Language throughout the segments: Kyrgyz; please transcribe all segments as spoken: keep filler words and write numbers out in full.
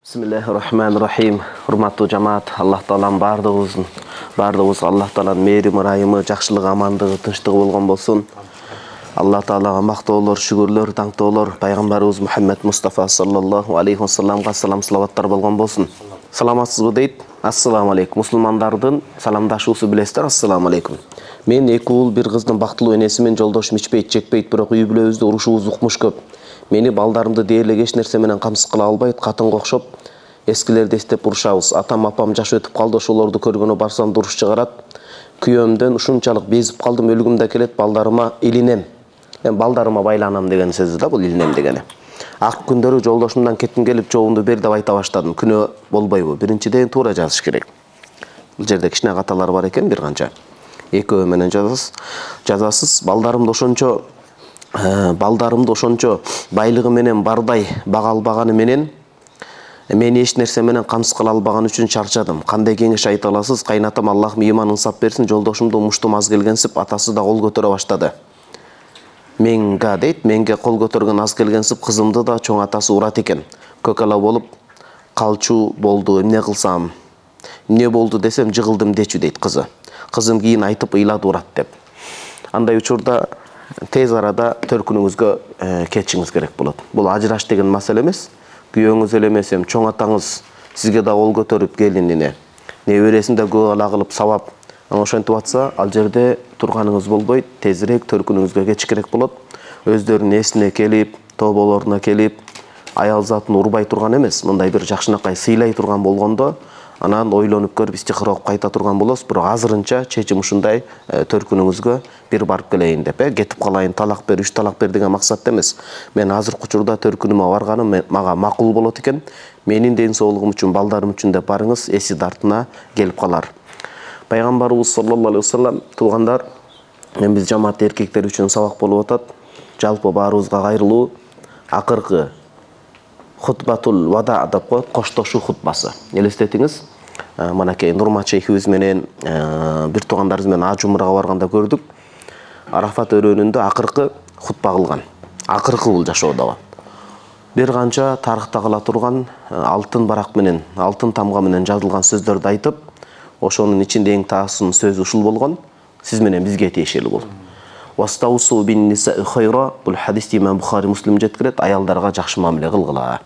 Bismillahirrahmanirrahim. Hurmatlı cemaat, Allah Taala'nın bardığımızın, bardığımız Allah Taala'nın merimi, rahimi, жақшылығы, амандығы, тынчтығы болған болсын. Allah Taala'ға мактоолор, шүгүрлөр, таңтоолор, пайгамбарыбыз Мухаммед Мустафа саллаллаху алейхи ва салламга салам салаваттар болгон болсын. Саламатсызбы дейт? Ассаламу алейкум. Мусулмандардын саламдашуусу билесиздер. Ассаламу алейкум. Мен эки уул, бир кыздын бактылуу энеси менен жолдошум ичпейт, чекпейт, бирок үй бүлөбүздө урушубуз укмуш көп. Мени балдарымды дээрлик эч нерсе менен камсыз кыла албайт, катынга окшоп эскилерди эстеп урушабыз. Атам, апам жаш өтүп калды, ошолорду көргөнү барсам дуруш чыгарат. Күйөөмдөн ушунчалык безип калдым, өлүгүм да келет, балдарыма илинем. Мен балдарыма байланам деген сөзү да бул илинем дегени. Ак күндөрү жолдошумдан кетким келип, жообумду бер деп айта баштадым. Күнөө болбойбу? Биринчиден туура жазыш керек. Бул жерде кичине каталар бар экен, бир канча. Экөө менен жазасыз. Жазасыз. Балдарымды ошончо балдарымды ошончо байлыгы менен бардай бага албаганы менен мени эч нерсе менен камсыз кыла албаган үчүн чарчадым. Кандай кеңеш айта аласыз? Кайнатам Аллах ыйман ынсап берсин. Жолдошумду муштум аз келгенсип, атасы да кол көтөрө баштады. Менга дейт, менге кол көтөргөн аз келгенсип, кызымды да чоң атасы урат экен. Көкала болуп калчу болду. Эмне кылсам? Эмне болду десем, жыгылдым дечү дейт кызы. Кызым кийин айтып ыйлады урат деп. Андай учурда тез арада төркүнүңүзгө кетишиңиз керек болот. Бул ажыраш деген маселе эмес. Күйөөңүз эле эмес, чоң атаңыз сизге да кол көтөрүп келинине, небересин да көп ала кылып сабап, ошентип атса, ал жерде турганыңыз болбойт, тезирээк төркүнүңүзгө кетиш керек болот. Өздөрүнүн эсине келип, тоболоруна келип, аял затын урбай турган эмес, мындай бир жакшынакай сыйлай турган болгондо, анан ойлонуп көрүп истихара окуп кайта турган болосуз. Бирок азырынча чечим ушундай, төркүнүңүзгө бир барып келейин деп, э, кетип калайын, талак бер, үч талак бер деген максатта эмес. Мен азыркы учурда төркүнүмө барганым мага макул болот экен. Менин ден соолугум үчүн, балдарым үчүн деп барыңыз, эси дартына келип калар. Пайгамбарыбыз саллаллаху алейхи ва саллам, туугандар, мен биз жамаат эркектер үчүн сабак болуп атат. Жалпы баарыбызга кайрылуу акыркы хутбатул вада деп коет, коштошуу хутбасы. Элестетиңиз, манакей Нурмат шейхибиз менен бир туугандарыбыз менен аж умрага барганда көрдүк. Арафат өрөөнүндө акыркы хутба кылган. Акыркы бул жашоодо. Бир канча тарыхта кала турган алтын барак менен, алтын тамга менен жазылган сөздөрдү айтып, ошонун ичинде эң таасын сөзү ушул болгон: сиз менен бизге тиешелүү бул. Вастаусу бин нисаи хайра, бул хадисти Имам Бухари, Муслим жеткирет, аялдарга жакшы мамиле кылгыла.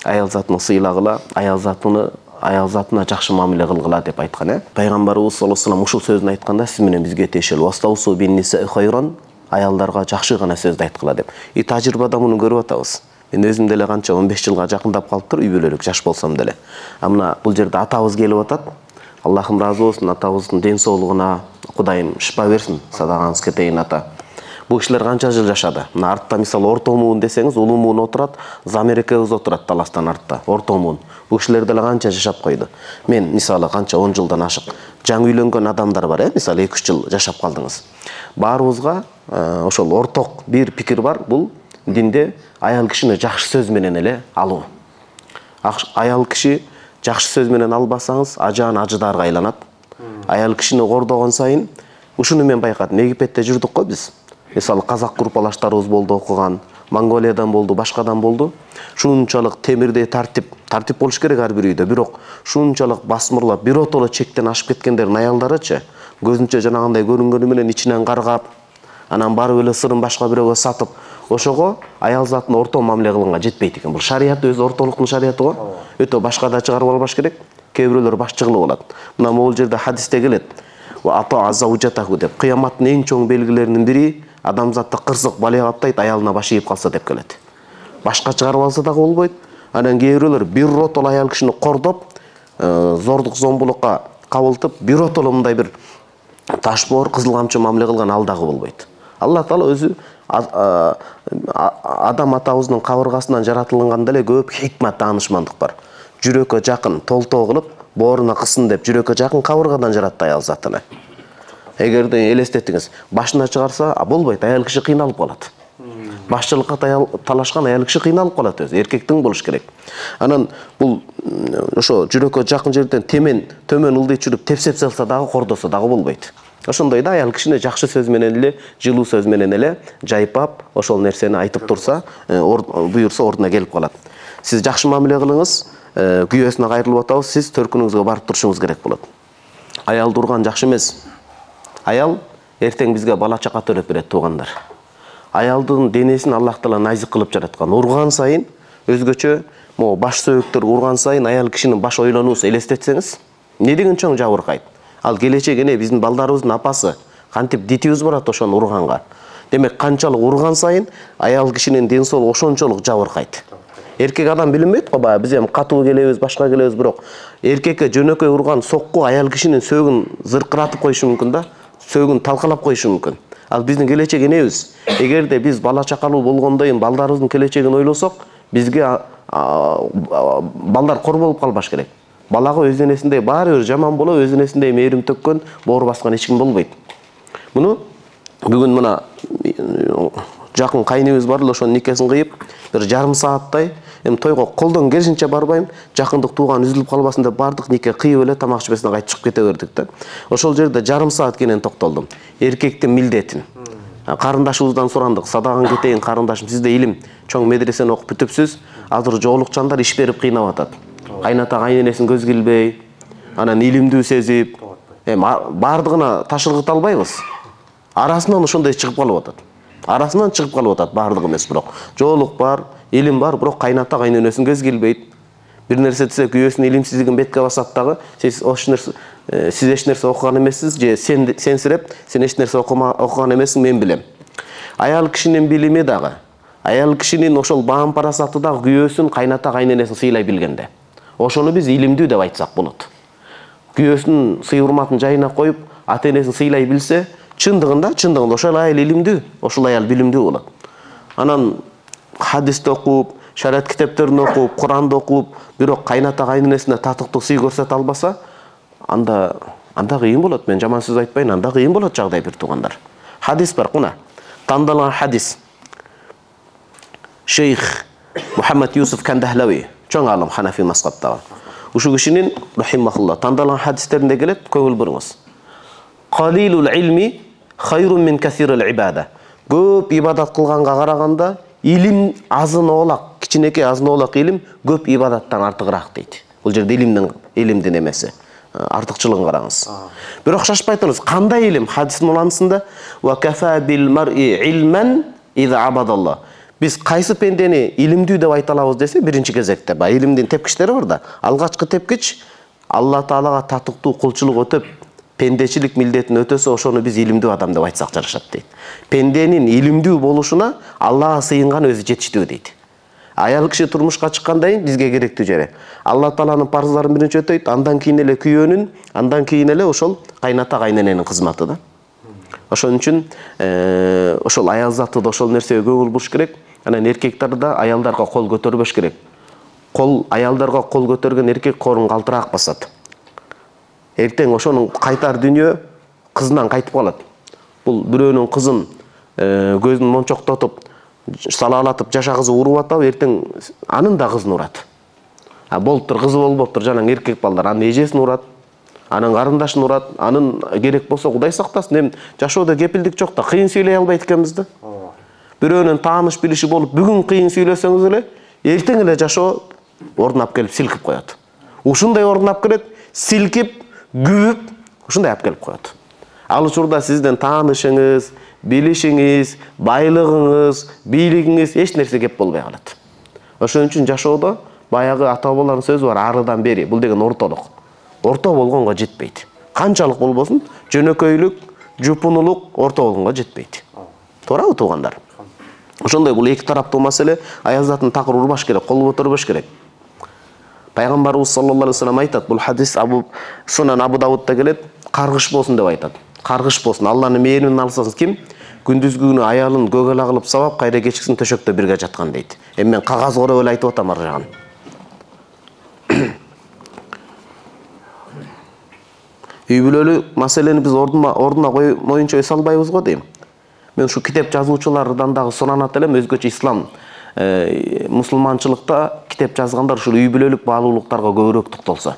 Аял затына сыйлагыла, аял затына аял затына жакшы мамиле кылгыла деп айткан, э. Пайгамбарыбыз саллаллаху алейхи ва саллам ушул сөзүн айтканда, сиз менен бизге тиешелүү. Вастаусу бин нисаи хайран, аялдарга жакшы гана сөздү айткыла деп. И тажрыйбада муну көрүп атабыз. Мен өзүм деле канча он беш жылга жакындап калыптыр, үй бүлөлүк жаш болсом деле. А мына бул жерде атабыз келип атат. Аллахым разы болсун, атабыздын ден соолугуна Кудайым шипа берсин, садагаңыз кетейин ата. Бул кишилер канча жыл жашады? Мына артта мисалы орто муун десеңиз, улуу муун отурат, Замерекебиз отурат таластан артта, орто муун. Бул кишилер деле канча жашап койду. Мен мисалы канча он жылдан ашык жаңы үйлөнгөн адамдар бар, э, мисалы эки үч жыл жашап калдыңыз. Баарыбызга ошол орток бир пикир бар, бул динде аял кишини жакшы сөз менен эле алуу. Аял киши жакшы сөз менен албасаңыз, ажаан ажыдарга айланат. Аял кишини кордогон сайын, ушуну мен байкадым. Египетте жүрдүк го биз. Мисалы казак группалаштарыбыз болду окуган, Монголиядан болду, башкадан болду. Шунчалык темирдей тартип, тартип болуш керек ар бир үйдө, бирок шунчалык басмырлап, биротоло чектен ашып кеткендердин аялдарычы, көзүнчө жанагындай көрүнгөнү менен ичинен каргап, анан барып эле сырын башка бирөөгө сатып, ошого аял затын орто мамиле кылганга жетпейт экен. Бул шарият өзү ортолуктун шарияты го. Өтө башкада чыгарып албаш керек. Кээ бирөөлөр башчы кылып алат. Мына могул жерде хадисте келет. Ва ата азаужатаху деп. Кыяматтын эң чоң белгилеринин бири адамзатты кырсык балия каптайт, аялына баш ийип калса деп келет. Башка чыгарып алса дагы болбойт. Анан кээ бирөөлөр биротоло аял кишини кордоп, зордук зомбулукка кабылтып, биротоло мындай бир ташбоор, кызыл камчы мамиле кылган ал дагы болбойт. Аллах Таала өзү адам атабыздын кабыргасынан жаратылганда эле көп хикмат, таанышмандык бар. Жүрөккө жакын толтоо кылып, бооруна кысын деп жүрөккө жакын кабыргадан жаратты аял затыны. Эгерде элестетиңиз, башына чыгарса, болбойт, аял киши кыйналып калат. Башчылыкка талашкан аял киши кыйналып калат өзү, эркектин болуш керек. Анан бул ошо жүрөккө жакын жерден темен, төмөн ылдый чүрүп тепсеп салса дагы, кордосо дагы болбойт. Ошондой да аял кишини жакшы сөз менен эле, жылуу сөз менен эле жайпап, ошол нерсени айтып турса, буйурса ордуна келип калат. Сиз жакшы мамиле кылыңыз, күйөөсүнө кайрылып атабыз, сиз төркүнүңүзгө барып турушуңуз керек болот. Аялды урган жакшы эмес. Аял эртең бизге бала чака төлөп берет, туугандар. Аялдын денесин Аллах Таала назик кылып жараткан. Урган сайын өзгөчө могу баш сөөктөр урган сайын аял кишинин баш ойлонуусу элестетсеңиз, не деген чоң жабыркайт. Ал келечек эне биздин балдарыбыздын апасы кантип дитибиз барат ошону урганга. Демек канчалык урган сайын аял кишинин ден соолугу ошончолук жабыркайт. Эркек адам билинбейт го, баягы биз эми катуу келебиз, башка келебиз, бирок эркекке жөнөкөй урган сокку аял кишинин сөөгүн зыркыратып коюшу мүмкүн да, сөөгүн талкалап коюшу мүмкүн. Ал биздин келечек энебиз. Эгерде биз бала чакалуу болгондойм балдарыбыздын келечегин ойлосок, бизге балдар кор болуп калбаш керек. Балага өз энесиндей баары бир жаман болуп, өз энесиндей мээрим төккөн, боор баскан эч ким болбойт. Муну бүгүн мына жакын кайныбыз бар эле, ошонун никесин кыйып, бир жарым сааттай, эми тойго колдон келишинче барбайм, жакындык тууган үзүлүп калбасын деп бардык, нике кыйып эле тамак ичпесине кайтып чыгып кете бердик да. Ошол жерде жарым саат кенен токтолдум. Эркектин милдетин. Карындашыбыздан сурандык, садаган кетейин карындашым, сиз да илим чоң медресени окуп бүтүпсүз, азыр жоолукчандар иш берип кыйнап атат. Кайната кайненесин көз килбей, анан илимдүү сезип, эми бардыгына ташыргыта албайбыз. Арасынан ошондой чыгып калып атат. Арасынан чыгып калып атат, бардыгы эмес, бирок жоолук бар, илим бар, бирок кайната кайненесин көз килбейт. Бир нерсе десе күйөөсүнүн илимсиздигин бетке басат дагы, сиз ош нерсе сиз эч нерсе окуган эмессиз, же сен сенсиреп, сен эч нерсе окуган эмессиң, мен билем. Аял кишинин билими дагы, аял кишинин ошол баам парасаты дагы күйөөсүн, кайната кайненесин сыйлай билгенде. Ошону биз илимдүү деп айтсак болот. Күйөөсүнүн сый урматын жайына коюп, ата энесин сыйлай билсе, чындыгында, чындыгында ошол аял илимдүү, ошол аял билимдүү болот. Анан хадисти окуп, шариат китептерин окуп, Куранды окуп, бирок кайната кайненесине татыктуу сый көрсөтө албаса, анда анда кыйын болот. Мен жаман сөз айтпайын, анда кыйын болот жагдай, бир туугандар. Хадис бар, куна. Тандалган хадис. Шейх Мухаммад Юсуф Кандахлави, чоң алым Ханафи мазхабтагы. Ушул кишинин рахимахулла тандалган хадистеринде келет, көңүл буруңуз. Қалилул илми хайрун мин касирил ибада. Көп ибадат кылганга караганда илим азын оолак, кичинекей азын оолак илим көп ибадаттан артыгыраак дейт. Бул жерде илимдин илимдин эмеси, артыкчылыгын караңыз. Бирок шашпай туруңуз, кандай илим? Хадистин уланысында ва кафа бил мар'i илман иза абадаллах. Биз кайсы пендени илимдүү деп айта алабыз десе, биринчи кезекте ба илимдин тепкичтери бар да. Алгачкы тепкич Алла Таалага татыктуу кулчулук өтөп, пендечилик милдетин өтөсө, ошону биз илимдүү адам деп айтсак жарашат дейт. Пенденин илимдүү болушуна Аллага сыйынган өзү жетиштүү дейт. Аял киши турмушка чыккандан кийин бизге керектүү жери Алла Тааланын парыздарын биринчи өтөйт, андан кийин эле күйөөнүн, андан кийин эле ошол кайната кайнененин кызматы да. Ошон үчүн ошол аял заты да ошол нерсеге көңүл буруш керек. Анан эркектер да аялдарга кол көтөрбөш керек. Кол аялдарга кол көтөргөн эркек корун калтыраак басат. Эртең ошонун кайтар дүнүйө кызынан кайтып калат. Бул бирөөнүн кызын көзүн мончоктотуп, салаалатып жашагызып уруп атабы, эртең анын да кызын урат. А болуптур, кызы болбоптур, жанаң эркек балдар анын эжесин урат, анын карындашын урат, анын керек болсо Кудай сактасын, эми жашоодо кепилдик жок да, кыйын сүйлөй албайт экенбиз да. Бирөөнүн тааныш билиши болуп, бүгүн кыйын сүйлөсөңүз эле, эртең эле жашоо ордунап келип силкип коет. Ушундай ордунап келет, силкип, күбүп, ушундай алып келип коет. Ал учурда сиздин таанышыңыз, билишиңиз, байлыгыңыз, бийлигиңиз эч нерсе кеп болбой калат. Ошон үчүн жашоодо баягы ата бабалардын сөзү бар, арыдан бери, бул деген ортолук. Орто болгонго жетпейт. Канчалык болбосун, жөнөкөйлүк, жупунулук орто болгонго жетпейт. Туурабы туугандар? Ошондой бул эки тараптуу маселе, аял затын такыр урбаш керек, кол көтөрбөш керек. Пайгамбарыбыз саллаллаху алейхи ва саллям айтат, бул хадис Абу Сунан Абу Давудта келет, каргыш болсун деп айтат. Каргыш болсун, Алланын мээримин алсаңыз ким? Күндүзгү күнү аялын көгөлө кылып сабап, кайра кечкисин төшөктө бирге жаткан дейт. Эми мен кагаз короп эле айтып атам ар жагын. Үй бүлөлүк маселени биз ордуна ордуна моюнча эс албайбыз го дейм. Мен ушу китеп жазуучулардан дагы суранат элем, өзгөчө ислам мусулманчылыкта китеп жазгандар ушул үй бүлөлүк баалуулуктарга көбүрөөк токтолсо.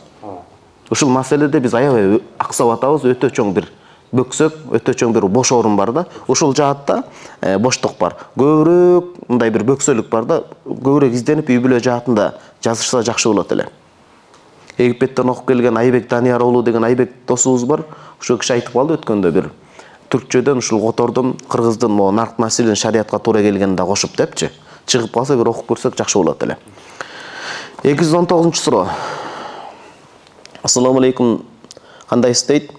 Ушул маселеде биз аябай аксап атабыз, өтө чоң бир бөксөк, өтө чоң бир бош орун бар да. Ушул жаатта боштук бар. Көбүрөөк мындай бир бөксөлүк бар да, көбүрөөк изденип үй бүлө жаатында жазышса жакшы болот эле. Египеттен окуп келген Айбек Данияр уулу деген Айбек досубуз бар. Ошо киши айтып калды өткөндө бир түркчөдөн ушул котордун кыргыздын могу нарк маселен шариатка туура келгенин да кошуп депчи. Чыгып калса бир окуп көрсөк жакшы болот эле. эки жүз он тогузунчу суроо. Ассаламу алейкум. Кандайсыз дейт?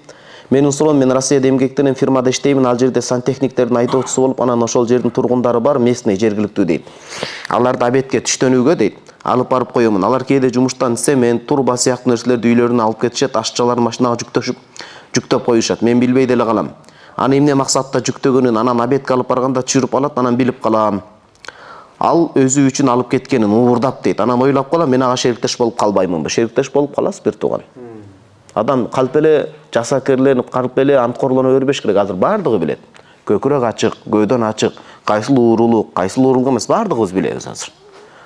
Менин суроом, мен Россияда эмгектенем, фирмада иштеймин, ал жерде сантехниктердин айдоочусу болуп, анан ошол жердин тургундары бар, местный, жергиликтүү дейт. Аларды абетке түштөнүүгө дейт, алып барып коёмун. Алар кээде жумуштан цемент, турба сыяктуу нерселерди үйлөрүнө алып кетишет, ашчалар машинага жүктөшүп, жүктөп коюшат. Мен билбей деле калам. Аны эмне максатта жүктөгөнүн, анан абетке алып барганда түшүрүп алат, анан билип калам. Ал өзү үчүн алып кеткенин уурдап дейт. Анан ойлоп калам, мен ага шериктеш болуп калбаймынбы? Шериктеш болуп каласыз бир тууган. Адам калп эле жасакерленип, калп эле анткорлоно бербеш керек. Азыр бардыгы билет. Көкүрөк ачык, көйдөн ачык, кайсыл уурулук, кайсыл уурулук эмес, бардыгыбыз билебиз азыр.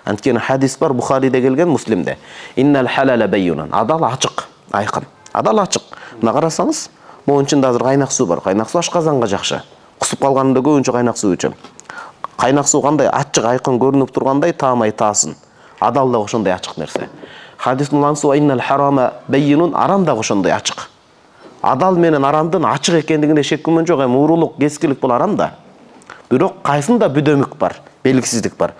Анткени хадис бар Бухариде келген, Муслимде. Иннал халала байюнан. Адал ачык, айкын. Адал ачык. Мына карасаңыз, могу ичинде азыр кайнак суу бар. Кайнак суу ашказанга жакшы. Кусуп калганда көбүнчө кайнак суу ичем. Кайнак суу кандай ачык, айкын көрүнүп тургандай таамай таасын. Адал да ошондой ачык нерсе. Хадистин улансы иннал харама байюнун, арам да ошондой ачык. Адал менен арамдын ачык экендигине шек күмөн жок. Эми уурулук, кескилик бул арам да. Бирок кайсында бүдөмүк бар, белгисиздик бар.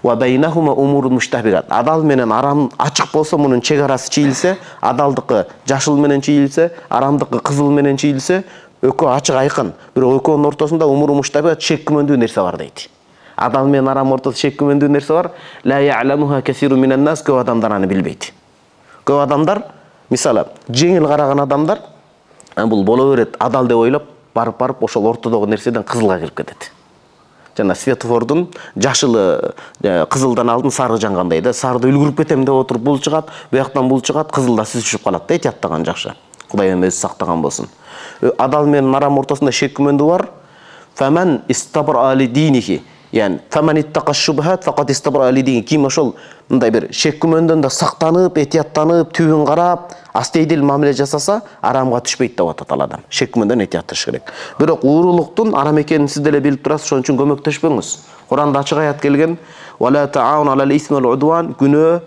Ва байнахума умурун муштабигат. Адал менен арам ачык болсо, мунун чек арасы чийилсе, адалдыкы жашыл менен чийилсе, арамдыкы кызыл менен чийилсе, экөө ачык айкын. Бирок экөөнүн ортосунда умурун муштабигат, шек күмөндүү нерсе бар дейт. Адал менен арам ортосунда шек күмөндүү нерсе бар. Ла я'ламуха касиру минан нас, көп адамдар аны билбейт. Көп адамдар, мисалы, жеңил караган адамдар, бул боло берет, адал деп ойлоп, барып-барып ошол ортодогу нерседен кызылга кирип кетет. Жана светофордун жашылы кызылдан алдын сары жангандай да, сарды үлгүрүп кетем деп отуруп бул чыгат, буяктан бул чыгат, кызылда сиз түшүп калат да, эhtiyаттаган жакшы. Кудай эми өзү сактаган болсун. Адал менен арам ортосунда шек күмөндүү бар. Фаман истабра али динихи. Yani faman ittaqa shubhat faqat istabra ali деген ким ошол мындай бир шек күмөндөн да сактанып, этияттанып, түбүн карап, астейдил мамиле жасаса, арамга түшпөйт деп атат ал адам. Шек күмөндөн этиятташ керек. Бирок уурулуктун арам экенин сиз деле билип турасыз, ошон үчүн көмөктөшпөңүз. Куранда ачык аят келген: "Вала таауну алал исми вал удван", күнөө,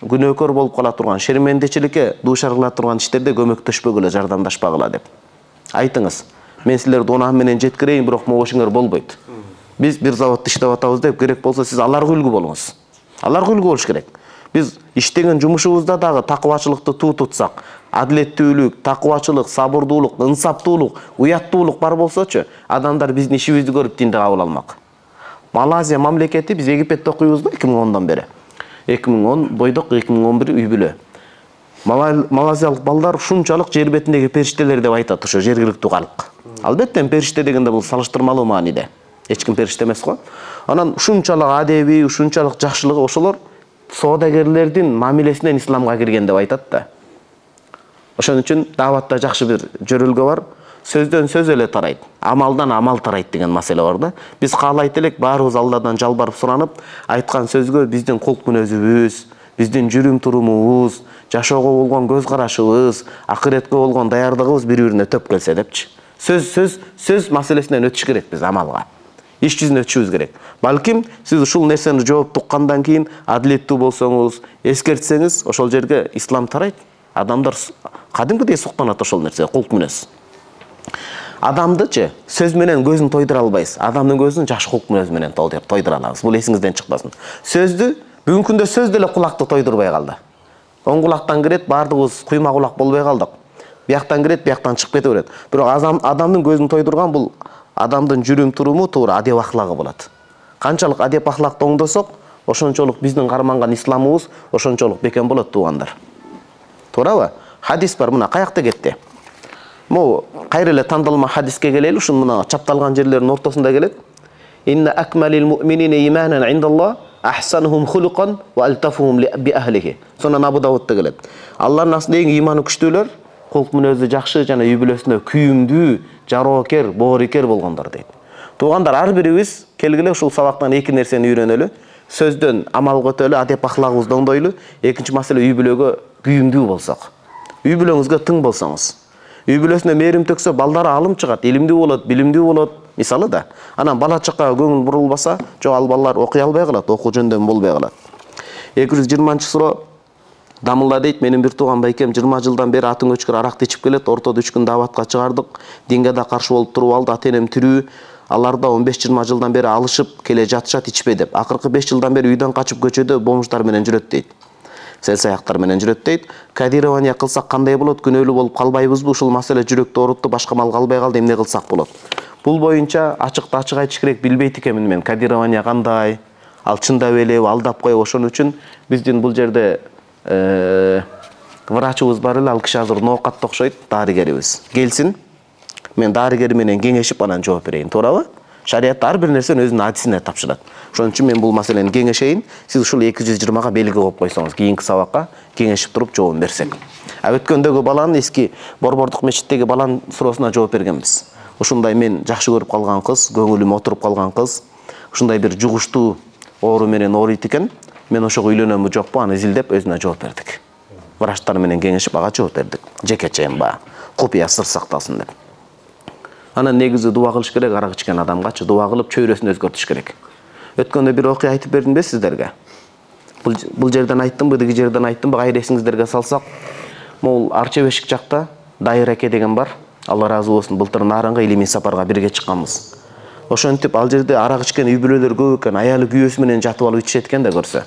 күнөөкөр болуп кала турган, шермендечиликке дуушар кыла турган иштерде көмөктөшпөгүлө, жардамдашпагыла деп. Айтыңыз, мен силерди унаа менен жеткирейин, бирок могу ишиңер болбойт. Biz bir zavodda иштеп атабыз деп, керек болсо сиз аларга үлгү болуңуз. Аларга үлгү болуш керек. Биз иштеген жумушубузда дагы такыбачылыкты туу тутсак, адилеттүүлүк, такыбачылык, сабырдуулук, ынсаптуулук, уяттуулук бар болсочу, адамдар биздин ишибизди көрүп динди кабыл алмак. Малайзия мамлекети, биз Египетте окуйбуз да эки миң ондан бери. эки миң он бойдок, эки миң он бир үй бүлө. Малайзиялык балдар ушунчалык жер бетиндеги периштелер деп айтат ошо жергиликтүү калк. Албетте периште дегенде бул салыштырмалуу мааниде. Эч ким периште эмес го. Анан ушунчалык адеби, ушунчалык жакшылыгы ошолор соодагерлердин мамилесинен исламга кирген деп айтат да. Ошон үчүн даватта жакшы бир жөрөлгө бар. Сөздөн сөз эле тарайт, амалдан амал тарайт деген маселе бар да. Биз каалайт элек баарыбыз Алладан жалбарып суранып, айткан сөзгө биздин кулк мүнөзүбүз, биздин жүрүм турумубуз, жашоого болгон көз карашыбыз, акыретке болгон даярдыгыбыз бири-бирине төп келсе депчи. Сөз сөз сөз маселесинен өтүш керек биз амалга. Иш жүзүнө өтүшүбүз керек. Балким сиз ушул нерсени жооп туккандан кийин адилеттүү болсоңуз, эскертсеңиз, ошол жерге ислам тарайт. Адамдар кадимкидей суктанат ошол нерсе, кулк мүнөз. Адамдычы сөз менен көзүн тойдура албайсыз. Адамдын көзүн жакшы кулк мүнөз менен тойдура алабыз. Бул эсиңизден чыкпасын. Сөздү бүгүнкү күндө сөз деле кулакты тойдурбай калды. Оң кулактан кирет, бардыгыбыз куйма кулак болбой калдык. Бияктан кирет, бияктан чыгып кете берет. Бирок адамдын көзүн тойдурган бул адамдын жүрүм туруму, туура адеп ахлагы болот. Канчалык адеп ахлакты оңдосок, ошончолук биздин карманган исламыбыз ошончолук бекем болот туугандар. Туурабы? Хадис бар, мына каякта кетти. Могу кайра эле тандалма хадиске келели, ушун мына чапталган жерлердин ортосунда келет. Инна акмалил муъминина иманан индаллах ахсанухум хулуқан ва алтафухум би ахлихи. Сонан Абу Давудта келет. Алланын астында эң иманы күчтүүлөр, кулк мүнөзү жакшы жана үй бүлөсүнө күйүмдүү, жароокер, боорикер болгондор дейт. Туугандар, ар бирибиз келгиле ушул сабактан эки нерсени үйрөнөлү. Сөздөн амалга өтөлү, адеп ахлагыбызды оңдойлу. Экинчи маселе, үй бүлөгө күйүмдүү болсок. Үй бүлөңүзгө тың болсоңуз. Үй бүлөсүнө мээрим төксө, балдары алым чыгат, илимдүү болот, билимдүү болот. Мисалы да. Анан бала чакка көңүл бурулбаса, жок ал балалар окуй албай калат, окуу жөндөмү болбой калат. эки жүз жыйырманчы суроо. Дамылла дейт, менин бир тууган байкем жыйырма жылдан бери атың өчкөр аракты ичип келет. Ортодо үч күн дааватка чыгардык. Динге да каршы болуп туруп алды. Ата энем тирүү. Алар да он беш жыйырма жылдан бери алышып келе жатышат, ичпей деп. Акыркы беш жылдан бери үйдөн качып көчөдө бомждар менен жүрөт дейт. Сел саяктар менен жүрөт дейт. Кодирование кылсак кандай болот? Күнөөлүү болуп калбайбызбы? Ушул маселе жүрөктү оорутtu, башка мал калбай калды, эмне кылсак болот? Бул боюнча ачыкты ачык айтыш керек, билбейт экенмин мен. Кодирование кандай? Ал чындап элеби, алдап коебу? Ошон үчүн биздин бул жерде врачыбыз бар эле, ал киши азыр ноокатта окшойт, дарыгерибиз. Келсин, мен дарыгер менен кеңешип анан жооп берейин, туурабы? Шариятта ар бир нерсени өзүнүн адисине тапшырат. Ошон үчүн мен бул маселени кеңешейин, сиз ушул эки жүз жыйырмага белги коюп койсоңуз, кийинки сабакка кеңешип туруп жообун берсек. А өткөндөгү баланын, эски Борбордук мечиттеги баланын суроосуна жооп бергенбиз. Ушундай мен жакшы көрүп калган кыз, көңүлүм отуруп калган кыз, ушундай бир жугуштуу оору менен ооруйт экен. Мен ошого үйлөнөмбү жокпу, аны изилдеп өзүнө жооп бердик. Врачтар менен кеңешип ага жооп бердик. Жекечейин баа, купуя сыр сакталсын деп. Анан негизи дуа кылыш керек, арак ичкен адамгачы дуа кылып чөйрөсүн өзгөртүш керек. Өткөндө бир окуя айтып бердимби сиздерге? Бул бул жерден айттымбы, деги жерден айттымбы, кайра эсиңиздерге салсак, могул Арча Бешик жакта Дайыр эке деген бар. Алла ыраазы болсун, былтыр Нарынга илимий сапарга бирге чыкканбыз. Ошентип ал жерде арак ичкен үй бүлөлөр көп экен, аялы күйөөсү менен жатып алып ичет экен да көрсө.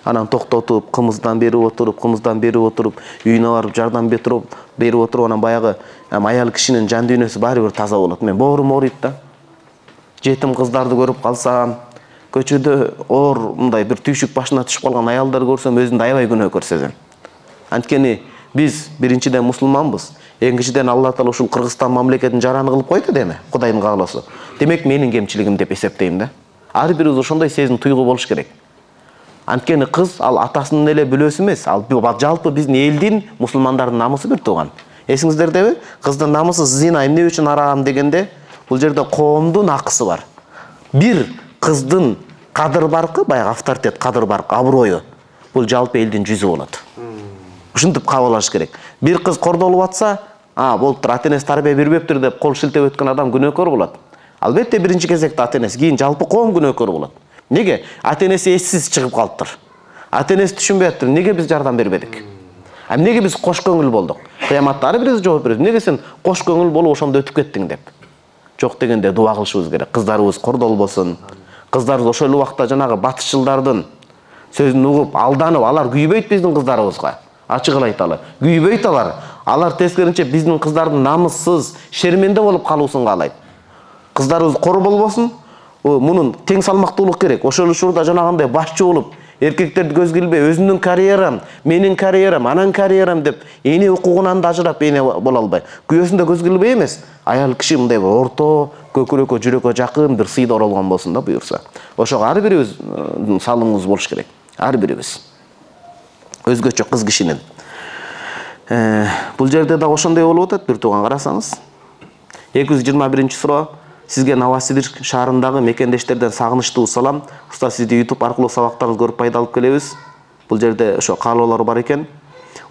Анан токтотуп, кымыздан берип отуруп, кымыздан берип отуруп, үйүнө барып жардам берип берип отуруп, анан баягы аял кишинин жан дүйнөсү баары бир таза болот. Мен боорум ооруйт да. Жетим кыздарды көрүп калсам, көчөдө оор мындай бир түйшүк башына түшүп калган аялдар көрсөм, өзүмдү аябай күнөөкөр сезем. Анткени биз биринчиден мусулманбыз. Экинчиден Алла Таала ушул Кыргызстан мамлекетин жараны кылып койду деме, Кудайдын каалоосу. Демек менин кемчилигим деп эсептейм да. Ар бирибиз ошондой сезим туйгу болуш керек. Анткени кыз ал атасынын эле бүлөсү эмес, ал жалпы биздин элдин, мусулмандардын намысы бир тууган. Эсиңиздердеби? Кыздын намысы зина, эмне үчүн арам дегенде, бул жерде коомдун акысы бар. Бир кыздын кадыр баркы, баягы авторитет, кадыр баркы, аброю, бул жалпы элдин жүзү болот. Ушинтип кабылаш керек. Бир кыз кордолуп атса, а, болуптур, ата энеси тарбия бербептир деп кол шилтеп өткөн адам күнөөкөр болот. Албетте биринчи кезекте ата энеси, кийин жалпы коом күнөөкөр болот. Неге? Ата энеси эссиз чыгып калыптыр. Ата энеси түшүнбөй аттыр. Неге биз жардам бербедик? А эмнеге биз кош көңүл болдук? Кыяматта ар бирибиз жооп беребиз. Неге сен кош көңүл болуп ошондо өтүп кеттиң деп. Жок дегенде дуа кылышыбыз керек. Кыздарыбыз кордолбосун. Кыздарыбыз ошол эле убакта жанагы батышчылдардын сөзүн угуп, алданып, алар күйбөйт биздин кыздарыбызга. Ачык эле айталы. Күйбөйт алар. Алар тескеринче биздин кыздардын намыссыз, шерменде болуп калуусун каалайт. Кыздарыбыз кор болбосун. Мунун тең салмактуулук керек. Ошол учурда жанагындай башчы болуп, эркектерди көзгө илбей, өзүнүн карьерам, менин карьерам, анан карьерам деп, эне укугунан да ажырап эне боло албай. Күйөөсүндө көзгө илбей эмес, аял киши мындай бир орто, көкүрөккө, жүрөккө жакын бир сыйда оролгон болсун да буюрса. Ошого ар бирибиз салымыбыз болуш керек. Ар бирибиз. Өзгөчө кыз кишинин. Э, бул жерде да ошондой болуп атат, бир тууган карасаңыз. эки жүз жыйырма биринчи суроо. Сизге Новосибирск шаарындагы мекендештерден сагынычтуу салам. Уста сизди YouTube аркылуу сабактарыңызды көрүп пайда алып келебиз. Бул жерде ошо каалоолор бар экен.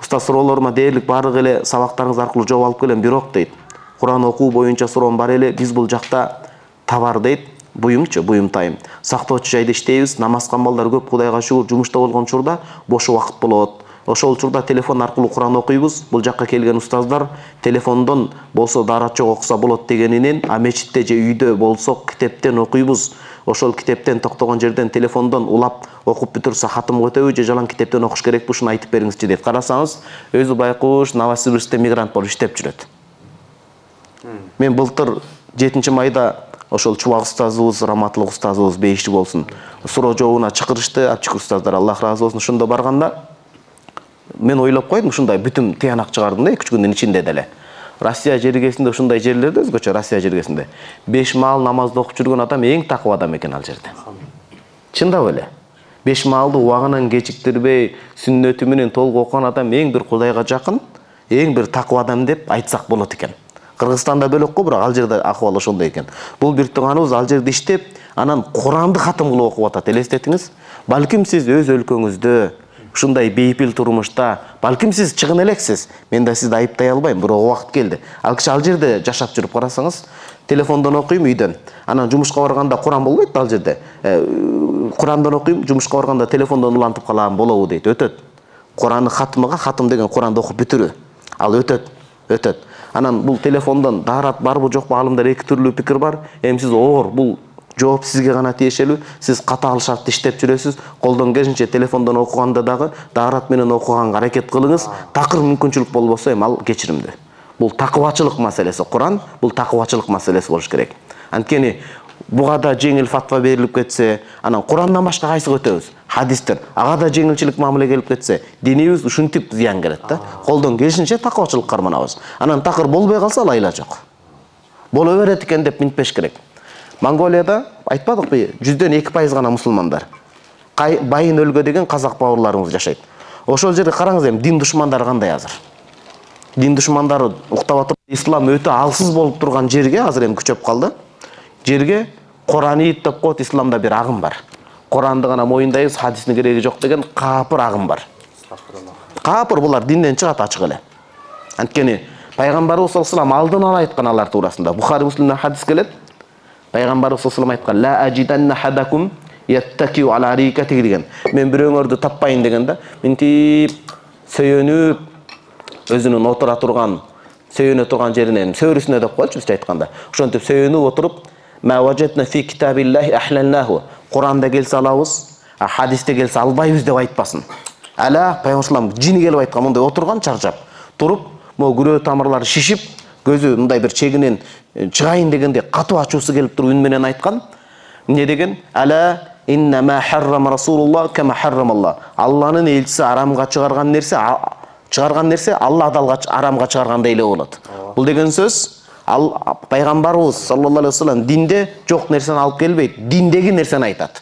Уста суроолорума дээрлик баардык эле сабактарыңыз аркылуу жооп алып келем, бирок дейт. Куран окуу боюнча суроом бар эле. Биз бул жакта товар дейт, буюмчу, буюм тайым. Сактоочу жайда иштейбиз. Намаз кылмалдар көп, Кудайга шүгүр, жумушта болгон учурда бош убакыт болот. Ошол учурда телефон аркылуу Куран окуйбуз. Бул жакка келген устаздар телефондон болсо дарачок окуса болот дегенинен, а мечитте же үйдө болсок китептен окуйбуз. Ошол китептен токтогон жерден телефондон улап окуп бүтүрсө хатым өтөбү же жалаң китептен окуш керекпи, ушуну айтып бериңизчи дейт. Карасаңыз, өзү байкуш Новосибирскте мигрант болуп иштеп жүрөт. Мен былтыр жетинчи майда ошол чубак устазыбыз, Раматылык устазыбыз бейиши болсун, суроо жообуна чакырышты, апчык устаздар, Аллах ыраазы болсун. Ошондо барганда мен ойлоп койдум, ушундай бүтүм тыянак чыгардым да эки үч күндүн ичинде деле. Россия жергесинде ушундай жерлерде, өзгөчө Россия жергесинде беш маал намазды окуп жүргөн адам эң такыба адам экен ал жерде. Чындап эле. Беш маалды убагынан кечиктирбей, сүннөтү менен толук окуган адам эң бир Кудайга жакын, эң бир такыба адам деп айтсак болот экен. Кыргызстанда бөлөк го, бирок ал жерде акыбал ошондой экен. Бул бир тууганыбыз ал жерде иштеп, анан Куранды катым кылып окуп атат. Элестетиңиз. Балким сиз өз өлкөңүздө ушундай бейпил турмушта, балким сиз чыгын элексиз. Мен да сизди айыптай албайм, бирок убакыт келди. Ал киши ал жерде жашап жүрүп карасаңыз, телефондон окуйм үйдөн. Анан жумушка барганда Куран болбойт ал жерде. Курандан окуйм, жумушка барганда телефондон улантып калам болобу дейт. Өтөт. Куранны хатымга, хатым деген Куранды окуп бүтүрүү. Ал өтөт, өтөт. Анан бул телефондон даарат барбы жокпу, алымдар эки түрлүү пикир бар. Эми сиз оор, бул жооп сизге гана тиешелүү. Сиз катаал шартты иштеп жүрөсүз. Колдон келишинче телефондон окуганда дагы даарат менен окуганга аракет кылыңыз. Такыр мүмкүнчүлүк болбосо эми ал кечиримдүү. Бул такыбачылык маселеси. Куран бул такыбачылык маселеси болуш керек. Анткени буга да жеңил фатва берилип кетсе, анан Курандан башка кайсыга өтөбүз? Хадистер. Ага да жеңилчилик мамиле келип кетсе, динибиз ушинтип зыян келет да. Колдон келишинче такыбачылык карманабыз. Анан такыр болбой калса айла жок. Боло берет экен деп минтпеш керек. Монголияда айтпадыкпы, жүздөн эки пайыз гана мусулмандар. Байын өлгө деген казак бауырларыбыз жашайт. Ошол жерде караңыз эми дин душмандары кандай азыр. Дин душмандары уктап атып, ислам өтө алсыз болуп турган жерге азыр эми күчөп калды. Жерге Куранит деп коет, исламда бир агым бар. Куранды гана моюндайбыз, хадистин кереги жок деген капыр агым бар. Капыр булар динден чыгат ачык эле. Анткени пайгамбарыбыз саллаллаху алейхи ва саллям алдын ала айткан алар туурасында. Бухари Муслимден хадис келет. Пайгамбарыбыз саллаллаху алейхи ва саллям айткан: "Ла ажиданна хадакум яттакиу ала рикати" деген. Мен бирөөңөрдү таппайын дегенде, минтип сөйөнүп өзүнүн отура турган, сөйөнө турган жеринен сөөрүсүнө деп коелчу бизче айтканда. Ошентип сөйөнүп отуруп, "Ма важатна фи китабиллахи ахлалнаху" Куранда келсе алабыз, а хадисте келсе албайбыз деп айтпасын. Ала пайгамбар жини келип айткан, мындай отурган чарчап, туруп, могу күрөө тамырлары шишип, көзү мындай бир чегинен чыгайын дегенде катуу ачуусу келип туруп үн менен айткан. Эмне деген? Ала инна ма харрама расулуллах кама харрамаллах. Алланын элчиси арамга чыгарган нерсе, чыгарган нерсе Алла да арамга чыгаргандай эле болот. Бул деген сөз ал пайгамбарыбыз саллаллаху алейхи ва саллям динде жок нерсени алып келбейт, диндеги нерсени айтат.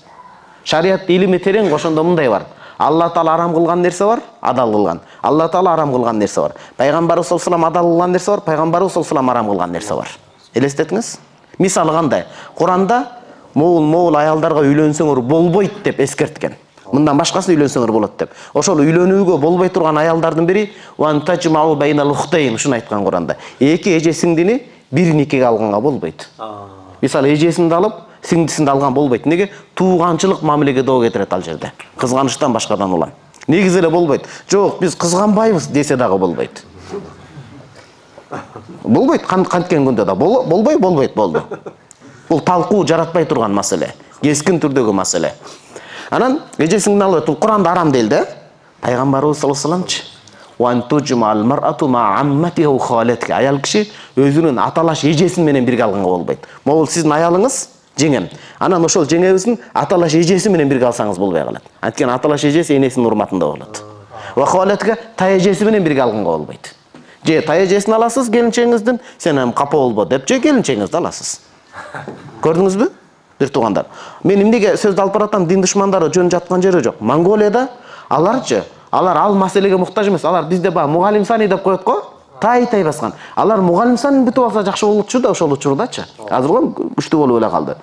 Шарият илими терең, ошондо мындай бар. Алла таала арам кылган нерсе бар, адал кылган. Алла таала арам кылган нерсе бар. Пайгамбарыбыз саллаллаху алейхи ва саллям адал кылган нерсе бар, пайгамбарыбыз саллаллаху алейхи ва саллям арам кылган нерсе бар. Элестетиңиз? Мисалы кандай? Куранда моул-моул аялдарга үйлөнсөңөр болбойт деп эскерткен. Мындан башкасы үйлөнсөңөр болот деп. Ошол үйлөнүүгө болбой турган аялдардын бири "Ван тажмау байнал ухтайн" ушуну айткан Куранда. Эки эже сиңдини бир никеге алганга болбойт. Мисалы эжесинди алып, сиңдисинди алган болбойт. Неге? Тууганчылык мамилеге доо кетирет ал жерде. Кызганычтан башкадан улам. Негизи эле болбойт. Жок, биз кызганбайбыз десе дагы болбойт. Болбойт, канткен күндө да болбой, болбойт, болду. Бул талкуу жаратпай турган маселе, кескин түрдөгү маселе. Анан эжесиңдин алып, бул Куранда арам делди. Пайгамбарыбыз саллаллаху алейхи ва саллямчы "Ван туджмал мар'ату ма амматиха ва халатиха" аял киши өзүнүн аталаш эжесин менен бирге алганга болбойт. Могул сиздин аялыңыз жеңем. Анан ошол жеңебиздин аталаш эжеси менен бирге алсаңыз болбой калат. Анткени аталаш эжеси энесинин урматында болот. Ва халатиха тай эжеси менен бирге алганга болбойт. Же тай эжесин аласыз келинчеңиздин, сен эми капа болбо деп, же келинчеңизди аласыз. Көрдүңүзбү? Бир туугандар. Мен эмнеге сөздү алып баратам, дин душмандары жөн жаткан жери жок. Монголияда аларчы, алар ал маселеге муктаж эмес. Алар бизде ба мугалим сани деп коет го, тай-тай баскан. Алар мугалим сани бүтүп алса жакшы болчу да ошол учурдачы. Азыр го күчтүү болуп эле калды.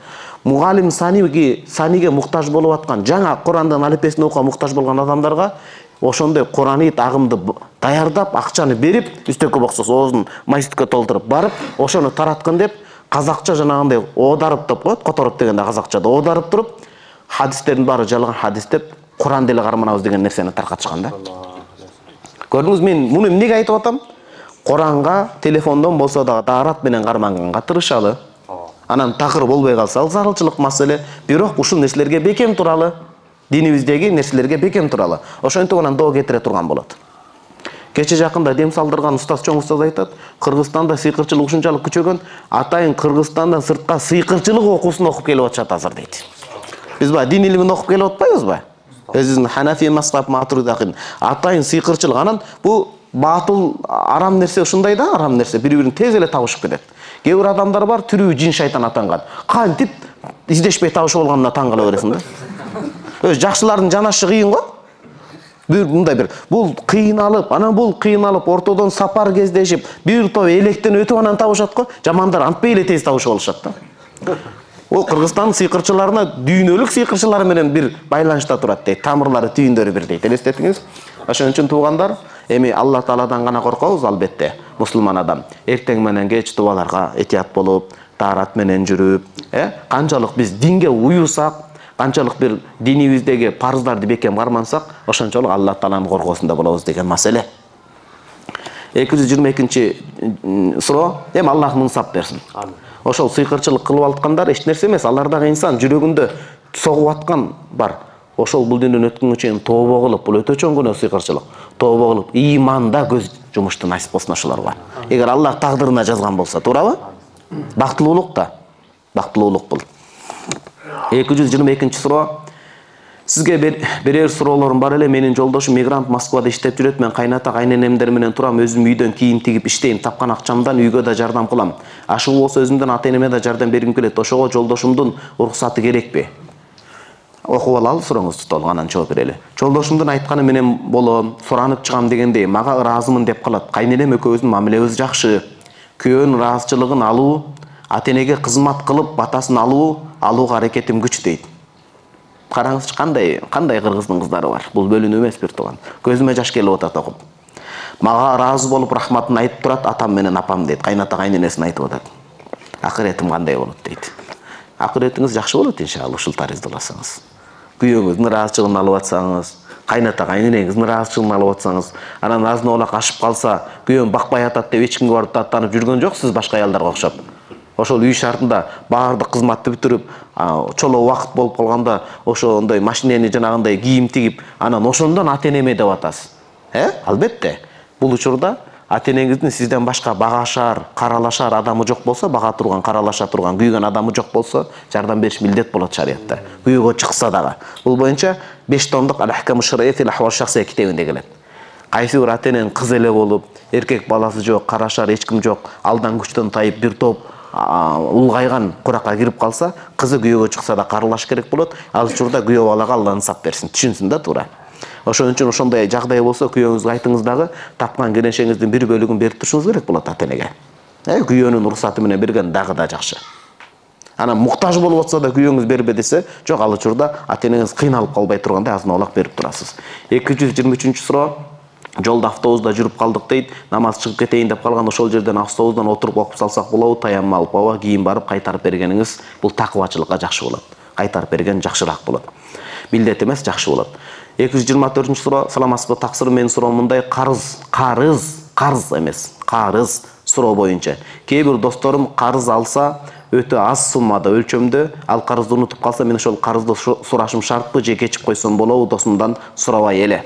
Мугалим саниге, саниге муктаж болуп аткан, жаңа Курандын алифбесин окууга муктаж болгон адамдарга ошондой Куранит агымды даярдап, акчаны берип, үстөккө боксос оозун майситкө толтуруп барып, ошону тараткан деп казакча жанагындай оодарып деп коет, которуп дегенде казакчада оодарып туруп, хадистердин баары жалган хадис деп Куран деле карманабыз деген нерсени таркатышкан да. Көрдүңүз, мен муну эмнеге айтып атам? Куранга телефондон болсо дагы даарат менен карманганга тырышалы. Анан такыр болбой калса ал зарылчылык маселе, бирок ушул нерселерге бекем туралы, динибиздеги нерселерге бекем туралы. Ошентип анан доо кетире турган болот. Кече жакында дем салдырган устаз, чоң устаз айтат, Кыргызстанда сыйкырчылык ушунчалык күчөгөн, атайын Кыргызстандан сыртка сыйкырчылык окуусун окуп келип атышат азыр дейт. Биз ба дин илимин окуп келип атпайбызбы? Өзүнүн Ханафи мазхаб матуридакын атайын сыйкырчылык. Анан бу батыл арам нерсе ушундай да, арам нерсе бири-бирин тез эле табышып кетет. Кээ бир адамдар бар, түрү жин шайтан атанган. Кантип издешпей табышып алганына таң кала бересиң да. Өз жакшылардын жанашы кыйын го. Бир мындай бир бул кыйналып, анан бул кыйналып, ортодон сапар кездешип, бир топ электен өтүп анан табышат го. Жамандар антпай эле тез табышып алышат да. Ол Кыргызстан сыйкырчыларына дүйнөлүк сыйкырчылар менен бир байланышта турат дейт. Тамырлары, түйүндөрү бир дейт. Элестетиңиз? Ошон үчүн туугандар, эми Алла Тааладан гана коркобуз албетте. Мусулман адам эртең менен кеч дубаларга этият болуп, таарат менен жүрүп, э, канчалык биз динге уюсак, канчалык бир динибиздеги парыздарды бекем кармансак, ошончолук Алла Тааланын коргоосунда болобуз деген маселе. эки жүз жыйырма экинчи суроо. Эми Аллах мыңсап берсин. Ошол сыйкырчылык кылып аткандар эч нерсе эмес. Алар дагы инсан, жүрөгүндө согуп аткан бар. Ошол бул дүйнөдөн өткөнгө чейин тобо кылып, бул өтө чоң күнөө сыйкырчылык. Тобо кылып, иманда көз жумушту насип болсун ошолорго. Эгер Аллах тагдырына жазган болсо, туурабы? Бактылуулук да. Бактылуулук бул. эки жүз жыйырма экинчи суроо. Сизге берер суроолорум бар эле. Менин жолдошум мигрант Москвада иштеп жүрөт. Мен кайната кайненемдер менен турам. Өзүм үйдөн кийим тигип иштейм. Тапкан акчамдан үйгө да жардам кылам. Ашыгуу болсо өзүмдөн ата-энеме да жардам бергим келет. Ошого жолдошумдун уруксаты керекпи? Окуп алалы сурооңузду толук, анан жооп берели. Жолдошумдун айтканы менен болом, суранып чыгам дегендей, мага ыраазымын деп калат. Кайненем экөөбүздүн мамилебиз жакшы. Күйөөнүн ыраазычылыгын алуу, ата-энеге кызмат кылып батасын алуу, алууга аракетим күч дейт. Караңызчы, кандай кандай кыргыздын кыздары бар. Бул бөлүнүү эмес, бир тууган. Көзүмө жаш келип атат окуп. Мага ыраазы болуп рахматын айтып турат, атам менен апам дейт. Кайната кайненесин айтып атат. Акыретим кандай болот дейт. Акыретиңиз жакшы болот иншалла, ушул таризде болсоңуз. Күйөөңүздүн ыраазычылыгын алып атсаңыз, кайната кайненеңиздин ыраазычылыгын алып атсаңыз, анан азын олак ашып калса, күйөөм бакпай атат деп эч кимге барып даттанып жүргөн жоксуз башка аялдарга окшоп. Ошол үй шартында баардык кызматты бүтүрүп, чоло убакыт болуп калганда ошондой машинени жанагындай кийим тигип, анан ошондон ата-энеме деп атасыз. Э? Албетте. Бул учурда ата-энеңиздин сизден башка багашар, каралашар адамы жок болсо, бага турган, каралаша турган, күйгөн адамы жок болсо, жардам бериш милдет болот шариятта. Күйөөгө чыкса дагы. Бул боюнча беш томдук Ал-Ахкам аш-Шар'ия фил ахвал шахсия китебинде келет. Кайсы бир ата-эненин кыз эле болуп, эркек баласы жок, карашар эч ким жок, алдан күчтөн тайып бир топ улгайган куракка кирип калса, кызы күйөөгө чыкса да каралаш керек болот. Ал учурда күйөө балага Алла ынсап берсин, түшүнсүн да туура. Ошон үчүн ошондой жагдай болсо, күйөөңүзгө айтыңыз дагы тапкан кенешеңиздин бир бөлүгүн берип турушуңуз керек болот ата-энеге. Э, күйөөнүн уруксаты менен берген дагы да жакшы. Анан муктаж болуп атса да күйөөңүз бербе десе, жок, ал учурда ата-энеңиз кыйналып калбай тургандай азын олак берип турасыз. эки жүз жыйырма үчүнчү суроо. Жолда автобуста жүрүп калдык дейт. Намаз чыгып кетейин деп калган, ошол жерден автобустан отуруп окуп салсак болобу? Таямма алып, ооба, кийин барып кайтарып бергениңиз бул такыбачылыкка жакшы болот. Кайтарып берген жакшыраак болот. Милдет эмес, жакшы болот. эки жүз жыйырма төртүнчү суроо. Саламатсызбы? Таксыр менин суроом мындай: карыз, карыз, карыз эмес, карыз суроо боюнча. Кээ бир досторум карыз алса, өтө аз суммада, өлчөмдө, ал карызды унутуп калса, мен ошол карызды сурашым шартпы же кечип койсом болобу? Досумдан сурабай эле.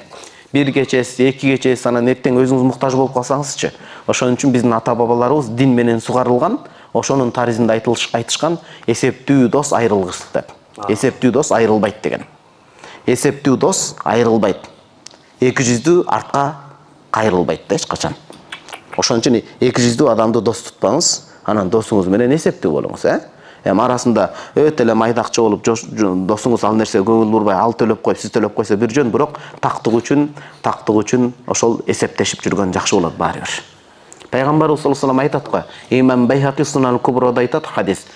Бир кечеси, эки кечеси, анан эртең өзүңүз муктаж болуп калсаңызчы. Ошон үчүн биздин ата-бабаларыбыз дин менен сугарылган, ошонун таризинде айтышкан эсептүү дос айрылгыс деп. Эсептүү дос айрылбайт деген. Эсептүү дос айрылбайт. эки жүздүү артка кайрылбайт да эч качан. Ошон үчүн эки жүздүү адамды дос тутпаңыз, анан досуңуз менен эсептүү болуңуз, э? Эми арасында өтө эле майдакчы болуп, досуңуз ал нерсе көңүл бурбай, ал төлөп коюп, сиз төлөп койсо бир жөн, бирок тактык үчүн, тактык үчүн ошол эсептешип жүргөн жакшы болот баары бир. Пайгамбарыбыз саллаллаху алейхи ва саллям айтат го, Имам Байхақи Сунан Куброда айтат хадис,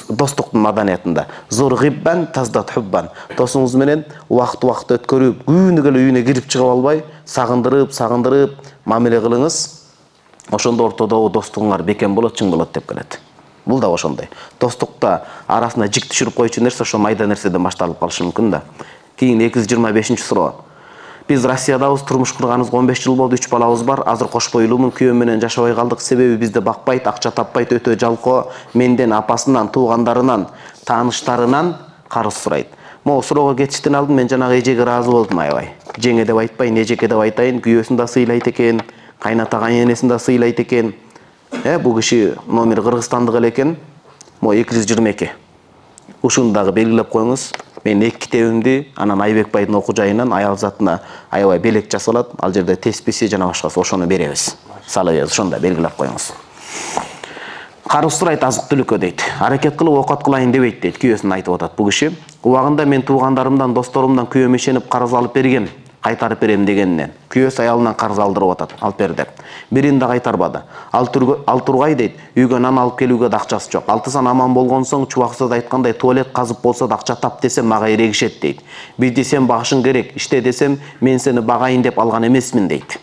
достуктун маданиятында: "Зур гиббан таздат хуббан". Досуңуз менен убакыт-убакыт өткөрүп, күнүгө эле үйүнө кирип чыгып албай, сагындырып, сагындырып мамиле кылыңыз. Ошондо ортодогу достугуңар бекем болот, чың болот деп келет. Бул да ошондой. Достукта арасына жик түшүрүп койчу нерсе ошо майда нерседен башталып калышы мүмкүн да. Кийин эки жүз жыйырма бешинчи суроо. Биз Россиядабыз, турмуш курганыбызга он беш жыл болду, үч балабыз бар. Азыр кош бойлуумун, күйөөм менен жашабай калдык. Себеби бизди бакпайт, акча таппайт, өтө жалкоо. Менден, апасынан, туугандарынан, тааныштарынан карыз сурайт. Могу суроого кетиштен алдын мен жанагы эжеге ыраазы болдум, аябай. Жеңе деп айтпайын, эжеке деп айтайын. Күйөөсүн да сыйлайт экен, кайната кайненесин да сыйлайт экен. Э, бул киши номер Кыргызстандык эле экен. Могу эки жүз жыйырма эки. Ушуну дагы белгилеп коюңуз. Мен эки китебимди, анан Айбек байдын окуу жайынан аял затына аябай белек жасалат. Ал жерде тесписи жана башкасы, ошону беребиз. Салыбыз, ошону да белгилеп коюңуз. Карыз сурайт азык түлүккө дейт. Аракет кылып окот кылайын дебейт дейт. Күйөөсүн айтып атат бул киши. Убагында мен туугандарымдан, досторумдан күйөөм ишенип карыз алып бергем. Кайтарып берем дегенинен күйөөсү аялынан карыз алдырып атат, алып бер деп. Бирин да кайтарбады. Ал тургай дейт, үйгө нан алып келүүгө да акчасы жок. Алтысан аман болгон соң, чубаксыз айткандай, туалет казып болсо да акча тап десем мага эрегишет дейт. Бизди сен багышың керек, иште десем мен сени багайын деп алган эмесмин дейт.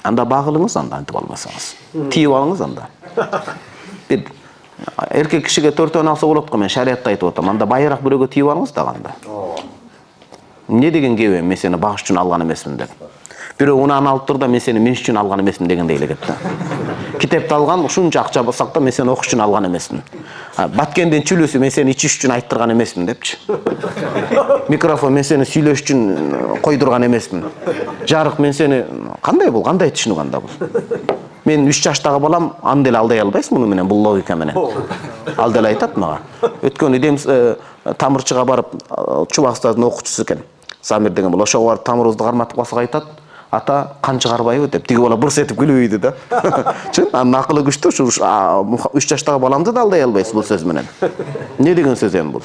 Анда багылыңыз, анда антип албасаңыз. Тийип алыңыз анда. Бир эркек кишиге төртөөнү алса болот го, мен шариятта айтып атам. Анда байыраак бирөөгө тийип алыңыз да канда. Эмне деген кебе, мен сени багыш үчүн алган эмесмин деп. Бирөө унаны алып тур да, мен сени меш үчүн алган эмесмин дегендей эле кетти. Китепти алган, ушунча акча болсак да, мен сени окуш үчүн алган эмесмин. Баткендин чүлүсү мен сени ичиш үчүн айттырган эмесмин депчи. Микрофон мен сени сүйлөш үчүн койдурган эмесмин. Жарык мен сени кандай бул, кандай түшүнүк анда бул? Мен үч жаштагы балам аны деле алдай албайсың муну менен, бул логика менен. Ал деле айтат мага. Өткөнү дем тамырчыга барып, Чубак устаздын окуучусу экен. Замир деген бул, ошого барып тамырыбызды карматып калсак айтат, ата кан чыгарбайбы деп. Тиги бала бурс этип күлүп ийди да. Чын, анын акылы күчтүү, ушу үч жаштагы баламды да алдай албайсыз бул сөз менен. Эмне деген сөз эми бул?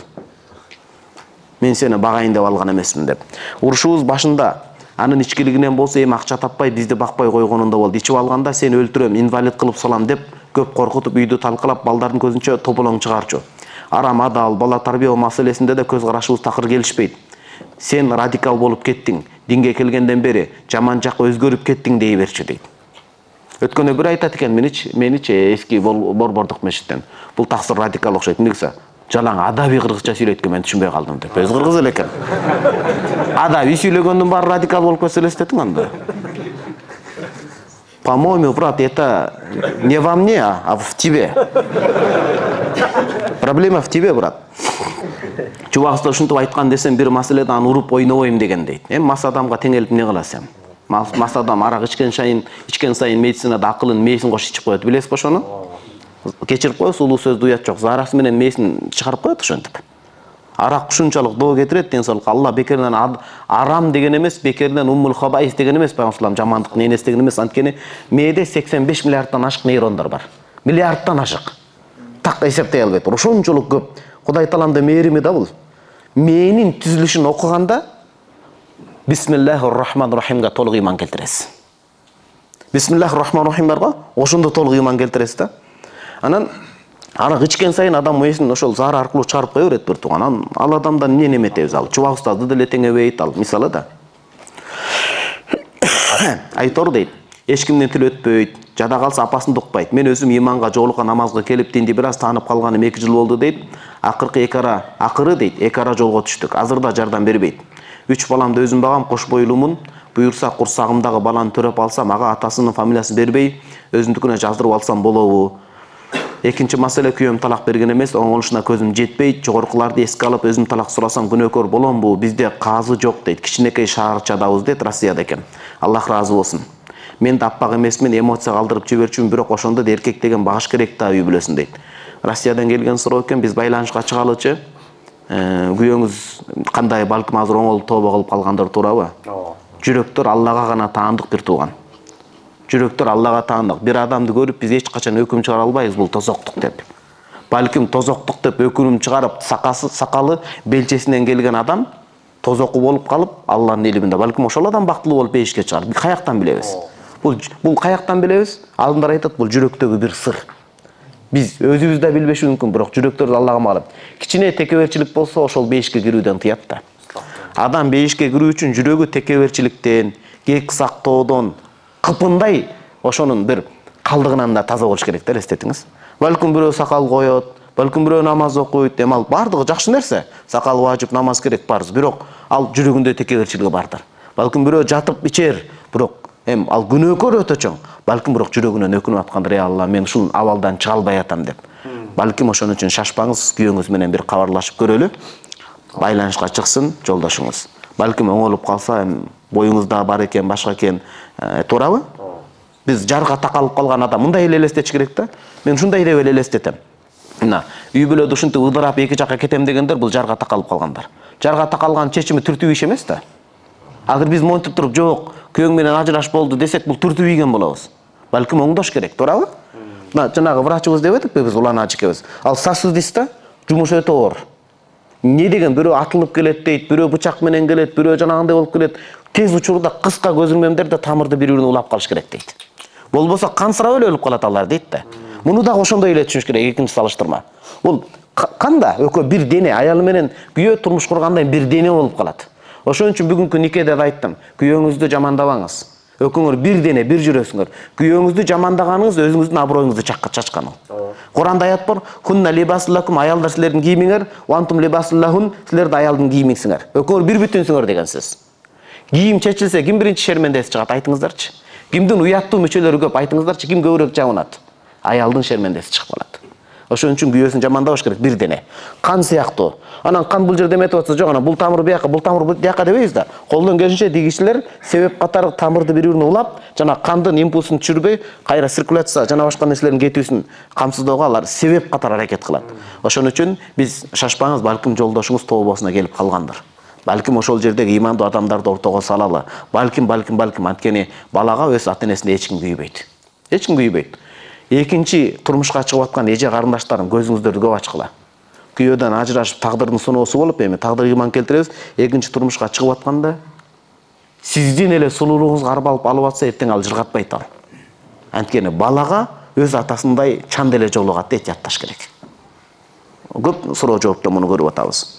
Мен сени багайын деп алган эмесмин деп. Урушубуз башында анын ичкилигинен болсо эми акча таппай бизди бакпай койгонунда болду. Ичип алганда сени өлтүрөм, инвалид кылып салам деп көп коркутуп үйдү талкалап, балдардын көзүнчө тополоң чыгарчу. Арам адал, бала тарбия маселесинде да көз карашыбыз такыр келишпейт. Сен радикал болуп кеттиң, динге келгенден бери жаман жакка өзгөрүп кеттиң дей берчи дейт. Өткөндө бир айтат экен, меничи эски борбордук мешиттен. Бул таксыр радикал окшойт. Эмнеге? Жалаң адабий кыргызча сүйлөйт экен, мен түшүнбөй калдым деп. Өз кыргыз эле экен. Адабий сүйлөгөндүн баары радикал болуп кетсе элестетиң анда. По-моему, брат, это не во мне, а в тебе. Проблема в тебе, брат. Чубак уста ушинтип айткан десем, бир маселеде аны уруп ойнобойм деген дейт. Эми мас адамга теңелип эмне кыласың? Мас адам арак ичкен сайын, ичкен сайын медицинада акылын, мээсин кошуп ичип коет. Билесизби ошону? Кечирип коебуз, улуу сөздү уят жок. Зарасы менен мээсин чыгарып коет ошентип. Арак ушунчалык доо кетирет деңсоолукка. Алла бекеринен арам деген эмес, бекеринен уммул хабаис деген эмес, пайгамбар жамандык ненес деген эмес. Анткени мээде сексен беш миллиардтан ашык нейрондар бар. Миллиардтан ашык. Так эсептей албайт. Ошончолук көп. Кудай тааланын мээрими да бул. Мээнин түзүлүшүн окуганда Бисмиллахир-рахманир-рахимге толук ыйман келтиресиз. Бисмиллахир-рахманир-рахим барго, ошондо толук ыйман келтиресиз да. Анан арак ичкен сайын адам мээсин ошол заар аркылуу чыгарып кое берет бир тууган. Анан ал адамдан эмне неметебиз ал? Чубак устазды деле теңебейт ал, мисалы да. Айтор дейт, эч кимдин тили өтпөйт, жада калса апасын укпайт. Мен өзүм иманга, жоолукка, намазга келип динди бир аз таанып калганым эки жыл болду дейт. Акыркы эки ара, акыры дейт, эки ара жолго түштүк. Азырда жардам бербейт. Үч баламды өзүм багам, кош бойлуумун. Буюрса курсагымдагы баланы төрөп алсам, ага атасынын фамилиясын бербей, өзүмдүкүнө жаздырып алсам болобу? Экинчи маселе, күйөөм талак берген эмес, оңолушуна көзүм жетпейт. Жогоркуларды эске алып, өзүм талак сурасам күнөөкөр боломбу? Бизде казы жок дейт. Кичинекей шаарчадабыз дейт, Россияда экен. Аллах ыраазы болсун. Мен да аппак эмесмин, эмоция калтырып жиберчүмүн, бирок ошондо да эркек деген багыш керек да, үй бүлөсүн дейт. Россиядан келген суроо экен, биз байланышка чыгалычы. Күйөөңүз кандай, балким азыр оңолуп тобо кылып калгандыр туурабы? Жүрөктөр Аллага гана таандык бир тууган. Жүрөктөр Аллага таандык. Бир адамды көрүп биз эч качан өкүм чыгара албайбыз, бул тозоктук деп. Балким тозоктук деп өкүм чыгарып, сакасы, сакалы белчесинен келген адам тозоку болуп калып, Алланын илиминде балким ошол адам бактылуу болуп бейишке чыгар. Биз каяктан билебиз? Бул бул каяктан билебиз? Алдындар айтат, бул жүрөктөгү бир сыр. Биз өзүбүз да билбеши мүмкүн, бирок жүрөктөрдү Аллага маалым. Кичине текеберчилик болсо, ошол бейишке кирүүдөн тыят да. Адам бейишке кирүү үчүн жүрөгү текеберчиликтен, кек сактоодон кыпындай ошонун бир калдыгынан да таза болуш керек да, элестетиңиз. Балким бирөө сакал коет, балким бирөө намаз окуйт, эми ал бардыгы жакшы нерсе. Сакал важип, намаз керек, парз, бирок ал жүрөгүндө текеберчилиги бардыр. Балким бирөө жатып ичер, бирок эми ал күнөөкөр өтө чоң. Балким бирок жүрөгүнөн өкүнүп аткандыр, ey Алла, мен ушул абалдан чыга албай атам деп. Балким ошон үчүн шашпаңыз, күйөөңүз менен бир кабарлашып көрөлү. Байланышка чыксын жолдошуңуз. Балким оңолуп калса, эми боюңузда бар экен, башка экен, туурабы? Биз жарга такалып калган адам мындай эле элестетиш керек да. Мен ушундай деп эле элестетем. Мына, үй бүлөдө ушинтип ыдырап эки жакка кетем дегендер бул жарга такалып калгандар. Жарга такалган чечими түртүү иш эмес да. Агар биз монтип туруп, жок, күйөөң менен ажыраш болду десек, бул түртүү ийген болобуз. Балким оңдош керек, туурабы? Мына, жанагы врачыбыз деп этикпи биз, улан ажыкебиз. Ал сосудиста жумуш өтө оор. Не деген, бирөө атылып келет дейт, бирөө бычак менен келет, бирөө жанагындай болуп келет. Тез учурда кыска көзүрмөмдөрдө тамырды бири-бирине улап калыш керек дейт. Болбосо кансырап эле өлүп калат алар дейт да. Муну дагы ошондой эле түшүнүш керек, экинчи салыштырма. Бул канда экөө бир дене, аялы менен күйөө турмуш кургандан бир дене болуп калат. Ошон үчүн бүгүнкү никеде да айттым, күйөөңүздү жамандабаңыз. Экөөңөр бир дене, бир жүрөсүңөр. Күйөөңүздү жамандаганыңыз өзүңүздүн аброюңузду чакка чачканы. Куранда аят бар: "Хунна либасуллакум", аялдар силердин кийимиңер, "Ва антум либасуллахун", силер да аялдын кийимиңсиңер. Экөөңөр бир бүтүнсүңөр деген сөз. Кийим чечилсе, ким биринчи шермендеси чыгат, айтыңыздарчы. Кимдин уяттуу мүчөлөрү көп, айтыңыздарчы, ким көбүрөөк жабынат? Аялдын шермендеси чыгып калат. Ошон үчүн күйөөсүн жамандабаш керек, бир дене. Кан сыяктуу. Анан кан бул жерде эметип атса, жок, анан бул тамыр бияка, бул тамыр бул жака дебейбиз да. Колдон келишинче дигичилер себеп катары тамырды бири-бирине улап, жана кандын импульсун түшүрбөй, кайра циркуляция жана башка нерселердин кетүүсүн камсыздоого алар себеп катары аракет кылат. Ошон үчүн биз шашпаңыз, балким жолдошуңуз тообосуна келип калгандыр. Балким ошол жердеги имандуу адамдарды ортого салалы. Балким, балким, балким, анткени балага өз ата-энесинде эч ким күйбөйт. Эч ким күйбөйт. Экинчи турмушка чыгып аткан эже карындаштарым, көзүңүздөрдү көп ачкыла. Күйөөдөн ажырашып тагдырдын сыноосу болуп, эми тагдыр ыйман келтиребиз. Экинчи турмушка чыгып атканда сиздин эле сулуулугуңузга арбалып алып атса, эртең ал жыргатпайт ал. Анткени балага өз атасындай чан деле жолугат дейт, жатташ керек. Көп суроо жоопто муну көрүп атабыз.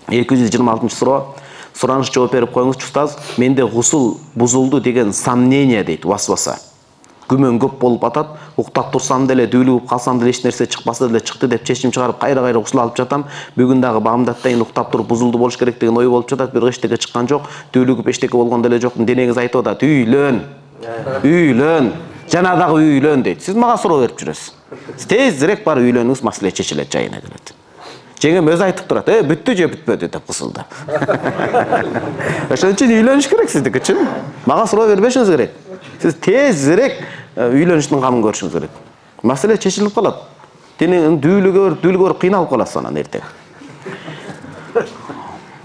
эки жүз жыйырма алтынчы суроо. Сураныш жооп берип коюңузчу устаз. Менде гусул бузулду деген сомнение дейт, васваса. Күмөн көп болуп атат. Уктап турсам деле, дүүлүгүп калсам деле эч нерсе чыкпаса деле чыкты деп чечим чыгарып кайра-кайра гусул алып жатам. Бүгүн дагы баамда атайын уктап туруп бузулду болуш керек деген ой болуп жатат. Бирок эчтеке чыккан жок. Дүүлүгүп эчтеке болгон деле жок. Денеңиз айтып атат: "Үйлөн. Үйлөн. Жана дагы үйлөн" дейт. Сиз мага суроо берип жүрөсүз. Сиз тезирээк барып үйлөнүңүз, маселе чечилет, жайына келет. Жеңем өзү айтып турат: "Э, бүттү же бүтпөдү" деп кысылды. Ошон үчүн үйлөнүш керек сиздики үчүн. Мага суроо бербешиңиз керек. Сиз тезирээк үйлөнүштүн камын көрүшүңүз керек. Маселе чечилип калат. Денең дүүлүгө, дүүлүгө кыйналып каласыз анан эртең.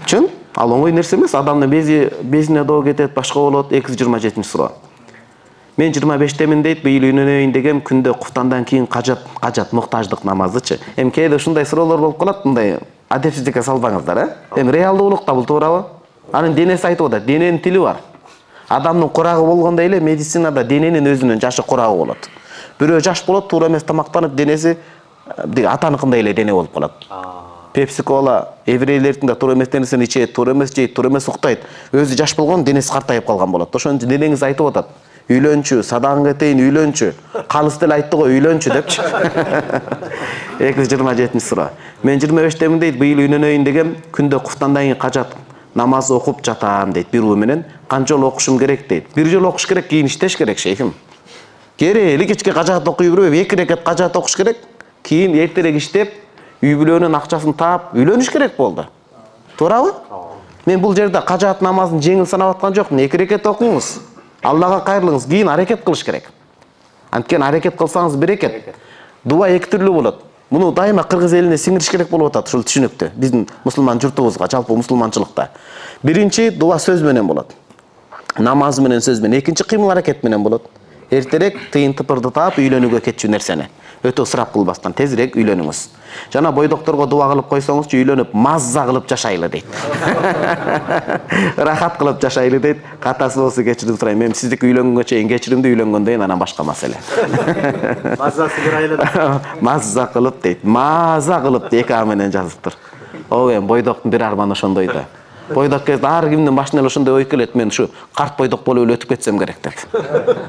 Чын? Ал оңой нерсе эмес. Адамдын бези, безине доо кетет, башка болот. эки жүз жыйырма жетинчи суроо. Мен жыйырма бештемин дейт, быйыл үйлөнөйүн дегем, күндө куфтандан кийин кажат, кажат муктаждык намазычы. Эми кээде ушундай суроолор болуп калат, мындай адепсиздикке салбаңыздар, э? Эми реалдуулукта бул туурабы? Анын денеси айтып атат, дененин тили бар. Адамдын курагы болгондой эле медицинада дененин өзүнүн жашы курагы болот. Бирөө жаш болот, туура эмес тамактанып, денеси атаныкындай эле дене болуп калат. Пепси кола, еврейлердин да туура эмес нерсени ичет, туура эмес жейт, туура эмес уктайт. Өзү жаш болгон, денеси картайып калган болот. Ошон үчүн денеңиз айтып атат: "Үйлөнчү, садагың кетейин, үйлөнчү. Калыс деле айтты го, үйлөнчү" депчи. эки жүз жыйырма жетинчи суроо. Мен жыйырма бештемин дейт, быйыл үйлөнөйүн дегем, күндө куфтандан кийин кажат намаз окуп жатам дейт бир уу менен. Канча жолу окушум керек дейт. Бир жолу окуш керек, кийин иштеш керек, шейхим. Керели кечке кажат окуй бербей, эки рекет кажат окуш керек. Кийин эртерээк иштеп, үй бүлөнүн акчасын таап, үйлөнүш керек болду. Туурабы? Мен бул жерде кажат намазын жеңил санап аткан жокмун. эки рекет окуңуз. Аллага кайрылыңыз, кийин аракет кылыш керек. Анткени аракет кылсаңыз берекет. Дуа эки түрлүү болот. Муну дайыма кыргыз элине сиңириш керек болуп атат, ушул түшүнүктү. Биздин мусулман журтубузга, жалпы мусулманчылыкта. Биринчи дуа сөз менен болот. Намаз менен, сөз менен. Экинчи кыймыл аракет менен болот. Эртерээк тыйын тыпырды таап үйлөнүүгө кетчү нерсени. Өтө ысырап кылбастан тезирээк үйлөнүңүз. Жана бойдокторго дуа кылып койсоңузчу, үйлөнүп мазза кылып жашайлы дейт. Рахат кылып жашайлы дейт. Катасы болсо кечирим сурайм. Мен сиздики үйлөнгөнгө чейин кечиримди, үйлөнгөндөн кийин анан башка маселе. Маззасы кырайлы. Мазза кылып дейт. Маза кылып эки а менен жазыптыр. О, эми бойдоктун бир арманы ошондой да. Бойдок кезде ар кимдин башына эле ошондой ой келет. Мен ушу карт бойдок болуп эле өтүп кетсем керек деп.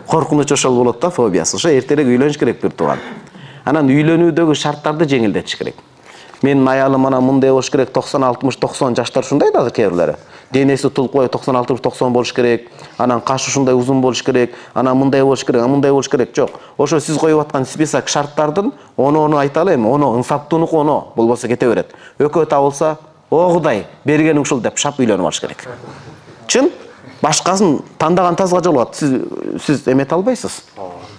Коркунуч ошол болот да, фобиясы. Ошо эртерээк үйлөнүш керек бир тууган. Анан үйлөнүүдөгү шарттарды жеңилдетиш керек. Менин аялым анан мындай болуш керек, токсон алтымыш токсон жаштар ушундай да азыр кээ бирлери. Денеси тулкубай токсон алтымыш токсон болуш керек. Анан каш ушундай узун болуш керек. Анан мындай болуш керек, мындай болуш керек. Жок. Ошо сиз коюп аткан список шарттардын ону-ону айталы эми. Ону ынсаптуунуку ону, болбосо кете берет. Экөө табылса, о Кудай, бергениң ушул деп шап үйлөнүп алыш керек. Чын? Башкасын тандаган тазга жолугат. Сиз сиз эмете албайсыз.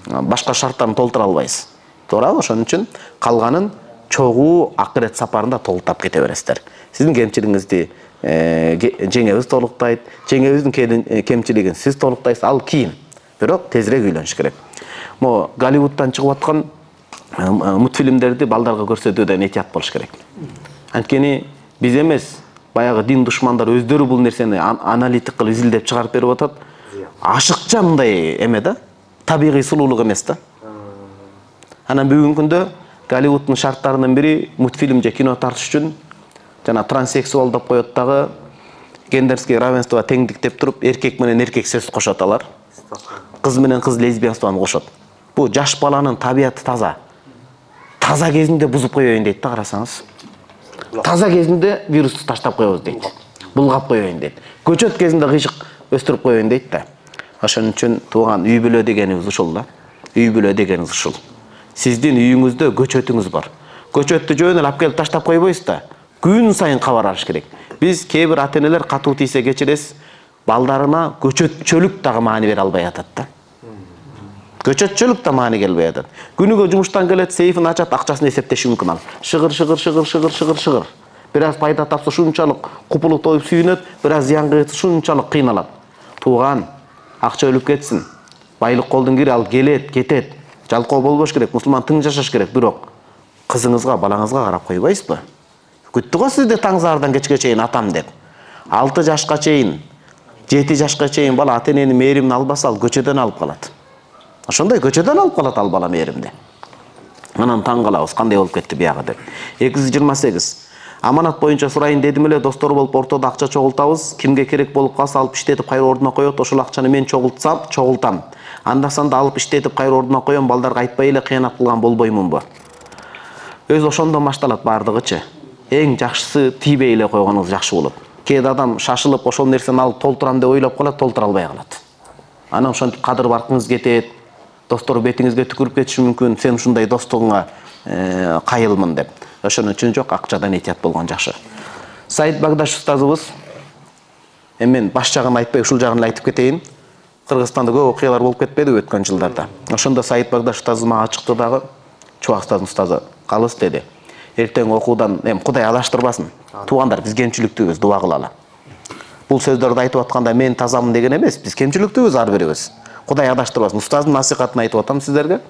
Башка шарттарын толтура албайсыз. Туурабы? Ошон үчүн калганын чогуу акырет сапарында толуктап кете бересиздер. Сиздин кемчилигиңизди жеңебиз толуктайт, жеңебиздин кемчилигин сиз толуктайсыз, ал кийин. Бирок тезирээк үйлөнүш керек. Могу Голливудтан чыгып аткан мультфильмдерди балдарга көрсөтүүдө этият болуш керек. Анткени биз эмес, баягы дин душмандар өздөрү бул нерсени аналитик кылып изилдеп чыгарып берип атат. Ашыкча мындай эме да, табигый сулуулук эмес да. Анан бүгүнкү күндө Голливудтун шарттарынын бири мультфильм же кино тартыш үчүн жана транссексуал деп коет дагы, гендерский равенство, теңдик деп туруп, эркек менен эркек сөз кошот алар. Кыз менен кыз лесбиянствону кошот. Бул жаш баланын табияты таза. Таза кезинде бузуп коеюн дейт да, карасаңыз. Таза кезинде вирусту таштап коебуз дейт. Булгап коеюн дейт. Көчөт кезинде кыйшык өстүрүп коеюн дейт да. Ошон үчүн тууган үй бүлө дегенибиз ушул да. Үй бүлө дегенибиз ушул. Сиздин үйүңүздө көчөтүңүз бар. Көчөттү жөн эле алып келип таштап койбойсуз да. Күн сайын кабар алыш керек. Биз кээ бир ата-энелер катуу тийсе кечиресиз, балдарына көчөтчөлүк дагы маани бере албай атат да. Көчөтчөлүк да маани келбей атат. Күнүгө жумуштан келет, сейфин ачат, акчасын эсептеши мүмкүн ал. Шыгыр, шыгыр, шыгыр, шыгыр, шыгыр, шыгыр. Бир аз пайда тапса шунчалык купулу тоюп сүйүнөт, бир аз зыянга кетсе шунчалык кыйналат. Тууган, акча өлүп кетсин. Байлык колдун кири, ал келет, кетет. Жалкоо болбош керек, мусулман тың жашаш керек, бирок кызыңызга, балаңызга карап койбойсузбу? Күттү го сизди таңзаардан кечке чейин атам деп. алты жашка чейин, жети жашка чейин бала ата-эненин мээримин албаса, ал көчөдөн алып калат. Ошондой көчөдөн алып калат ал бала мээримди. Анан таң калабыз, кандай болуп кетти биягы деп. эки жүз жыйырма сегиз. Аманат боюнча сурайын дедим эле, достор болуп ортодо акча чогултабыз. Кимге керек болуп калса алып иштетип кайра ордуна коет. Ошол акчаны мен чогултсам, чогултам. Анда санда алып иштетип кайра ордуна коем, балдарга айтпай эле кыянат кылган болбоймунбу? Өзү ошондон башталат бардыгычы. Эң жакшысы тийбей эле койгонуңуз жакшы болот. Кээ адам шашылып ошол нерсени алып толтурам деп ойлоп калат, толтура албай калат. Анан ошентип кадыр баркыңыз кетет. Достор бетиңизге түкүрүп кетиши мүмкүн. Сен ушундай достугуңа кайылмын деп. Ошон үчүн жок, акчадан этият болгон жакшы. Саид Багдаш устазыбыз, эми мен баш жагын айтпай, ушул жагын айтып кетейин. Кыргызстанда көп окуялар болуп кетпедиби өткөн жылдарда. Ошондо Саид Багдаш устазы мага чыкты дагы, Чубак устаздын устазы, калыс деди. Эртең окуудан, эми Кудай адаштырбасын. Туугандар, биз кемчиликтүүбүз, дуа кылалы. Бул сөздөрдү айтып атканда мен тазамын деген эмес, биз кемчиликтүүбүз ар бирибиз. Кудай адаштырбасын. Устаздын насихатын айтып атам сиздерге.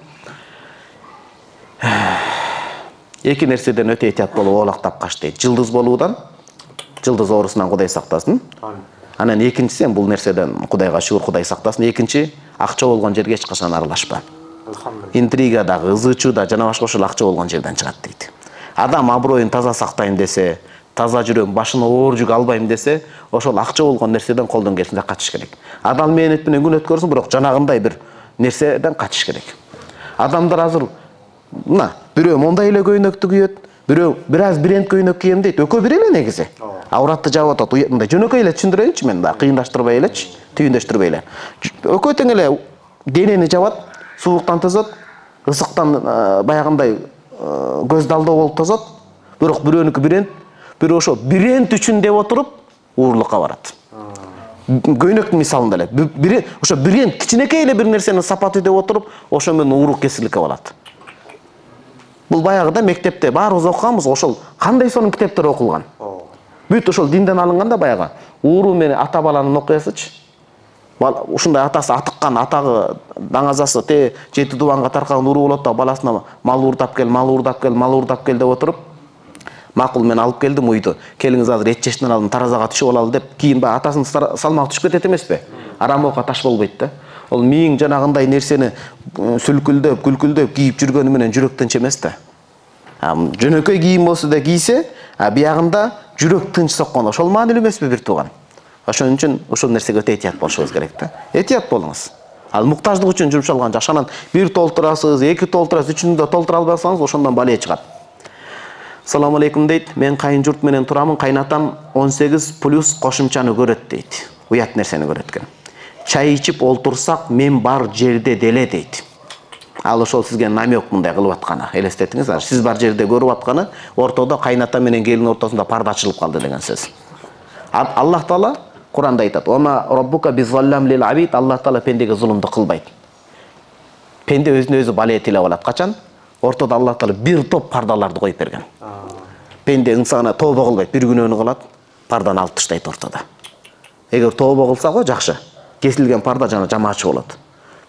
Эки нерседен өтө этият болуп оолактап каш дейт. Жылдыз болуудан, жылдыз оорусунан Кудай сактасын. Анан экинчиси, бул нерседен Кудайга шүгүр, Кудай сактасын. Экинчи, акча болгон жерге эч качан аралашпа. Интрига да, ызычуу да, жана башка ошол акча болгон жерден чыгат дейт. Адам аброюн таза сактайм десе, таза жүрөм, башына оор жүк албайм десе, ошол акча болгон нерседен колдон келсинче качыш керек. Адал мээнет менен күн өткөрсүн, бирок жанагындай бир нерседен качыш керек. Адамдар азыр мына бирөө мондай эле көйнөктү кийет, бирөө бир аз бренд көйнөк кийем дейт. Экөө бир эле негизи. Ауратты жаап атат. Мындай жөнөкөй эле түшүндүрөйүнчү мен да, кыйындаштырбай элечи, түйүндөштүрбөй эле. Экөө тең эле денени жабат, сууктан тозот, ысыктан баягындай көздү алдоо болуп тозот. Бирок бирөөнүкү бренд, бирөө ошо бренд үчүн деп отуруп уурлукка барат. Көйнөктүн мисалында эле. Бир ошо бренд кичинекей эле бир нерсенин сапаты деп отуруп, ошо менен уурук кесиликке болот. Бул баягыда мектепте баарыбыз окуганбыз, ошол кандай сонун китептер окулган. Бүт ошол динден алынганда баягы ууруу менен ата баланын окуясычы. Ушундай атасы атыккан, атагы даңазасы те жети дубанга таркаган ууруу болот да, баласына мал уурдап кел, мал уурдап кел, мал уурдап кел деп отуруп, макул мен алып келдим уйду. Келиңиз азыр эт жештен алып таразага түшүп алалы деп, кийин баягы атасынын салмагы түшүп кетет эмеспи? Арамокко таш болбойт да. Ол миң жанагындай нерсени сүлкүлдөп, күлкүлдөп кийип жүргөнү менен жүрөк тынч эмес да. Жөнөкөй кийим болсо да кийсе, биягында жүрөк тынч соккон. Ошол маанилүү эмеспи бир тууган? Ошон үчүн ушул нерсеге өтө этият болушубуз керек да. Этият болуңуз. Ал муктаждык үчүн жумшалган жакшы. Анан бир толтурасыз, эки толтурасыз, үчүнү да толтура албасаңыз, ошондон бале чыгат. Салам алейкум дейт. Мен кайын журт менен турамын. Кайнатам он сегиз плюс кошумчаны көрөт дейт. Уят нерсени көрөт экен. Чай ичип олтурсак, мен бар жерде деле дейт. Ал ошол сизге намек мындай кылып атканы. Элестетиңиз, сиз бар жерде көрүп атканы, ортодо кайната менен келин ортосунда парда ачылып калды деген сөз. Аллах Таала Куранда айтат: "Ома роббука бизаллам лил абид", Аллах Таала пендеге зулумду кылбайт. Пенде өзүнө өзү бале тилеп алат. Качан? Ортодо Аллах Таала бир топ пардаларды коюп берген. Пенде инсана тобо кылбайт, бир күнөөнү кылат, парданы алып таштайт ортодо. Эгер тобо кылса го жакшы. Кесилген парда жана жамаачы болот.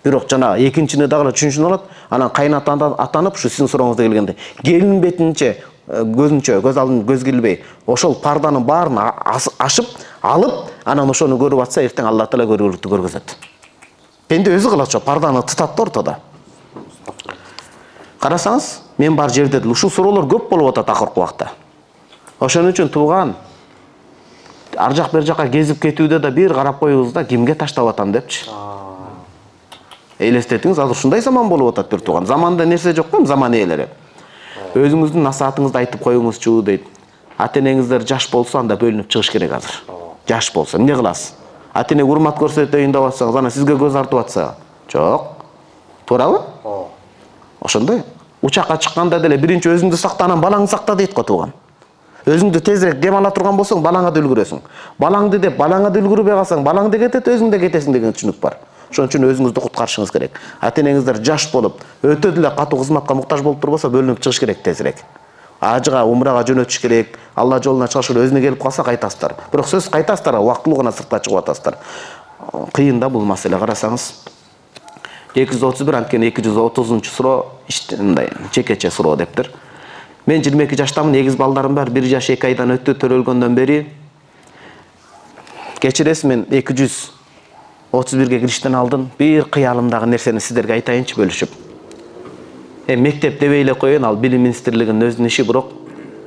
Бирок жана экинчини дагы үчүнчүнү алат, анан кайнатадан атанып, ушу сиздин сурооңузга келгенде, келин бетинче көзүнчө, көз алдын көз килбей, ошол парданын баарын ашып, алып, анан ошону көрүп атса, эртең Аллах Таала көргүлүктү көргөзөт. Пенде өзү кылат ошо, парданы тытат да ортодо. Карасаңыз, мен бар жерде ушул суроолор көп болуп атат акыркы убакта. Ошон үчүн тууган, ар жак бер жака кезип кетүүдө да бир карап коюңуз да, кимге таштап атам депчи. Элестетиңиз, азыр ушундай заман болуп атат бир тууган. Заманда нерсе жок да, заман ээлери. Өзүңүздүн насаатыңызды айтып коюңузчу дейт. Ата-энеңиздер жаш болсо анда бөлүнүп чыгыш керек азыр. Жаш болсо эмне кыласыз? Ата-эне урмат көрсөтөйүн деп атсаңыз, ана сизге көз артып атса, жок. Туурабы? Ошондой. Учакка чыкканда деле биринчи өзүңдү сакта, анан балаңды сакта дейт го тууган. Өзүңдү тезирээк дем ала турган болсоң, балаңа да үлгүрөсүң. Балаңды деп, балаңа да үлгүрбөй калсаң, балаң да кетет, өзүң да кетесиң деген түшүнүк бар. Ошон үчүн өзүңүздү куткарышыңыз керек. Ата-энеңиздер жаш болуп, өтө деле катуу кызматка муктаж болуп турбосо, бөлүнүп чыгыш керек тезирээк. Ажыга, умрага жөнөтүш керек. Алла жолуна чыгыш керек. Өзүнө келип калса кайтасыздар. Бирок сөз кайтасыздар, убактылуу гана сыртка чыгып атасыздар. Кыйын да бул маселе, карасаңыз. эки жүз отуз бир, анткени эки жүз отузунчу суроо мындай чекече суроо дептир. Мен жыйырма эки жаштамын, эгиз балдарым бар, бир жаш эки айдан өттү, төрөлгөндөн бери. Кечиресиз, мен эки жүз отуз бирге кириштен алдым. Бир кыялымдагы нерсени сиздерге айтайынчы бөлүшүп. Эми мектеп дебей эле коеюн, ал билим министрлигинин өзүнүн иши, бирок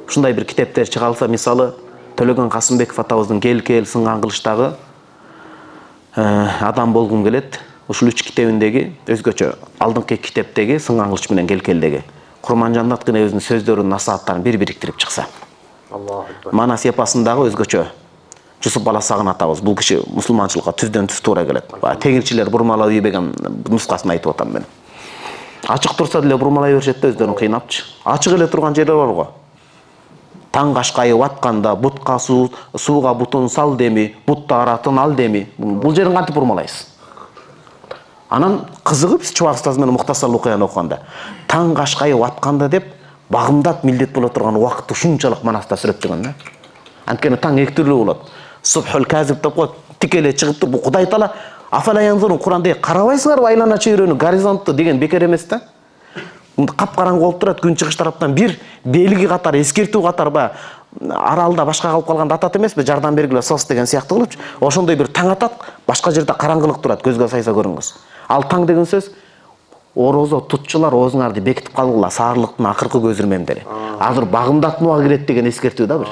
ушундай бир китептер чыгарылса, мисалы Төлөгөн Касымбеков атабыздын Кел кел сынган кылычтагы адам болгум келет. Ушул үч китебиндеги өзгөчө алдыңкы китептеги сынган кылыч менен Кел келдеги Курманжанат гана өзүнүн сөздөрүнүн насааттарын бир бириктирип чыкса. Аллаху акбар. Манас эпосундагы өзгөчө Жусуп Баласагын атабыз, бул киши мусулманчылыкка түздөн түз туура келет. Теңирчилер бурмалап ийбеген нускасын айтып атам мен. Ачык турса деле бурмалай беришет да, өздөрүн кыйнапчы. Ачык эле турган жери бар го. Таң кашкайып атканда бутка суу, сууга бутун сал деми, бутта аратын ал деми. Бул жерин кантип бурмалайсыз? Анан кызыгып Чубак устаз менен Муктасар окуяны окуганда, таң кашкайып атканда деп багымдап милдет боло турган убакытты ушунчалык манаста сүрөттөгөн да. Анткени таң эки түрлүү болот. Субхул казиб деп коет, тикеле чыгып туруп, Кудай Таала афала янзурун Куранда карабайсыңарбы айлана чөйрөнү, горизонтту деген бекер эмес да. Капкараңгы болуп турат, күн чыгыш тараптан бир белги катар, эскертүү катар ба аралда башка калып калганда атат эмеспи, жардам бергиле сос деген сыяктуу кылыпчы. Ошондой бир таң атат, башка жерде караңгылык турат, көзгө сайса көрүнгүс. Ал таң деген сөз орозо тутчулар оозуңарды бекитип калгыла, саарлыктын акыркы көзүрмемдери. Азыр багымдатууга кирет деген эскертүү да бир.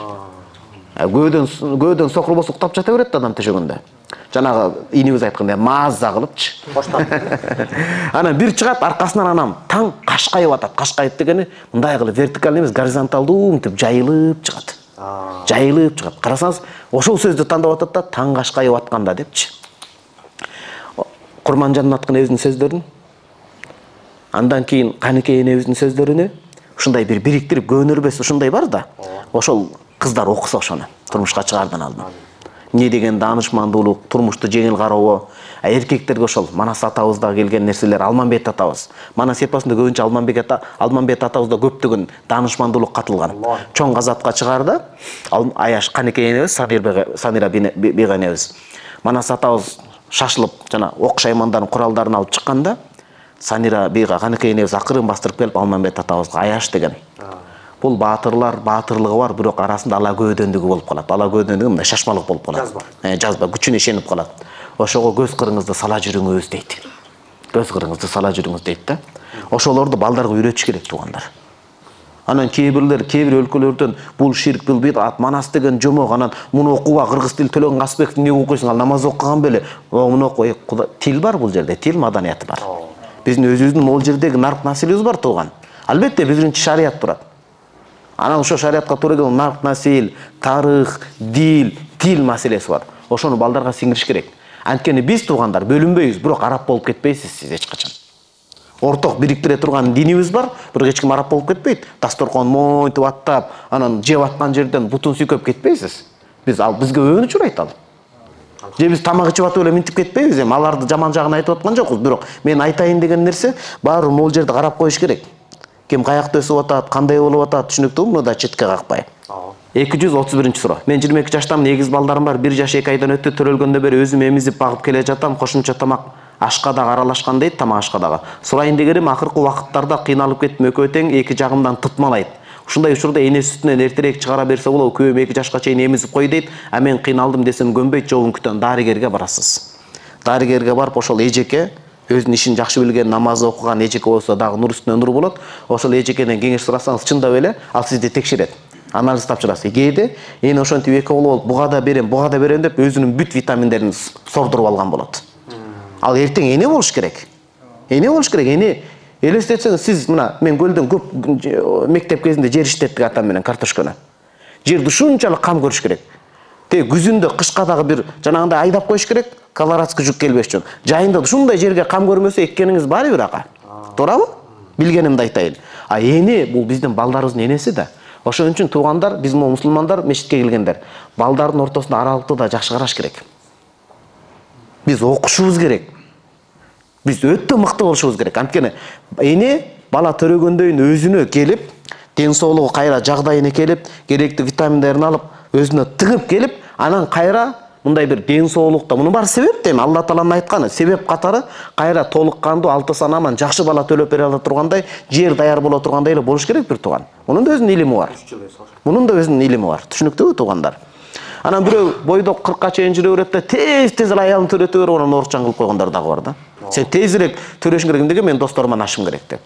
Көөдөн көөдөн сокурбос уктап жата берет да адам төшөгөндө. Жанагы инибиз айткандай маза кылыпчы. Анан бир чыгат, аркасынан анам таң кашкайып атат. Кашкайып дегени мындай кылып вертикаль эмес, горизонталдуу мынтип жайылып чыгат. Жайылып чыгат. Карасаңыз, ошол сөздү тандап атат да, таң кашкайып атканда депчи. Курманжанаттын өзүнүн сөздөрүн, андан кийин Каныкей энебиздин сөздөрүнө ушундай бир бириктирип көөнөрбөс ушундай бар да. Ошол кыздар окуса ошону турмушка чыгардан алдын. Не деген даанышмандуулук, турмушту жеңил кароо. Эркектерге ошол Манас атабызда келген нерселер, Алмамбет атабыз. Манас эпосунда көбүнчө Алмамбет ата, Алмамбет атабызда көптөгөн даанышмандуулук катылган. Чоң газапка чыгарда Аяш Каныкей энебиз, Санира бийга энебиз. Манас атабыз шашылып, жана ок шаймандардын куралдарын алып чыкканда, Санира бийга Каныкей энебиз акырын бастырып келип Алмамбет атабызга Аяш деген. Бул баатырлар, баатырлыгы бар, бирок арасында ала көөдөндүгү болуп калат. Ала көөдөндүгү мындай шашмалык болуп калат. Жазба. Жазба, күчүнө ишенип калат. Ошого көз кырыңызды сала жүрүңүз дейт. Көз кырыңызды сала жүрүңүз дейт да. Ошолорду балдарга үйрөтүш керек туугандар. Анан кээ бирлер, кээ бир өлкөлөрдөн бул ширк, бул бидат, Манас деген жомок, анан муну окууга кыргыз тил Төлөгөн Касымбековду эмне окуйсуң, ал намаз окуган беле? Муну окуй, тил бар бул жерде, тил маданияты бар. Биздин өзүбүздүн могул жердеги нарк населибиз бар тууган. Албетте биринчи шарият турат. Анан ошо шариатка туура келген нарк насил, тарых, дил, тил маселеси бар. Ошону балдарга сиңириш керек. Анткени биз туугандар бөлүнбөйбүз, бирок араб болуп кетпейсиз сиз эч качан. Орток бириктире турган динибиз бар, бирок эч ким араб болуп кетпейт. Дасторкон монтип аттап, анан жеп аткан жерден бутун сүйкөп кетпейсиз. Биз ал бизге өбүнүч урайт ал. Же биз тамак ичип атып эле минтип кетпейбиз, эми аларды жаман жагын айтып аткан жокпуз, бирок мен айтайын деген нерсе баары могул жерде карап коюш керек. Ким каякта өсүп атат, кандай болуп атат, түшүнүктүүбү? Муну да четке какпай. эки жүз отуз биринчи суроо. Мен жыйырма эки жаштамын, эгиз балдарым бар, бир жаш эки айдан өттү, төрөлгөндөн бери өзүм эмизип багып келе жатам, кошумча тамак ашка дагы аралашкан дейт, тамак ашка дагы. Сурайын дегеним, акыркы убакыттарда кыйналып кеттим, экөө тең эки жагымдан тытмалайт. Ушундай учурда эне сүтүнөн эртерээк чыгара берсе болобу, күйөөм эки жашка чейин эмизип кой дейт, а мен кыйналдым десем көнбөйт, жолун күтөм, дарыгерге барасыз. Дарыгерге барып ошол эжеке өзүнүн ишин жакшы билген, намаз окуган эжеке болсо дагы нур үстүнө нур болот. Ошол эжекеден кеңеш сурасаңыз, чындап эле ал сизди текшерет. Анализ тапшырасыз. Кээде эне ошентип эки болуп, буга да берем, буга да берем деп өзүнүн бүт витаминдерин сордуруп алган болот. Ал эртең эне болуш керек. Эне болуш керек. Эне элестетсеңиз, сиз мына мен көлдөн көп мектеп кезинде жер иштеттик атам менен картошканы. Жерди ушунчалык кам көрүш керек. Те күзүндө кышка дагы бир жанагындай айдап коюш керек, колорадский жүк келбеш үчүн. Жайында ушундай жерге кам көрмөсө эккениңиз баары бир ака. Туурабы? Билгенимди айтайын. А эне бул биздин балдарыбыздын энеси да. Ошон үчүн туугандар, биз мо мусулмандар мешитке келгендер, балдардын ортосунда аралыкты да жакшы караш керек. Биз окушубуз керек. Биз өтө мыкты болушубуз керек. Анткени эне бала төрөгөндөн өзүнө келип, ден соолугу кайра жагдайына келип, керектүү витаминдерин алып, өзүнө тыгып келип, анан кайра мындай бир ден соолукта, мунун баары себеп дейм, Алла Тааланын айтканы, себеп катары кайра толук кандуу, алты санаман жакшы бала төлөп бере ала тургандай, жер даяр боло тургандай эле болуш керек бир тууган. Мунун да өзүнүн илими бар. Мунун да өзүнүн илими бар. Түшүнүктүүбү туугандар? Анан бирөө бойдок кыркка чейин жүрө берет да, тез-тез эле аялын төрөтө берип, анан оорчан кылып койгондар дагы бар да. Сен тезирээк төрөшүң керек эмнеге, мен досторума ашым керек деп.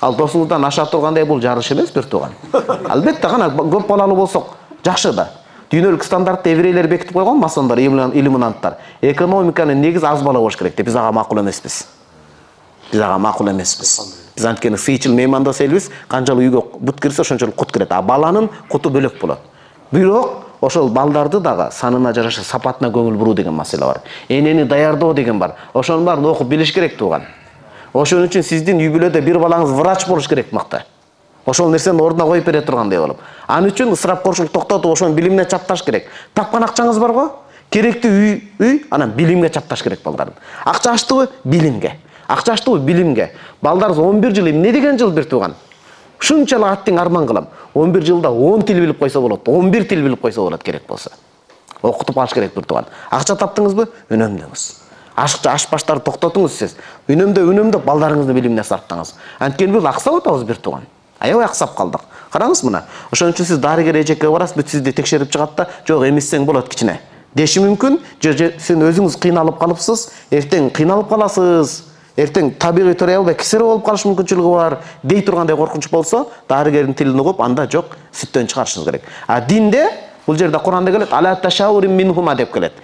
Ал досуңуздан аша тургандай бул жарыш эмес бир тууган. Албетте гана көп балалуу болсок жакшы да. Дүйнөлүк стандартты еврейлер бекитип койгон, масондар, иллюминанттар. Экономиканын негизи аз бала болуш керек деп. Биз ага макул эмеспиз. Биз ага макул эмеспиз. Биз анткени сыйчыл меймандос элбиз, канчалык үйгө бут кирсе ошончолук кут кирет. А баланын куту бөлөк болот. Бирок ошол балдарды дагы санына жараша сапатына көңүл буруу деген маселе бар. Энени даярдоо деген бар. Ошонун баарын окуп билиш керек тууган. Ошон үчүн сиздин үй бүлөдө бир балаңыз врач болуш керек мыкты. Ошол нерсени ордуна коюп бере тургандай болуп. Ал үчүн ысырапкорчулук токтотуп, ошонун билимине чапташ керек. Тапкан акчаңыз барго? Керектүү үй, үй, анан билимге чапташ керек балдарды. Акча аштыбы? Билимге. Акча аштыбы? Билимге. Балдарыңыз он бир жыл, эмне деген жыл бир тууган? Ушунчалык аттың арман кылам. он бир жылда он тил билип койсо болот, он бир тил билип койсо болот керек болсо. Окутуп алыш керек бир тууган. Акча таптыңызбы? Үнөмдөңүз. Ашыкчы аш баштарды токтотуңуз сиз. Үнөмдө, үнөмдө балдарыңыздын билимине сарптаңыз. Анткени биз аксап атабыз бир тууган. Аябай аксап калдык. Караңыз мына. Ошон үчүн сиз дарыгер эжекке барасыз, бүт сизди текшерип чыгат да, жок эмиссең болот кичине. Деши мүмкүн, же сен өзүңүз кыйналып калыпсыз, эртең кыйналып каласыз. Эртең табигый төрөй албай кесаре болуп калыш мүмкүнчүлүгү бар, дей тургандай коркунуч болсо, дарыгердин тилин угуп, анда жок, сүттөн чыгарышыңыз керек. А динде, бул жерде Куранда келет, ала ташаурин минхума деп келет.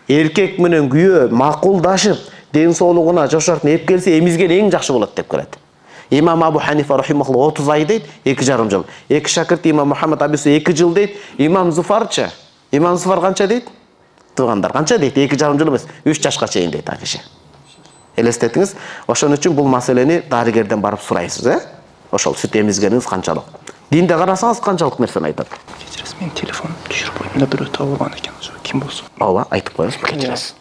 Эркек менен күйөө макулдашып, ден соолугуна жошортуп эп келсе, эмизген эң жакшы болот деп келет. Имам Абу Ханифа рахимахуллах отуз ай дейт, эки жарым жыл. Эки шакирти имам Мухаммад Абису эки жыл дейт. Имам Зуфарчы. Имам Зуфар канча дейт? Туугандар канча дейт? эки жарым жыл эмес, үч жашка чейин дейт ал киши. Элестетиңиз. Ошон үчүн бул маселени дарыгерден барып сурайсыз, э? Ошол сүт эмизгениңиз канчалык? Динде карасаңыз канчалык нерсени айтат. Кечиресиз, мен телефон түшүрүп койдум да, бирөө таап алган экен, ошо ким болсун. Ооба, айтып коюңуз, кечиресиз.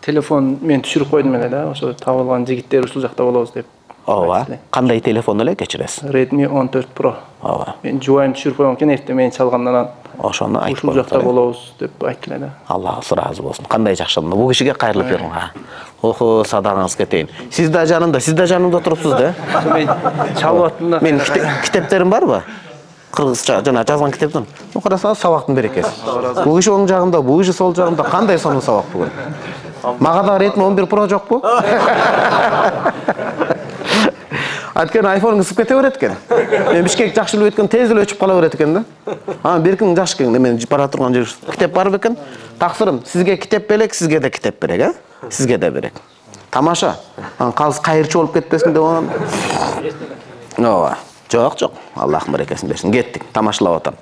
Телефон мен түшүрүп койдум эле да, ошо таап алган жигиттер ушул жакта болобуз деп. Ооба. Кандай телефон эле, кечиресиз? Redmi он төрт Pro. Ооба. Мен жубайым түшүрүп койгон экен, эртең мен чалгандан ошону айтып ушул жакта болобуз деп айттым да. Алла ыраазы болсун. Кандай жакшы. Бул кишиге кайрылып бериң. Охо, садагыңыз кетейин. Сиз да жанымда, сиз да жанымда турупсуз да? Мен чалып аттым да. Мен китептерим барбы? Кыргызча жана жазган китептин. Карасаңыз сабактын берекеси. Бул киши оң жагымда, бул киши сол жагымда, кандай сонун сабак бүгүн? Мага да Redmi он бир Pro жокпу? Анткени айфон ысып кете берет экен. Мен Бишкек жакшы билип өткөн тез эле өчүп кала берет экен да. Анан беркиң жакшы экен, мен бара турган жер китеп барбы экен? Таксырым, сизге китеп белек, сизге да китеп берек, э? Сизге да берек. Тамаша. Анан калыс кайырчы болуп кетпесин деп анан. Ооба. Жок, жок. Аллах берекесин берсин. Кеттик, тамашалап атам.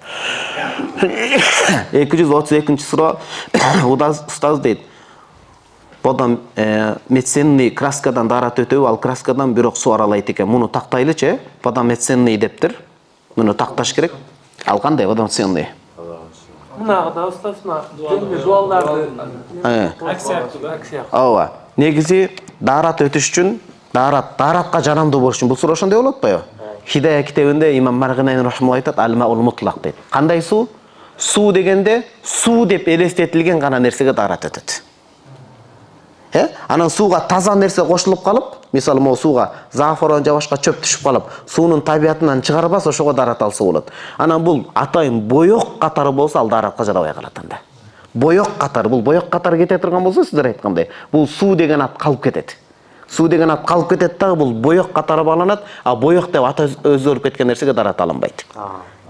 эки жүз отуз экинчи суроо. Устаз дейт. Бодон медицинный краскадан дарат өтөбү, ал краскадан бирок суу аралайт экен. Муну тактайлычы, бодон медицинный дептир. Муну такташ керек. Ал кандай бодон медицинный? Мынагыда устасына деңиз жолдарды акция акция. Ооба. Негизи дарат өтүш үчүн, дарат, даратка жарамдуу болуш үчүн бул суроо ошондой болот атпайбы? Хидая китебинде имам Маргинайн рахмалла айтат, ал-маул мутлак дейт. Кандай суу? Суу дегенде суу деп элестетилген гана нерсеге дарат өтөт. Э? Анан сууга таза нерсе кошулуп калып, мисалы могу сууга зафорон же башка чөп түшүп калып, суунун табиятынан чыгарбас, ошого дарат алса болот. Анан бул атайын боек катары болсо, ал даратка жарабай калат анда. Боек катары, бул боек катары кете турган болсо, сиздер айткандай, бул суу деген ат калып кетет. Суу деген ат калып кетет дагы, бул боек катары бааланат, а боек деп аты өзгөрүп кеткен нерсеге дарат алынбайт.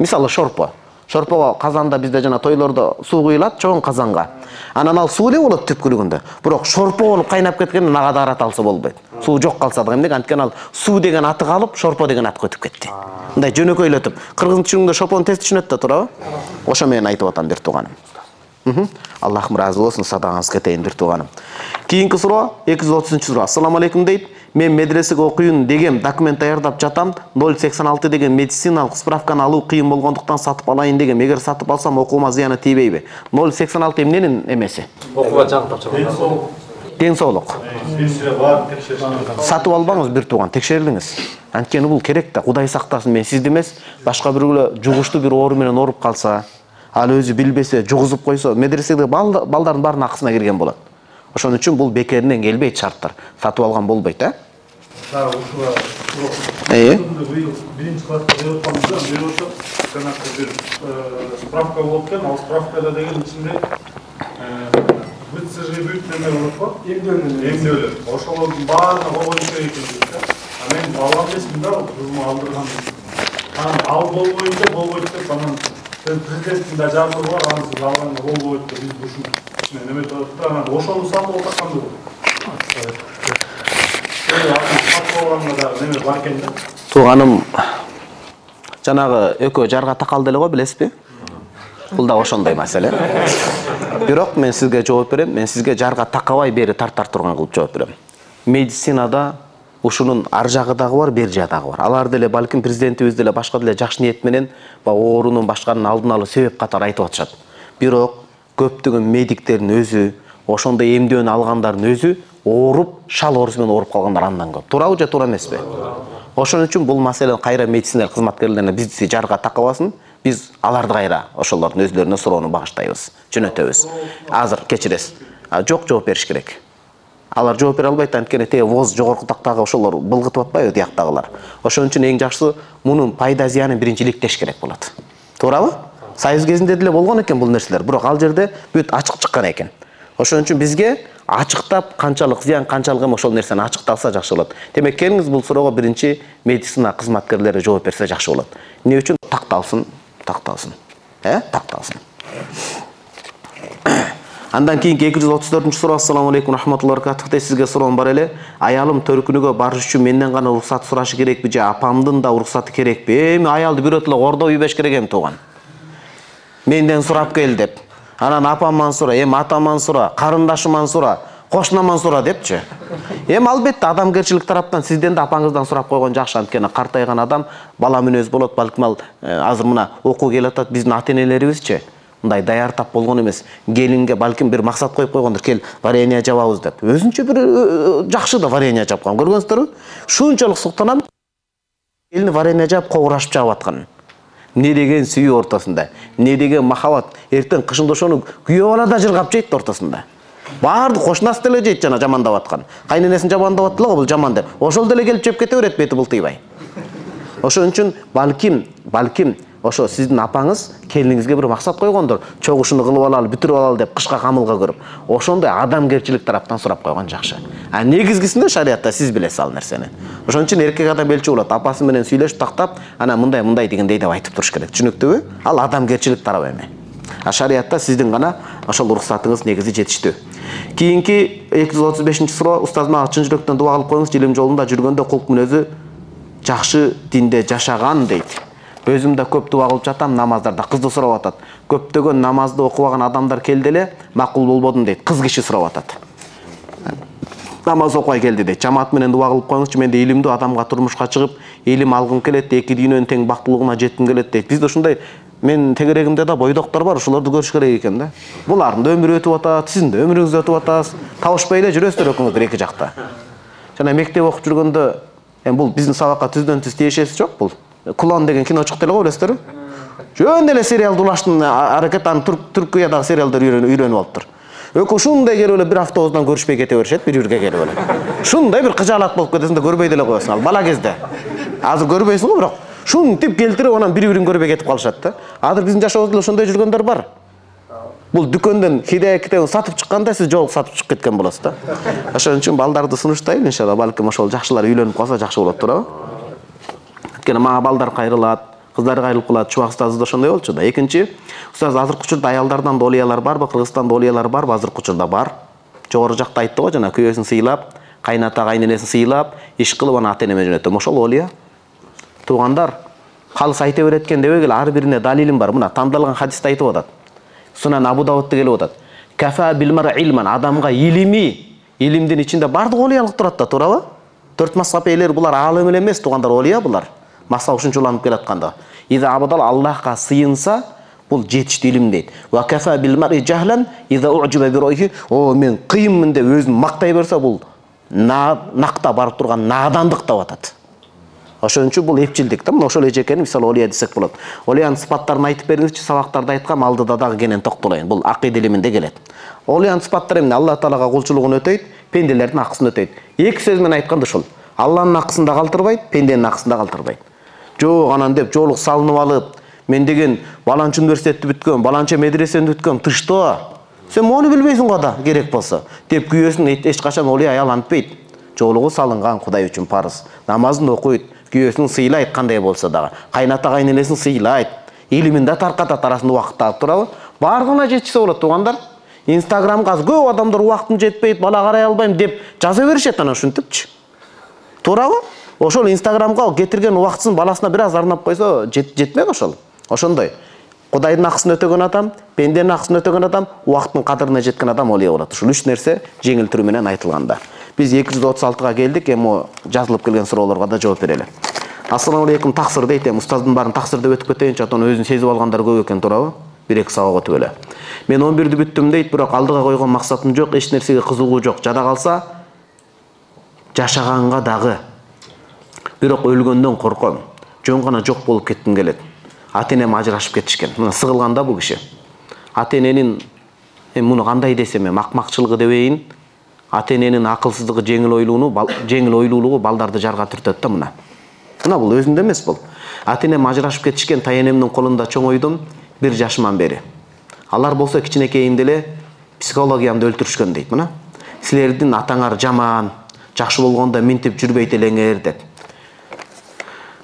Мисалы шорпо. Шорпого казанда бизде жана тойлордо суу куюлат чоң казанга. Анан ал суу эле болот түпкүлүгүндө. Бирок шорпо болуп кайнап кеткенде ага да араталса болбойт. Суу жок калса да эмне? Анткени ал суу деген аты калып, шорпо деген атка өтүп кетти. Мындай жөнөкөйлөтүп, кыргыз тилинде шопону тез түшүнөт да, туурабы? Ошо менен айтып атам бир тууганым. Аллахым разы болсун, садагаңыз кетейин бир тууганым. Кийинки суроо эки жүз отузунчу суроо. Ассаламу алейкум дейт. Мен медресеге окуйын дегем, документ даярдап жатам. ноль сексен алты деген медициналык справканы алуу кыйын болгондуктан сатып алайын дегем. Эгер сатып алсам окуума зыяны тийбейби? ноль сексен алты эмненин эмеси? Окууга жаңы тапшырган. Ден соолук. Сатып албаңыз бир тууган, текшерилиңиз. Анткени бул керек да, Кудай сактасын, мен сизди эмес, башка бирөө жугуштуу бир оору менен ооруп калса, ал өзү билбесе, жугузуп койсо, медреседеги балдардын баарынын акысына кирген болот. Ошон үчүн бул бекеринен келбейт шарттар. Сатып алган болбойт, э? Да, ушуга. Э? Биринчи класста берип атканбызда, берип атып, жанагы бир справка болуп келген, ал справкада деген ичинде ВЦЖ бүт неме болот го? Эмнөлөр. Эмнөлөр. Ошолордун баарына койгон керек экен да. А мен балам эмесмин да, кызыма алдырган. Анан ал болбойт, болбойт деп анан президенттин да жардамы бар, анан сиз алганга болбойт деп биз ушуну неме турат да, анан ошону сатып алган да. Тууганым, жанагы экөө жарга такалды эле го, билесизби? Бул да ошондой маселе. Бирок мен сизге жооп берем, мен сизге жарга такабай бери тартар турган кылып жооп берем. Медицинада ушунун ар жагы дагы бар, бер жагы дагы бар. Алар деле балким президентибиз деле башка деле жакшы ниет менен оорунун башканын алдын алуу себеп катары айтып атышат. Бирок көптөгөн медиктердин өзү, ошондой эмдөөнү алгандардын өзү ооруп, шал оорусу менен ооруп калгандар андан көп. Туурабы же туура эмеспи? Ошон үчүн бул маселе кайра медицина кызматкерлерине бизди жарга такабасын, биз аларды кайра ошолордун өзлөрүнө суроону багыштайбыз, жөнөтөбүз. Азыр кечиресиз. Жок, жооп бериш керек. Алар жооп бере албайт, анткени те воз жогорку тактагы ошолор былгытып атпайбы тияктагылар. Ошон үчүн эң жакшысы мунун пайда зыянын биринчи иликтеш керек болот. Туурабы? Союз кезинде деле болгон экен бул нерселер, бирок ал жерде бүт ачык чыккан экен. Ошон үчүн бизге ачыктап канчалык зыян, канчалык эми ошол нерсени ачыкталса жакшы болот. Демек, келиңиз бул суроого биринчи медицина кызматкерлери жооп берсе жакшы болот. Эмне үчүн? Такталсын, такталсын. Э? Такталсын. Андан кийинки эки жүз отуз төртүнчү суроо. Ассаламу алейкум рахматуллахи ва баракатух. Сизге суроом бар эле. Аялым төркүнүгө барыш үчүн менден гана уруксат сурашы керекпи же апамдын да уруксаты керекпи? Эми аялды бирөө эле ордоп үйбөш керек эми тууган. Менден сурап кел деп. Анан апаман сура, эми атаман сура, карындашыман сура, кошунаман сура депчи. Эми албетте адамгерчилик тараптан сизден да апаңыздан сурап койгон жакшы, анткени картайган адам бала мүнөз болот, балким ал азыр мына окуу келип атат, биздин ата-энелерибизчи мындай даяр тап болгон эмес. Келинге балким бир максат коюп койгондур, кел варенье жабабыз деп. Өзүнчө бир жакшы да варенье жапкан. Көргөнсүздөр, шунчалык суктанам. Келини варенье жап, кобурашып жаап аткан. Не деген сүйүү ортосунда, не деген махабат. Эртең кышында ошону күйөө бала да жыргап жейт ортосунда. Баарды кошунасы деле жейт жана жамандап аткан. Кайненесин жамандап аттылы го, бул жаман деп. Ошол деле келип жеп кете берет, бети бултыйбай. Ошон үчүн балким, балким ошо сиздин апаңыз келиниңизге бир максат койгондур. Чогуу ушуну кылып алалы, бүтүрүп алалы деп кышка камылга көрүп. Ошондой адамгерчилик тараптан сурап койгон жакшы. А негизгисинде шариатта сиз билесиз ал нерсени. Ошон үчүн эркек адам белчи болот. Апасы менен сүйлөшүп тактап, анан мындай мындай дегендей деп айтып туруш керек. Түшүнүктүүбү? Ал адамгерчилик тарабы эми. А шариатта сиздин гана ошол уруксатыңыз негизи жетиштүү. Кийинки эки жүз отуз бешинчи суроо. Устаз, мага чын жүрөктөн дуба кылып коюңуз, илим жолунда жүргөндө кулк мүнөзү жакшы динде жашаган дейт. Өзүм да көп дуба кылып жатам намаздарда. Кызды сурап атат. Көптөгөн намазды окубаган адамдар келди эле, макул болбодум дейт. Кыз киши сурап атат. Намаз окубай келди дейт. Жамаат менен дуба кылып коюңузчу, менде илимдүү адамга турмушка чыгып, илим алгым келет, эки дүйнөнүн тең бактылыгына жетким келет дейт. Бизде ушундай мен тегерегимде да бойдоктор бар, ошолорду көрүш керек экен да. Булардын да өмүрү өтүп атат, сиздин да өмүрүңүз өтүп атат. Табышпай эле жүрөсүздөр экөөңүз эки жакта. Жана мектеп окуп жүргөндө, эми бул биздин сабакка түздөн түз тиешеси жок бул. Кулон деген кино чыкты эле го, билесиздерби? Жөн эле сериалды улаштын аракет, аны Түркиядагы сериалдар үйрөнүп алыптыр. Өкө ушундай келип эле бир автобустан көрүшпөй кете беришет, бир бирге келип эле. Ушундай бир кыжаалат болуп кетесиң да көрбөй деле коесуң ал бала кезде. Азыр көрбөйсүң го, бирок шунтип келтирип анан бири-бирин көрбөй кетип калышат да. Азыр биздин жашообузда ошондой жүргөндөр бар. Бул дүкөндөн Хидая китебин сатып чыкканда сиз жолук сатып чыгып кеткен болосуз да. Ошон үчүн балдарды сунуштайм, иншалла, балким ошол жакшылар үйлөнүп калса жакшы болот, туурабы? Анткени мага балдар кайрылат, кыздарга айрылып калат. Чубак устазы да ошондой болчу да. Экинчи, устаз азыркы учурда аялдардан да олиялар барбы? Кыргызстанда олиялар барбы? Азыркы учурда бар. Жогору жакта айтты го, жана күйөөсүн сыйлап, кайната кайненесин сыйлап, иш кылып аны ата-энеме жөнөтөм. Ошол олия. Туугандар, калыс айта берет экен дебегиле, ар бирине далилим бар. Мына тандалган хадисте айтып атат. Сунан Абу Давудта келип атат. Кафа бил мар илман, адамга илими, илимдин ичинде бардык олиялык турат да, туурабы? Төрт мазхаб ээлери булар алым эле эмес, туугандар, олия булар. Маса ушунчаланып келатканда. Иза абадал Аллахка сыйынса, бул жетиштүү илим дейт. Ва кафа бил мар жахлан, иза у'жиба би ройхи, о мен кыйынмын деп өзүн мактай берсе, бул накта барып турган надандык деп атат. Ошон үчүн бул эпчилдик да. Мына ошол эжекени мисалы олия десек болот. Олиянын сыпаттарын айтып бериңизчи, сабактарда айткам, алдыда дагы кенен токтолоюн. Бул акыйда илиминде келет. Олиянын сыпаттары эмне? Алла Таалага кулчулугун өтөйт, пенделердин акысын өтөйт. Эки сөз менен айтканда ушул. Алланын акысын да калтырбайт, пенденин акысын да калтырбайт. Жок анан деп жоолук салынып алып, мен деген баланчы университетти бүткөм, баланчы медресени бүткөм, тышто. Сен мону билбейсиң го да, керек болсо. Деп күйөөсүн эч качан олия аял антпайт. Жоолугу салынган Кудай үчүн парыз. Намазын окуйт, күйөөсүн сыйлайт кандай болсо дагы. Кайната кайненесин сыйлайт. Илимин да таркатат, арасында убакыт алып турабы? Бардыгына жетишсе болот, туугандар. Инстаграмга көп адамдар убактым жетпейт, бала карай албайм деп жаза беришет анан ушинтипчи. Туурабы? Ошол Инстаграмга кетирген убактысын баласына бир аз арнап койсо жетмек ошол. Ошондой. Кудайдын акысын өтөгөн адам, пенденин акысын өтөгөн адам, убакыттын кадырына жеткен адам олия болот. Ушул үч нерсе жеңил түрү менен айтылганда. Биз эки жүз отуз алтыга келдик, эми жазылып келген суроолорго да жооп берели. Ассаламу алейкум, таксыр дейт, эми устаздын баарын таксыр деп өтүп кетейинчи, атан өзүн сезип алгандар көп экен, туурабы? бир эки сабак өтүп эле. Мен он бирди бүттүм дейт, бирок алдыга койгон максатым жок, эч нерсеге кызыгуу жок. Жада калса жашаганга дагы. Бирок өлгөндөн корком. Жөн гана жок болуп кетким келет. Ата-энем ажырашып кетишкен. Мына сыгылганда бул киши. Ата-эненин эми муну кандай десем, эми акмакчылыгы дебейин, ата-эненин акылсыздыгы, жеңил ойлуулугу, жеңил ойлуулугу балдарды жарга түртөт да мына. Мына бул өзүндө эмес бул. Ата-энем ажырашып кетишкен, тайэнемдин колунда чоңойдум бир жашыман бери. Алар болсо кичинекейимде эле психологиямды өлтүрүшкөн дейт мына. Силердин атаңар жаман, жакшы болгондо минтип жүрбөйт элеңер деп.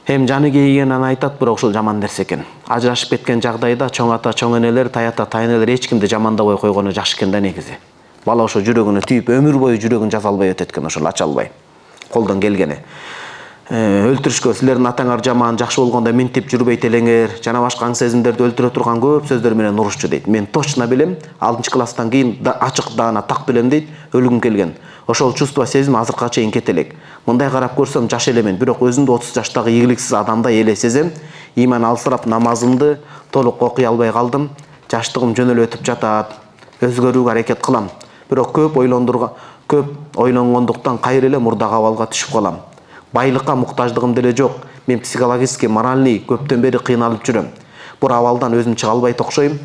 Эм жаны кейген аны айтат, бирок ушул жаман нерсе экен. Ажырашып кеткен жагдайда чоң ата, чоң энелер, тайата, тайнелер эч кимди жамандабай койгону жакшы экен да негизи. Бала ошо жүрөгүнө түйүп өмүр бою жүрөгүн жаза албай өтөт экен, ошол ача албай. Колдон келгени. Өлтүрүшкө, силердин атаңар жаман, жакшы болгондо минтип жүрбөйт элеңер, жана башка аң сезимдерди өлтүрө турган көп сөздөр менен урушчу дейт. Мен точно билем, алтынчы класстан кийин ачык даана так билем дейт, өлгүм келген. Ошол чувство, сезим азыркыга чейин кете элек. Мындай карап көрсөм жаш элемен, бирок өзүмдү отуз жаштагы ийгиликсиз адамдай эле сезем. Иман алсырап намазымды толук окуй албай калдым. Жаштыгым жөн эле өтүп жатат. Өзгөрүүгө аракет кылам. Бирок көп ойлондурга, көп ойлонгондуктан кайра эле мурдагы абалга түшүп калам. Байлыкка муктаждыгым деле жок. Мен психологически, моральный көптөн бери кыйналып жүрөм. Бул абалдан өзүм чыга албайт окшойм.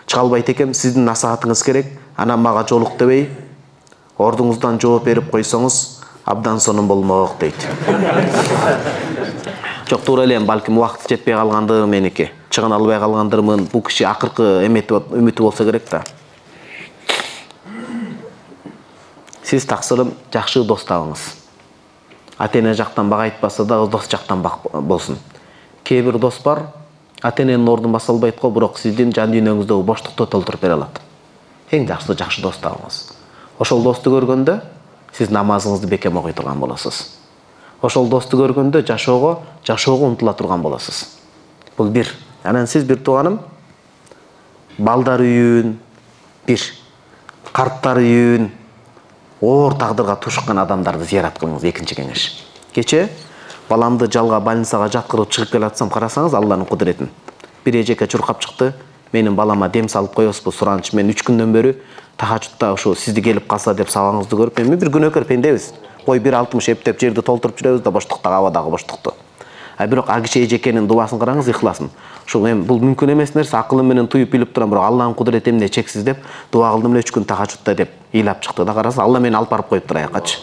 Чыга албайт экем. Сиздин насаатыңыз керек. Анан мага жолук дебей, ордуңуздан жооп берип койсоңуз, абдан сонун болмок дейт. Жок, туура эле, балким убакыт жетпей калгандыр меники. Чыгын албай калгандырмын. Бул киши акыркы үмүтү болсо керек да. Сиз таксырым жакшы дос табыңыз. Ата-эне жактан бак айтпаса да, дос жактан бак болсун. Кээ бир дос бар, ата-эненин ордун баса албайт го, бирок сиздин жан дүйнөңүздөгү боштукту толтуруп бере алат. Эң жакшы жакшы дос табыңыз. Ошол досту көргөндө сиз намазыңызды бекем окуй турган болосуз. Ошол досту көргөндө жашоого, жашоого умтула турган болосуз. Бул бир. Анан сиз бир тууганым, балдар үйүн, бир карттар үйүн, оор тагдырга тушкан адамдарды зыярат кылыңыз, экинчи кеңеш. Кече баламды жалга больницага жаткырып чыгып келатсам, карасаңыз Алланын кудуретин. Бир эжеке чуркап чыкты. Менин балама дем салып коесузбу, суранч. Мен үч күндөн бери тахажутта ошо сизди келип калса деп сабагыңызды көрүп, мен бир күнөөкөр пендебиз. Кой бир алтымыш эптеп жерди толтуруп жүрөбүз да боштуктагы абадагы боштукту. А бирок ак киши эжекенин дубасын караңыз, ихласын. Ушул эми бул мүмкүн эмес нерсе, акылым менен туюп билип турам, бирок Алланын кудурети эмне чексиз деп дуа кылдым эле үч күн тахажутта деп ыйлап чыкты да, караса Алла мени алып барып коюптур аякачы.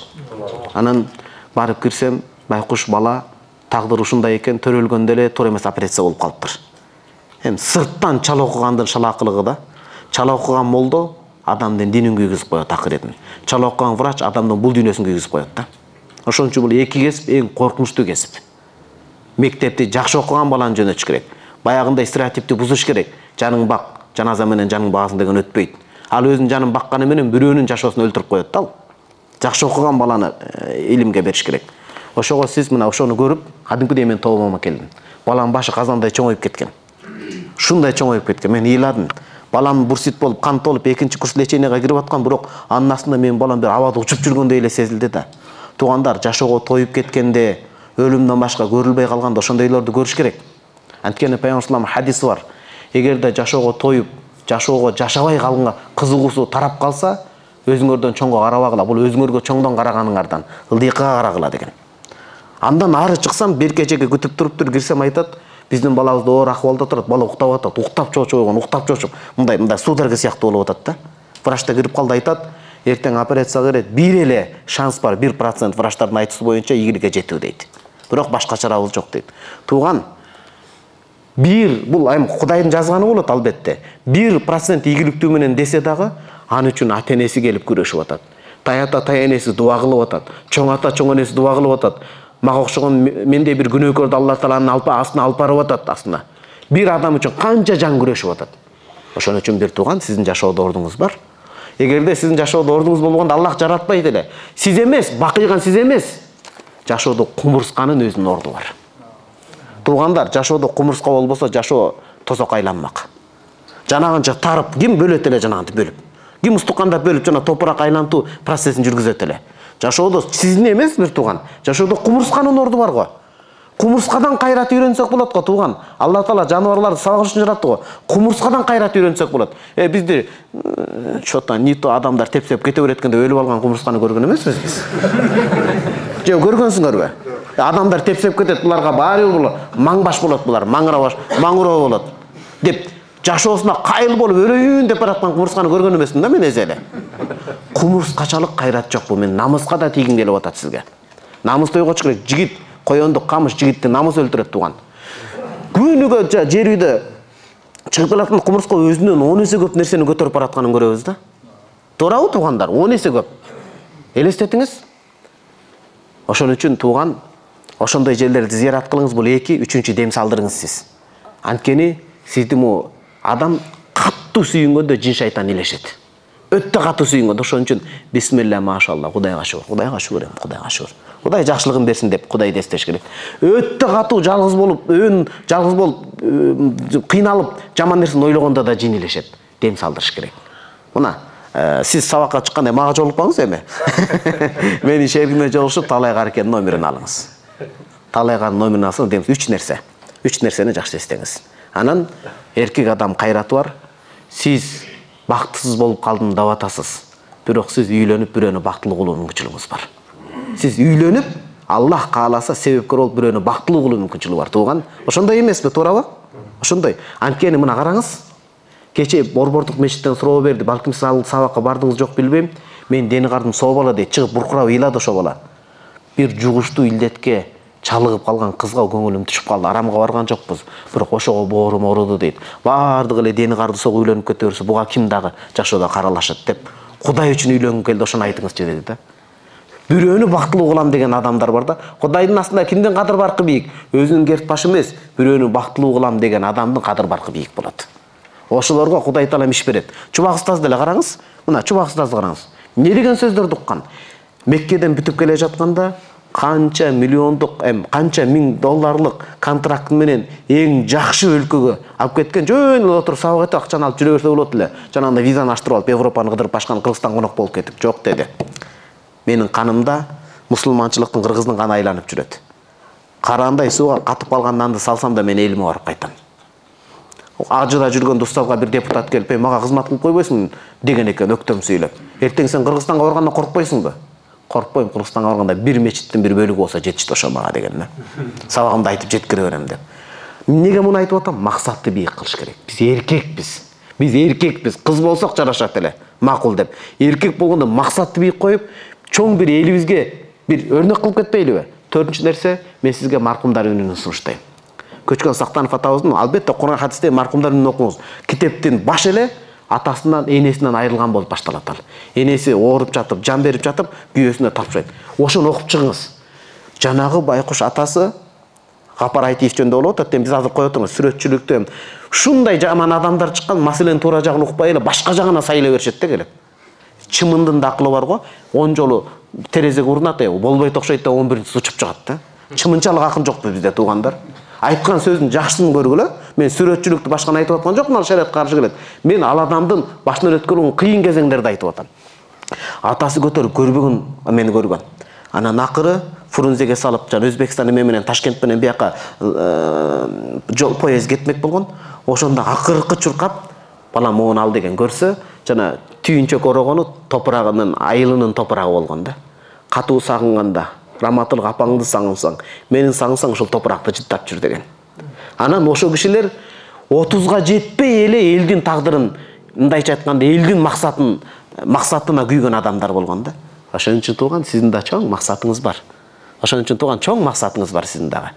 Анан барып кирсем, байкуш бала тагдыр ушундай экен, төрөлгөндө эле туура эмес операция болуп калыптыр. Эми сырттан чала окугандын шалаакылыгы да. Чала окуган молдо адамдын динин күйгүзүп коет акыретін. Чала окуган врач адамдын бул дүйнөсүн күйгүзүп коет да. Ошон үчүн бул эки кесип эң коркунучтуу кесип. Мектепти жакшы окуган баланы жөнөтүш керек. Баягындай стереотипти бузуш керек. Жаның бак, жаназа менен жаның баасың деген өтпөйт. Ал өзүнүн жанын бакканы менен бирөөнүн жашоосун өлтүрүп коет да ал. Жакшы окуган баланы илимге бериш керек. Ошого сиз мына ошону көрүп, кадимкидей мен тобома келдим. Балам башы казандай чоңоюп кеткен. Шундай чоңоюп кеткен. Мен ыйладым. Балам бурсит болуп, кант болуп, экинчи курс леченияга кирип аткан, бирок анын астында менин балам бир абада учуп жүргөндөй эле сезилди да. Туугандар, жашоого тоюп кеткенде, өлүмдөн башка көрүлбөй калганда ошондойлорду көрүш керек. Анткени Пайгамбар хадиси бар. Эгерде жашоого тоюп, жашоого жашабай калганга кызыгуусу тарап калса, өзүңөрдөн чоңго карабагыла. Бул өзүңөргө чоңдон караганыңардан ылдыйкага карагыла деген. Андан ары чыксам, бир кечеге күтүп туруптур, кирсем айтат, биздин балабыз оор акыбалда турат, бала уктап атат, уктап чочуп койгон, уктап чочуп, мындай мындай судорога сыяктуу болуп атат да. Врачта кирип калды, айтат, эртең операцияга кирет, бир эле шанс бар, бир процент врачтардын айтуусу боюнча ийгиликке жетүү дейт. Бирок башка чарабыз жок дейт. Тууган, бир бул айым Кудайдын жазганы болот албетте. бир процент ийгиликтүү менен десе дагы, аны үчүн ата энеси келип күрөшүп атат. Таята ата энеси дуа кылып атат. Чоң ата чоң энеси дуа кылып атат. Мага окшогон мендей бир күнөөкөрдү Алла Тааланын алпа астына алып барып атат астына. Бир адам үчүн канча жан күрөшүп атат. Ошон үчүн бир тууган, сиздин жашоодо ордуңуз бар. Эгерде сиздин жашоодо ордуңуз болгондо Аллах жаратпайт эле. Сиз эмес, бакыйган сиз эмес. Жашоодо кумурсканын өзүнүн орду бар. Туугандар, жашоодо кумурска болбосо жашоо тозок айланмак. Жанагынча тарып, ким бөлөт эле жанагынты бөлүп. Ким устукандап бөлүп жана топурак айлантуу процессин жүргүзөт эле. Жашоодо сиздин эмес бир тууган. Жашоодо кумурсканын орду бар го. Кумурскадан кайрат үйрөнсөк болот го тууган. Алла Таала жаныбарларды сабак үчүн жаратты го. Кумурскадан кайрат үйрөнсөк болот. Э бизди чота нито адамдар тепсеп кете береткенде өлүп алган кумурсканы көргөн эмеспиз биз. Жок көргөнсүңөрбү? Адамдар тепсеп кетет, буларга баары бул маңбаш болот, булар маңырабаш, маңыроо болот деп жашоосуна кайыл болуп өлөйүн деп бараткан кумурсканы көргөн эмесмин да мен эзеле. Кумурскачалык кайрат жок бул, мен намыска да тийгим келип атат сизге. Намысты ойготуш керек. Жигит, коёндук камыш жигитти намыс өлтүрөт тууган. Күнүгө жер үйдө чыгып келаткан кумурска өзүнөн он эсе көп нерсени көтөрүп баратканын көрөбүз да. Туурабы туугандар? он эсе көп. Элестетиңиз. Ошон үчүн тууган, ошондой жерлерди зыярат кылыңыз, бул эки, үчүнчү дем салдырыңыз сиз. Анткени сизди му адам каттуу сүйүнгөндө жин шайтан илешет. Өтө катуу сүйүнгөндө, ошон үчүн бисмилла машалла, Кудайга шүгүр, Кудайга шүгүр, Кудайга шүгүр. Кудай жакшылыгын берсин деп Кудайды эстеш керек. Өтө катуу жалгыз болуп, өн жалгыз болуп, кыйналып, жаман нерсени ойлогондо да жин илешет. Дем салдырыш керек. Мына сиз сабакка чыкканда мага жолукпаңыз эми. Менин шеригиме жолугушуп Талай Каркен номерин алыңыз. Талай Каркен номерин алсаңыз, демис үч нерсе. Үч нерсени жакшы эстеңиз. Анан эркек адам кайраты бар. Сиз бактысыз болуп калдым деп атасыз. Бирок сиз үйлөнүп бирөөнү бактылуу кылуу мүмкүнчүлүгүңүз бар. Сиз үйлөнүп, Аллах кааласа себепкер болуп бирөөнү бактылуу кылуу мүмкүнчүлүгү бар тууган. Ошондой эмеспи, туурабы? Ошондой. Анткени мына караңыз. Кече Борбордук мечиттен суроо берди. Балким сиз ал сабакка бардыңыз жок билбейм. Мен дени кардым соо бала дейт. Чыгып буркурап ыйлады ошо бала. Бир жугуштуу илдетке чалыгып калган кызга көңүлүм түшүп калды. Арамга барган жокпуз. Бирок ошого боорум ооруду дейт. Бардыгы эле дени карды сого үйлөнүп кете берсе, буга ким дагы жашоодо каралашат деп. Кудай үчүн үйлөнгүм келди, ошону айтыңызчы деди да. Бирөөнү бактылуу кылам деген адамдар бар да. Кудайдын астында кимдин кадыр баркы бийик? Өзүнүн керт башы эмес, бирөөнү бактылуу кылам деген адамдын кадыр баркы бийик болот. Ошолорго Кудай Таала иш берет. Чубак устаз деле караңыз. Мына чубак устазды караңыз. Не деген сөздөрдү уккан? Меккеден бүтүп келе жатканда канча миллиондук, эм канча миң долларлык контракт менен эң жакшы өлкөгө алып кеткен. Жөн эле отуруп сабак этип акчаны алып жүрө берсе болот эле. Жанагындай визаны аштырып алып Европаны кыдырып башкан Кыргызстан конок болуп кетип. Жок деди. Менин канымда мусулманчылыктын кыргыздын каны айланып жүрөт. Караандай сууга катып калган нанды салсам да мен элиме барып кайтам. Ажыда жүргөн устазга бир депутат келип, "Мага кызмат кылып койбойсуң?" деген экен өктөм сүйлөп. "Эртең сен Кыргызстанга барганда коркпойсуңбу?" "Коркпойм, Кыргызстанга барганда бир мечиттин бир бөлүгү болсо жетишти ошо мага" деген да. Сабагымды айтып жеткире берем деп. Неге муну айтып атам? Максатты бийик кылыш керек. Биз эркекпиз. Биз эркекпиз. Кыз болсок жарашат эле. Макул деп. Эркек болгондо максатты бийик коюп, чоң бир элибизге бир өрнөк кылып кетпейлиби? Төртүнчү нерсе, мен сизге маркумдар үнүн сунуштайм. Көчкөн Сактанов атабыздын албетте Куран хадисте маркумдар үнүн окуңуз. Китептин баш эле атасынан, энесинен айрылган болуп башталат ал. Энеси ооруп жатып, жан берип жатып, күйөөсүнө тапшырат. Ошону окуп чыгыңыз. Жанагы байкуш атасы Корпоратив жөнүндө болуп атат, биз азыр коюп атабыз сүрөтчүлүктө ушундай жаман адамдар чыккан, маселенин туура жагын укпай эле башка жагына сайлай беришет да келип. Чымындын да акылы бар го, он жолу терезеге урунат, болбойт окшойт да он биринчиси учуп чыгат да. Чымынчалык акын жокпу бизде туугандар? Айткан сөздүн жакшысын көргүлө. Мен сүрөтчүлүктү башканы айтып аткан жокмун, ал шариатка каршы келет. Мен ал адамдын башынан өткөргөн кыйын кезеңдерди айтып атам. Атасы көтөрүп көрбөгөн мени көргөн. Анан акыры Фрунзеге салып, жана Өзбекстан эме менен Ташкент менен бияка жол поезд кетмек болгон. Ошондо акыркы чуркап, балам моуну ал деген көрсө, жана түйүнчөк орогону топурагынын, айылынын топурагы болгон да. Катуу сагынганда, раматылык апаңды сагынсаң, менин сагынсаң ушул топуракты жыттап жүр деген. Анан ошол кишилер отузга жетпей эле элдин тагдырын, мындайча айтканда, элдин максатын, максатына күйгөн адамдар болгон да. Ошон үчүн тууган, сиздин да чоң максатыңыз бар. Ошон үчүн тууган, чоң максатыңыз бар сиздин дагы.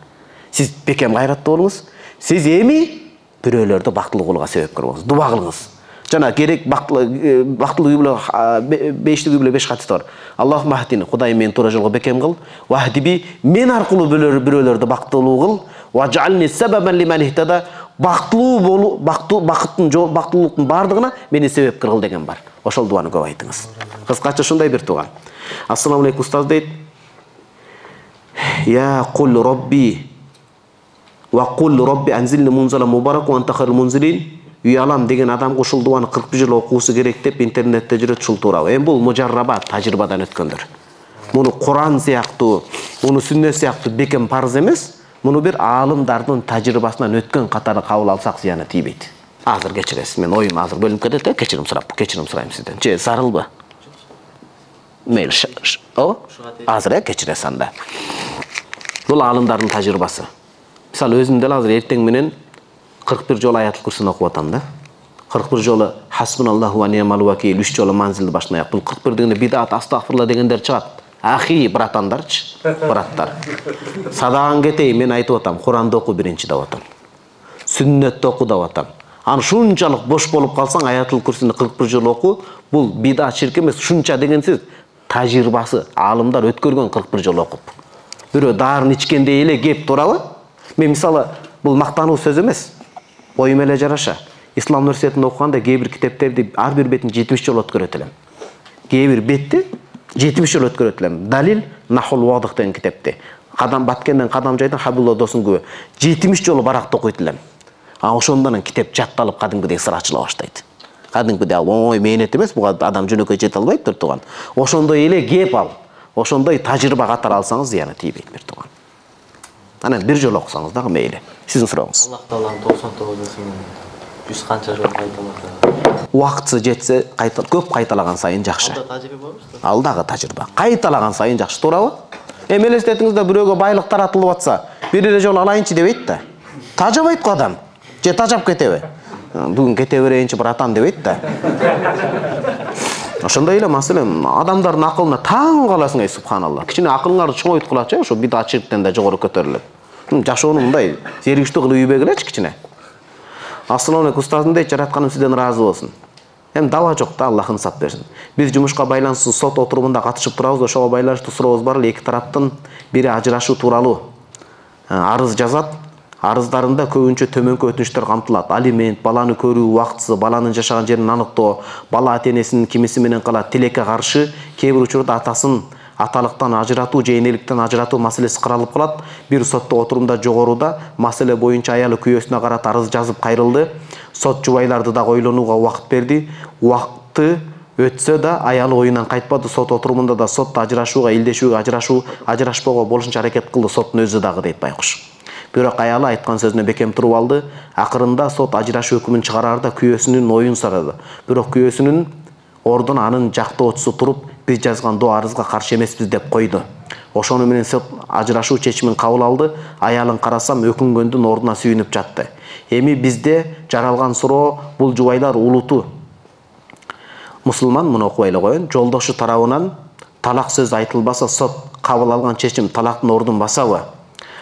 Сиз бекем гайраттуу болуңуз. Сиз эми бирөөлөрдү бактылуу кылууга себепкер болуңуз. Дуба кылыңыз. Жана керек бактылуу бактылуу үй бүлө бештик үй бүлө беш катысы бар. Аллахумма хадини, Кудайым мени туура жолго бекем кыл. Вахдиби, мен аркылуу бирөөлөрдү бактылуу кыл. Ваджални сабабан лиман ихтада, бактылуу болуу, бактылуу бакыттын жол, бактылуулуктун бардыгына мени себепкер кыл деген бар. Ошол дуаны көп айтыңыз. Кыскача ушундай бир тууган. Ассаламу алейкум устаз дейт. Я кул робби ва кул робби анзилни мунзала мубарак ва анта хайрул мунзилин. Үй алам деген адамга ушул дуаны кырк бир жыл окуусу керек деп интернетте жүрөт, ушул туурабы. Эми бул мужаррабат, тажрыйбадан өткөндөр. Муну Куран сыяктуу, муну сүннөт сыяктуу бекем парыз эмес. Муну бир аалымдардын тажрыйбасынан өткөн катары кабыл алсак зыяны тийбейт. Азыр кечиресиз, мен оюм азыр бөлүнүп кетет да, кечирим сурап, кечирим сурайм сизден. Же зарылбы? Мейл, о? Азыр э кечиресиз анда. Бул аалымдардын тажрыйбасы. Мисалы өзүм деле азыр эртең менен кырк бир жолу аятыл курсун окуп атам да. кырк бир жолу хасбуналлаху ва ни'мал вакил, үч жолу манзилди башынан аяк. Бул кырк бир дегенде бидат, астагфирулла дегендер чыгат. Ахи, братандарчы, браттар. Садаган кетейин, мен айтып атам, Куранды оку биринчи деп атам. Сүннөттү оку деп атам. Аны шунчалык бош болуп калсаң, аятыл курсуну кырк бир жолу оку. Бул бидат, ширк эмес, шунча дегенсиз тажрыйбасы, аалымдар өткөргөн кырк бир жолу окуп. Бирөө дарын ичкендей эле кеп турабы? Мен мисалы, бул мактануу сөз эмес. Оюм эле жараша. Ислам университетинде окуганда кээ бир китептерди ар бир бетин жетимиш жолу өткөрөт элем. Кээ бир бетти жетимиш жолу өткөрөт элем. Далил Нахул Вадых деген китепти. Кадам Баткенден Кадам жайдан Хабибулла Досун күбө жетимиш жолу баракта окуйт элем. А ошондон китеп жатталып кадимкидей сыр ачыла баштайт. Кадимкидей ал оңой мээнет эмес, буга адам жөнөкөй жете албайт турган. Ошондой эле кеп ал. Ошондой тажрыйба катары алсаңыз зыяны тийбейт бир турган. Анан бир жолу окусаңыз дагы мейли. Сиздин сурооңуз. Аллах Тааланын токсон тогузун жүз канча жолу кайталаса. Убакыты жетсе, кайта көп кайталаган сайын жакшы. Алда тажрыйба барбы? Ал дагы тажрыйба. Кайталаган сайын жакшы, туурабы? Эми элестетиңизде бирөөгө байлык таратылып атса, бир эле жолу алайынчы дебейт да. Тажабайт го адам. Же тажап кетеби? Бүгүн кете берейинчи братан дебейт да. Ошондой эле маселен адамдардын акылына таң каласың, ey субханалла. Кичине акылыңарды чоңойткулачы, ошо бидат чирктен да жогору көтөрүлөт. Жашоону мындай зеригиштүү кылып үйбөгүлөчү кичине. Ассаламу алейкум устазым дейт, жаратканым сизден ыраазы болсун. Эми даба жок да, Аллах ынсап берсин. Биз жумушка байланыштуу сот отурумунда катышып турабыз, ошого байланыштуу сурообуз бар эле. Эки тараптын бири ажырашуу тууралуу арыз жазат. Арыздарында көбүнчө төмөнкү өтүнүчтөр камтылат. Алимент, баланы көрүү убактысы, баланын жашаган жерин аныктоо, бала ата-энесинин кимиси менен калат, тилекке каршы, кээ бир учурда атасын аталыктан ажыратуу же энеликтен ажыратуу маселеси каралып калат. Бир сотто отурумда жогоруда маселе боюнча аялы күйөөсүнө карата арыз жазып кайрылды. Сот жубайларды да ойлонууга убакыт берди. Убакыты өтсө да аялы оюнан кайтпады. Сот отурумунда да сотто ажырашууга, илдешүүгө, ажырашуу, ажырашпоого болушунча аракет кылды. Соттун өзү дагы дейт байкуш. Бирок аялы айткан сөзүнө бекем туруп алды. Акырында сот ажырашуу өкүмүн чыгараарда күйөөсүнүн оюн сурады. Бирок күйөөсүнүн ордун анын жактоочусу туруп, биз жазган доо арызга каршы эмеспиз деп койду. Ошону менен сот ажырашуу чечимин кабыл алды. Аялын карасам өкүнгөндүн ордуна сүйүнүп жатты. Эми бизде жаралган суроо, бул жубайлар улуту мусулман, муну окубай эле коеюн. Жолдошу тарабынан талак сөз айтылбаса, сот кабыл алган чечим талактын ордун басабы?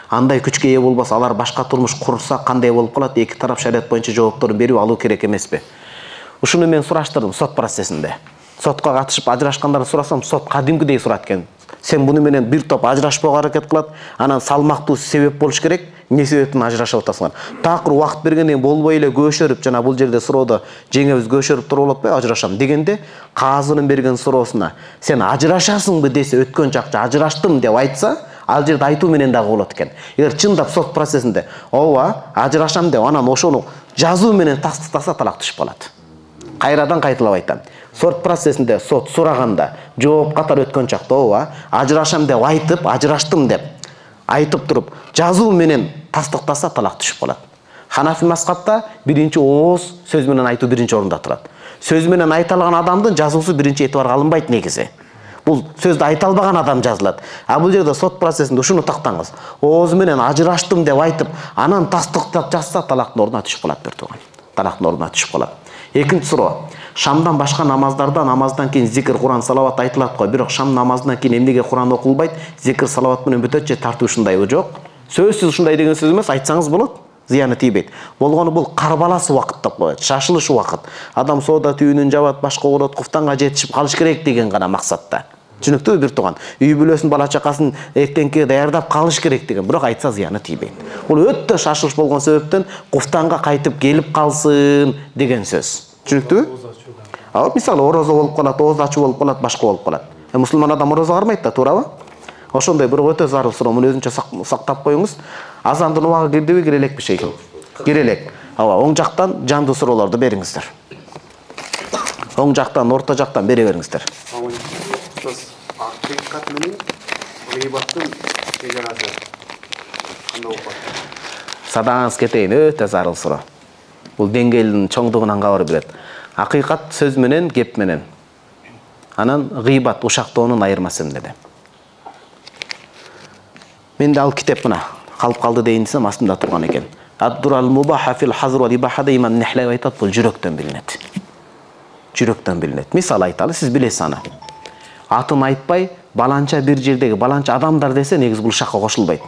Андай күчкө ээ болбаса, алар башка турмуш курса кандай болуп калат? Эки тарап шариат боюнча жоопторун берип алуу керек эмеспи? Ушуну мен сураштырдым сот процессинде. Сотко катышып ажырашкандарды сурасам, сот кадимкидей сурат экен. Сен буну менен бир топ ажырашпоого аракет кылат, анан салмактуу себеп болуш керек. Не себептен ажырашып атасыңар? Такыр убакыт бергенден кийин болбой эле көшөрүп, жана бул жерде суроодо жеңебиз көшөрүп туруп болот атпайбы, ажырашам дегенде, казынын берген суроосуна сен ажырашасыңбы десе, өткөн чакча ажыраштым деп айтса, ал жерде айтуу менен дагы болот экен. Эгер чындап сот процессинде ооба ажырашам деп анан ошону жазуу менен тастыктаса, талак түшүп калат. Кайрадан кайталап айтам. Сот процессинде сот сураганда жооп катары өткөн чакта ооба ажырашам деп айтып, ажыраштым деп айтып туруп, жазуу менен тастыктаса, талак түшүп калат. Ханафи мазхабта биринчи ооз сөз менен айтуу биринчи орунда турат. Сөз менен айта алган адамдын жазуусу биринчи этибарга алынбайт негизи. Бул сөздү айта албаган адам жазылат. А бул жерде сот процессинде ушуну тактаңыз. Ооз менен ажыраштым деп айтып, анан тастыктап жазса, талактын ордуна түшүп калат бир тууган. Талактын ордуна түшүп калат. Экинчи суроо. Шамдан башка намаздарда намаздан кийин зикр, Куран, салават айтылат го. Бирок шам намазынан кийин эмнеге Куран окулбайт? Зикр, салават менен бүтөт же тартуу ушундайбы? Жок. Сөзсүз ушундай деген сөз эмес, айтсаңыз болот. Зыяны тийбейт. Болгону бул карбалас убакыт деп коет. Шашылыш убакыт. Адам соода түйүнүн жабат, башка урот, куфтанга жетишип калыш керек деген гана максатта. Түшүнүктүүбү бир тууган? Үй бүлөсүн, бала чакасын эртеңки даярдап калыш керек деген. Бирок айтса зыяны тийбейт. Бул өтө шашылыш болгон себептен куфтанга кайтып келип калсын деген сөз. Түшүнүктүүбү? А мисалы орозо болуп калат, ооз ачуу болуп калат, башка болуп калат. Э мусулман адам орозо кармайт да, туурабы? Ошондой бирок өтө зарыл суроо. Муну өзүнчө сактап коюңуз. Азандын убагы кирдиби, кире элекпи шейхим? Кире элек. Ооба, оң жактан жандуу суроолорду бериңиздер. Оң жактан, орто жактан бере бериңиздер. Акыйкат менен гыйбаттын чегарасы кандай болуп калат? Садаңыз кетейин, өтө зарыл суроо. Бул деңгээлдин чоңдугунан кабар берет. Акыйкат сөз менен, кеп менен. Анан гыйбат, ушактоонун айырмасы эмнеде? Менде ал китеп мына калып калды дейин десем, астында турган экен. Ад-дурал мубаха фил хазр ва ибахада имам Нехлеви айтат, бул жүрөктөн билинет. Жүрөктөн билинет. Мисал айталы, сиз билесиз аны. Атын айтпай, баланча бир жердеги баланча адамдар десе, негиз бул ушакка кошулбайт.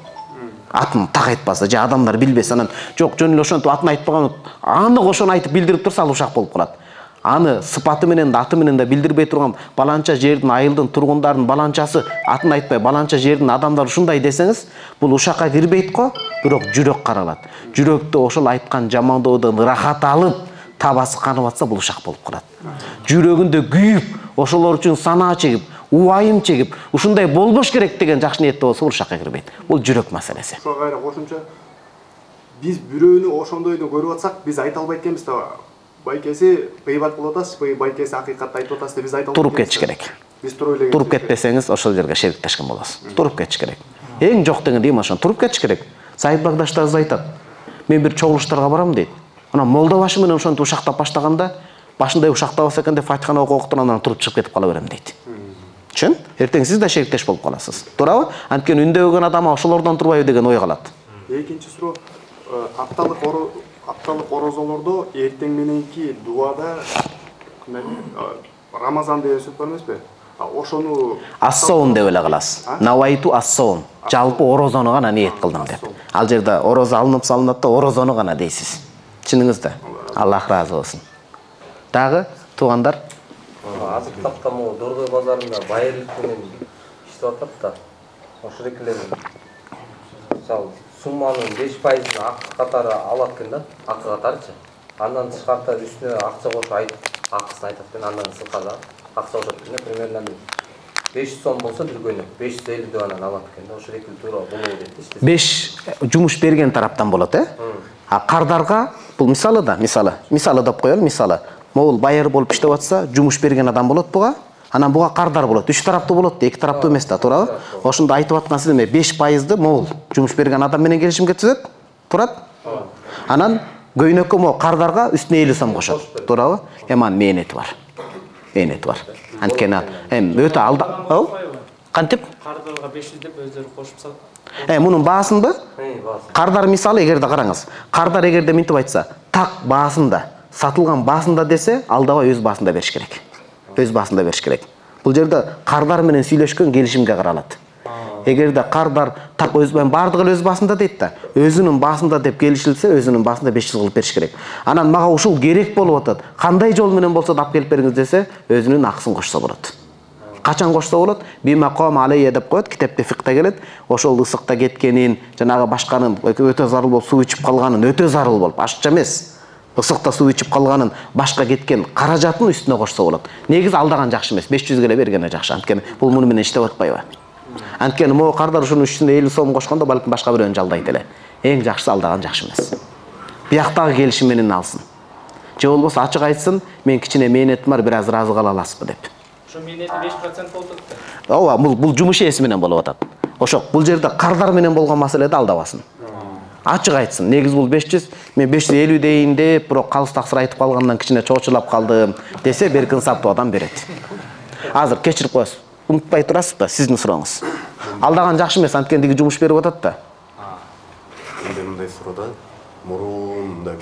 Атын так айтпаса, же адамдар билбесе, анан жок, жөн эле ошентип атын айтпаган, аны ошону айтып билдирип турса, ал ушак болуп калат. Аны сыпаты менен да, аты менен да билдирбей турган баланча жердин, айылдын тургундардын баланчасы, атын айтпай баланча жердин адамдары ушундай десеңиз, бул ушакка кирбейт го, бирок жүрөк каралат. Жүрөктө ошол айткан жамандоодон ырахат алып, табасы канып атса, бул ушак болуп калат. Жүрөгүндө күйүп, ошолор үчүн санаа чегип, убайым чегип, ушундай болбош керек деген жакшы ниетте болсо, бул ушакка кирбейт. Бул жүрөк маселеси. Ошо кайра кошумча, биз бирөөнү ошондойду көрүп атсак, биз айта албайт экенбиз да. Байкеси гыйбат кылып атасыз, байкеси акыйкатты айтып атасыз деп биз айта албайт. Туруп кетиш керек. Биз туруп эле туруп кетпесеңиз, ошол жерге шериктешкен болосуз. Туруп кетиш керек. Эң жок деген дейм ошон, туруп кетиш керек. Сайып багдашыбыз айтат. Мен бир чогулуштарга барам дейт. Анан молда башы менен ошонтип ушактап баштаганда, башында ушактабас экен деп Фатиханы окуп окуп анан туруп чыгып кетип кала берем дейт. Чын? Эртең сиз да шериктеш болуп каласыз. Туурабы? Анткени үндөгөн адам ошолордон турбайбы деген ой калат. Экинчи суроо, апталык апталык орозолордо эртең мененки дуада Рамазан деген сөз бар эмеспи? Ошону ассоун деп эле каласыз. Навайту ассоун. Жалпы орозону гана ниет кылдым деп. Ал жерде орозо алынып салынат да орозону гана дейсиз. Чыныңыз да. Аллах разы болсун. Дагы туугандар, азыр тапта могу Дордой базарында байырлык менен иштеп атат да. Ошол экелер мисалы сумманын беш пайызын акы катары алат экен да, акы катарычы. Андан тышкарта үстүнө акча кошуп айтып, акысын айтат экен, андан сырткары акча кошот экен, примерно беш жүз сом болсо бир күнү беш жүз элүү деп анан алат экен да. Ошол экил туура болобу дейт. беш жумуш берген тараптан болот, э? А кардарга бул мисалы да, мисалы, мисалы деп коелу, мисалы. Могул байыр болуп иштеп атса, жумуш берген адам болот буга. Анан буга кардар болот. Үч тараптуу болот, эки тараптуу эмес да, туурабы? Ошондо айтып аткан сиз эме беш пайызды могул жумуш берген адам менен келишимге түзөт. Турат? Анан көйнөккө могу кардарга үстүнө элүү сом кошот. Туурабы? Эми анын мээнети бар. Мээнети бар. Анткени эми өтө алда, кантип? Кардарга беш жүз деп өздөрү кошуп салат. Э, мунун баасында? Кардар мисалы эгерде караңыз. Кардар эгерде минтип айтса, так баасында, сатылган баасында десе, алдабай өз баасында бериш керек. Өз баасында бериш керек. Бул жерде кардар менен сүйлөшкөн келишимге каралат. Эгерде кардар так өз баардыгы өз баасында дейт да, өзүнүн баасында деп келишилсе, өзүнүн баасында беш жүз кылып бериш керек. Анан мага ушул керек болуп атат. Кандай жол менен болсо да алып келип бериңиз десе, өзүнүн акысын кошсо болот. качан кошсо болот? Бима ком алейя деп коет, китепте фикте келет. Ошол ысыкта кеткенин, жанагы башканын өтө зарыл болуп суу ичип калганын, өтө зарыл болуп, ашыкча эмес. Ысыкта суу ичип калганын, башка кеткен каражатын үстүнө кошсо болот. Негизи алдаган жакшы эмес, беш жүз эле бергене жакшы. Анткени бул муну менен иштеп атпайбы? Анткени могу кардар ушунун үстүнө элүү сом кошкондо балким башка бирөөнү жалдайт эле. Эң жакшысы алдаган жакшы эмес. Бияктагы келишим менен алсын. Же болбосо ачык айтсын, мен кичине мээнетим бар, бир аз ыраазы кала аласызбы деп. Ошо мээнети беш процент болуп атат. Ооба, бул бул жумуш ээси менен болуп атат. Ошо бул жерде кардар менен болгон маселеде алдабасын. Ачык айтсын. Негизи бул беш жүз, мен беш жүз элүү дейин деп, бирок калыс таксыр айтып калгандан кичине чоочулап калдым десе, берки инсаптуу адам берет. Азыр кечирип коесуз. Унутпай турасызбы? Сиздин сурооңуз. Алдаган жакшы эмес, анткени диги жумуш берип атат да. Менде мындай суроо да, мурун мындай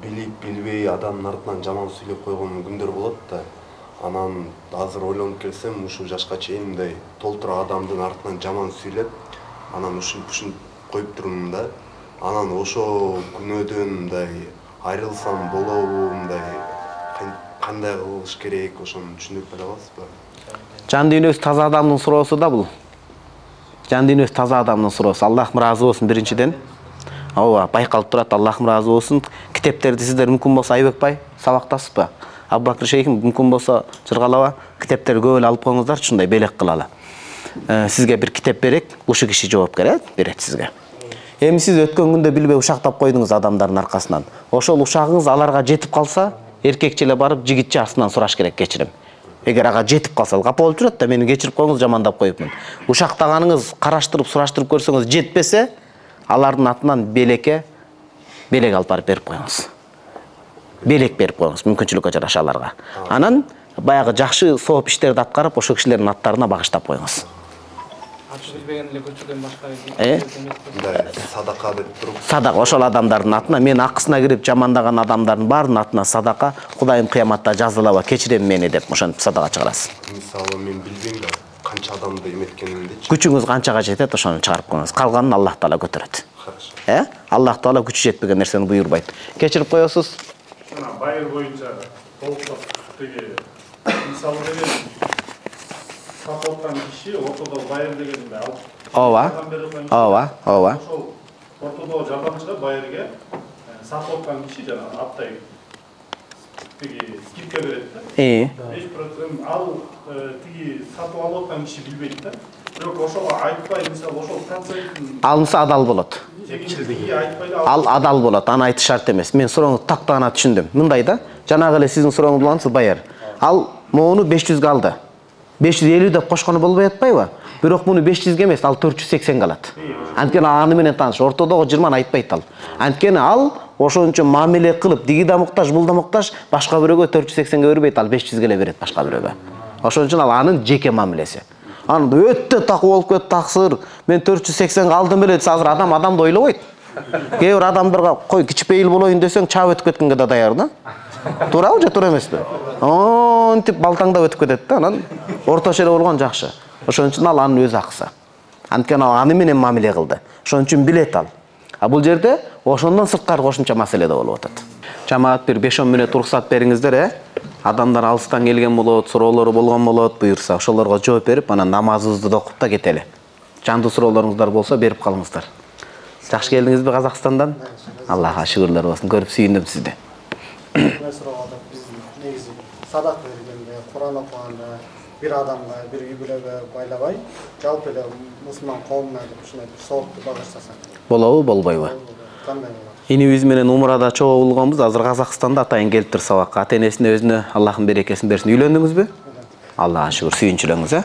билип билбей адамдын артынан жаман сүйлөп койгон күндөр болот да. Анан азыр ойлонуп келсем, ушул жашка чейин мындай толтура адамдын артынан жаман сүйлөп, анан ушинтип ушинтип коюп турмун да. Анан ошо күнөөдөн мындай айрылсам болобу, мындай кандай кылыш керек, ошону түшүндүрүп бере аласызбы? Жан дүйнөсү таза адамдын суроосу да бул. Жан дүйнөсү таза адамдын суроосу. Аллахым ыраазы болсун биринчиден. Ооба, байкалып турат, Аллахым ыраазы болсун. Китептерди сиздер мүмкүн болсо Айбекбай сабактасызбы? Абубакыр шейхим мүмкүн болсо жыргалаба, китептерди көп эле алып коюңуздар, ушундай белек кылалы. Сизге бир китеп берек, ушу киши жоопкер э, берет сизге. Эми сиз өткөн күндө билбей ушактап койдуңуз адамдардын аркасынан. Ошол ушагыңыз аларга жетип калса, эркекче эле барып жигитче астынан сураш керек кечирим. Эгер ага жетип калса, капа болуп жүрөт да, мени кечирип коюңуз, жамандап коюпмун. Ушактаганыңыз караштырып, сураштырып көрсөңүз жетпесе, алардын атынан белекке белек алып барып берип коюңуз. Белек берип коюңуз, мүмкүнчүлүккө жараша аларга. Анан баягы жакшы сооп иштерди аткарып, ошол кишилердин аттарына багыштап коюңуз. Ачык билбеген эле көчөдөн башка Э? Мындай садака деп туруп. Садака ошол адамдардын атына, мен акысына кирип жамандаган адамдардын баарынын атына садака, Кудайым кыяматта жазалаба, кечирем мени деп ошентип садака чыгарасыз. Мисалы мен билбейм да, канча адамды эметкенимди. Күчүңүз канчага жетет, ошону чыгарып коюңуз. Калганын Аллах Таала көтөрөт. Хорошо. Э? Аллах Таала күчү жетпеген нерсени буйрубайт. Кечирип коесуз. Мына байыр боюнча толуктап теги мисалы менен сатып аткан киши ортодо байыр дегенди алып. Ооба. Ооба, ооба. Ошол ортодо жардамчыга байырга сатып аткан киши жана аптай теги скидка берет да. Э. беш процент ал тиги сатып алып аткан киши билбейт да. Бирок ошого айтпай, мисалы ошол процентин Алынса адал болот. тегинчилиги айтпай да. Ал адал болот, аны айтыш шарт эмес. Мен сурооңузду тактагана түшүндүм. Мындай да, жанагы эле сиздин сурооңуз болгонсыз байыр. Ал моуну беш жүзгө алды. беш жүз элүү деп кошкону болбой атпайбы? Бирок муну беш жүзгө эмес, ал төрт жүз сексенге алат. Анткени аны менен тааныш, ортодогу жыйырманы айтпайт ал. Анткени ал ошончо мамиле кылып, диги да муктаж, бул да муктаж, башка бирөөгө төрт жүз сексенге бербейт, ал беш жүзгө эле берет башка бирөөгө. Ошон үчүн ал анын жеке мамилеси. Аны өтө такуу болуп кетти таксыр. Мен төрт жүз сексенге алдым эле десе, азыр адам адамды ойлобойт. Кээ бир адамдарга кой кичпейил болоюн десең, чаап өтүп кеткенге да даяр да. Туурабы же туура эмеспи? Онтип балтаңдап өтүп кетет да, анан орточо эле болгон жакшы. Ошон үчүн ал анын өз акысы. Анткени ал аны менен мамиле кылды. Ошон үчүн билет ал. А бул жерде ошондон сырткары кошумча маселе да болуп атат. Жамаат бир беш он мүнөт уруксат бериңиздер, э? Адамдар алыстан келген болот, суроолору болгон болот, буюрса ошолорго жооп берип, анан намазыбызды да окуп да кетели. Жандуу суроолоруңуздар болсо берип калыңыздар. Жакшы келдиңизби Казакстандан? Аллахка шүгүрлөр болсун. Көрүп сүйүндүм сизди. Мен суроого биз негизи садак бергенде, Куран окуганда бир адамга, бир үй бүлөгө байлабай, жалпы эле мусулман коомуна ушундай бир соопту багыштасак. Болобу, болбойбу? Кандай болот? Инибиз менен умрада чогуу болгонбуз. Азыр Казакстанда атайын келиптир сабакка. Ата-энесине өзүнө Аллахын берекесин берсин. Үйлөндүңүзбү? Аллага шүгүр, сүйүнчүлөрүңүз, э?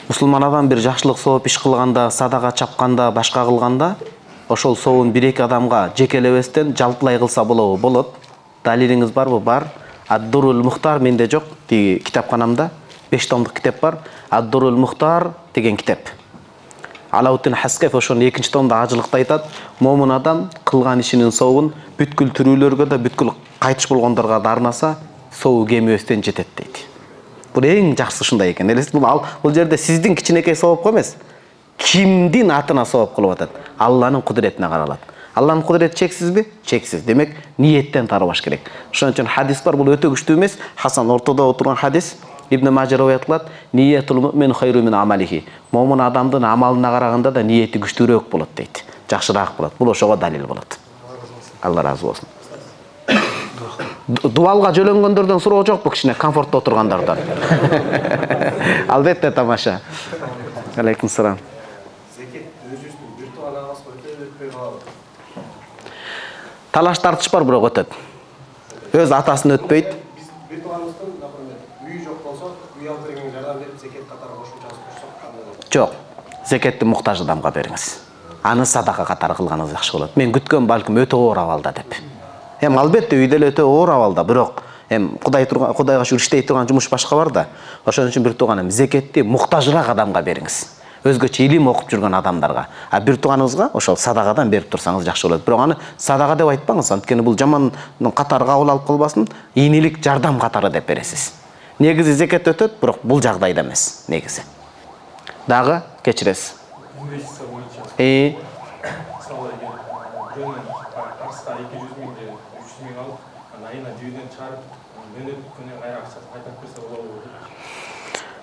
Мусулман адам бир жакшылык сооп иш кылганда, садака чапканда, башка кылганда, ошол сообун бир-эки адамга жекелебестен жалпылай кылса болобу? Болот. Далилиңиз барбы? Бар. Ад-Дурул Мухтар менде жок. Тиги китапканамда беш томдук китеп бар. Ад-Дурул Мухтар деген китеп. Алауттин Хаскеф ошонун экинчи томдо ажылыкта айтат. Момун адам кылган ишинин сообун бүткүл тирүүлөргө да, бүткүл кайтыш болгондорго да арнаса, сообу кемибестен жетет дейт. Бул эң жакшысы ушундай экен. Элестип, бул ал бул жерде сиздин кичинекей соопко эмес, кимдин атына сооп кылып атат? Алланын кудуретине каралат. Алланын кудурети чексизби? Чексиз. Демек, ниеттен тарбаш керек. Ошон үчүн хадис бар, бул өтө күчтүү эмес. Хасан ортодо отурган хадис. Ибн Мажа риwayat кылат: "Ниятул му'мин хайру мин амалихи." Момун адамдын амалына караганда да ниети күчтүүрөөк болот дейт. Жакшыраак болот. Бул ошого далил болот. Алла разы болсун. Дуалга жөлөнгөндөрдөн суроо жокпу, кичине комфортто отургандардан? Албетте тамаша. Алейкум салам. Талаш тартыш бар, бирок өтөт. Өз атасын өтпөйт. Биз бир тууганыбыздын, например, үйү жок болсо, үй алып бергенге жардам берип, закет катары кошумча кылсак. Жок. Закетти муктаж адамга бериңиз. Аны садака катары кылганыңыз жакшы болот. Мен күткөн балким өтө оор абалда деп. Эми албетте үйдө эле өтө оор абалда, бирок эми Кудай турган, Кудайга шүгүр иштей турган жумуш башка бар да. Ошон үчүн бир тууганым, закетти муктажыраак адамга бериңиз. Өзгөчө илим окуп жүргөн адамдарга. А бир тууганыңызга ошол садакадан берип турсаңыз жакшы болот. Бирок аны садака деп айтпаңыз, анткени бул жаман катары кабыл алып калбасын, ийнелик жардам катары деп бересиз. Негизи закет өтөт, бирок бул жагдайда эмес, негизи. Дагы кечиресиз. Инвестиция боюнча. Э, Мисалы эгер Арыска эки жүз миң же үч жүз миң алып, айына дивиденд чыгарып, мөөнөт күнү кайра акчасын кайтарып берсе болобу?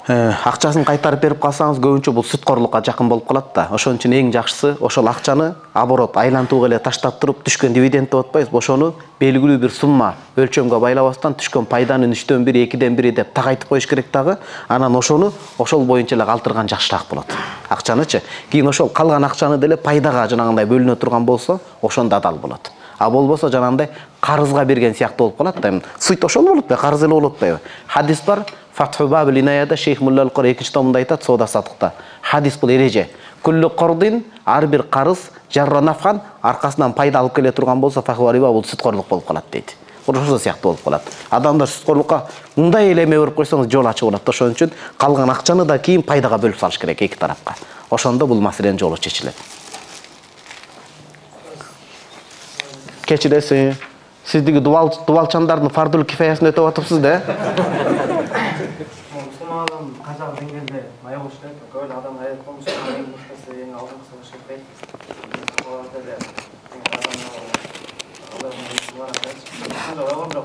акчасын кайтарып берип калсаңыз көбүнчө бул сүткорлукка жакын болуп калат да. Ошон үчүн эң жакшысы ошол акчаны оборот айлантууга эле таштап туруп түшкөн дивиденд деп атпайбызбы, ошону белгилүү бир сумма өлчөмгө байлабастан түшкөн пайданын үчтөн бири, экиден бири деп тагайтып коюш керек дагы. Анан ошону ошол боюнча эле калтырган жакшыраак болот. Акчанычы. Кийин ошол калган акчаны деле пайдага жанагындай бөлүнө турган болсо, ошондо адал болот. А болбосо жанагындай карызга берген сыяктуу болуп калат да. Эми сыйт ошол болуп атпайбы, карыз эле болуп атпайбы? Хадис бар. Фатху бабил инаяда Шейх Мулла ал-Кур экинчи томунда айтат, соода сатыкта. Хадис бул эреже. Куллу кордин, ар бир карыз жарра нафхан, аркасынан пайда алып келе турган болсо, фахва риба бул сүткорлук болуп калат дейт. Ошол сыяктуу болуп калат. Адамдар сүткорлукка мындай эле эме берип койсоңуз жол ачык болот. Ошон үчүн калган акчаны да кийин пайдага бөлүп салыш керек эки тарапка. Ошондо бул маселенин жолу чечилет. Кечиресиз. Сиздиги дубал дубалчандардын фардул кифаясын өтөп атыпсыз да? Мусулман адам канчалык деңгээлде мая болуш керек? Көп эле адам аят болмуш, эң мыктысы, эң алдыңкысы болуш керек. Ошол деле адамдар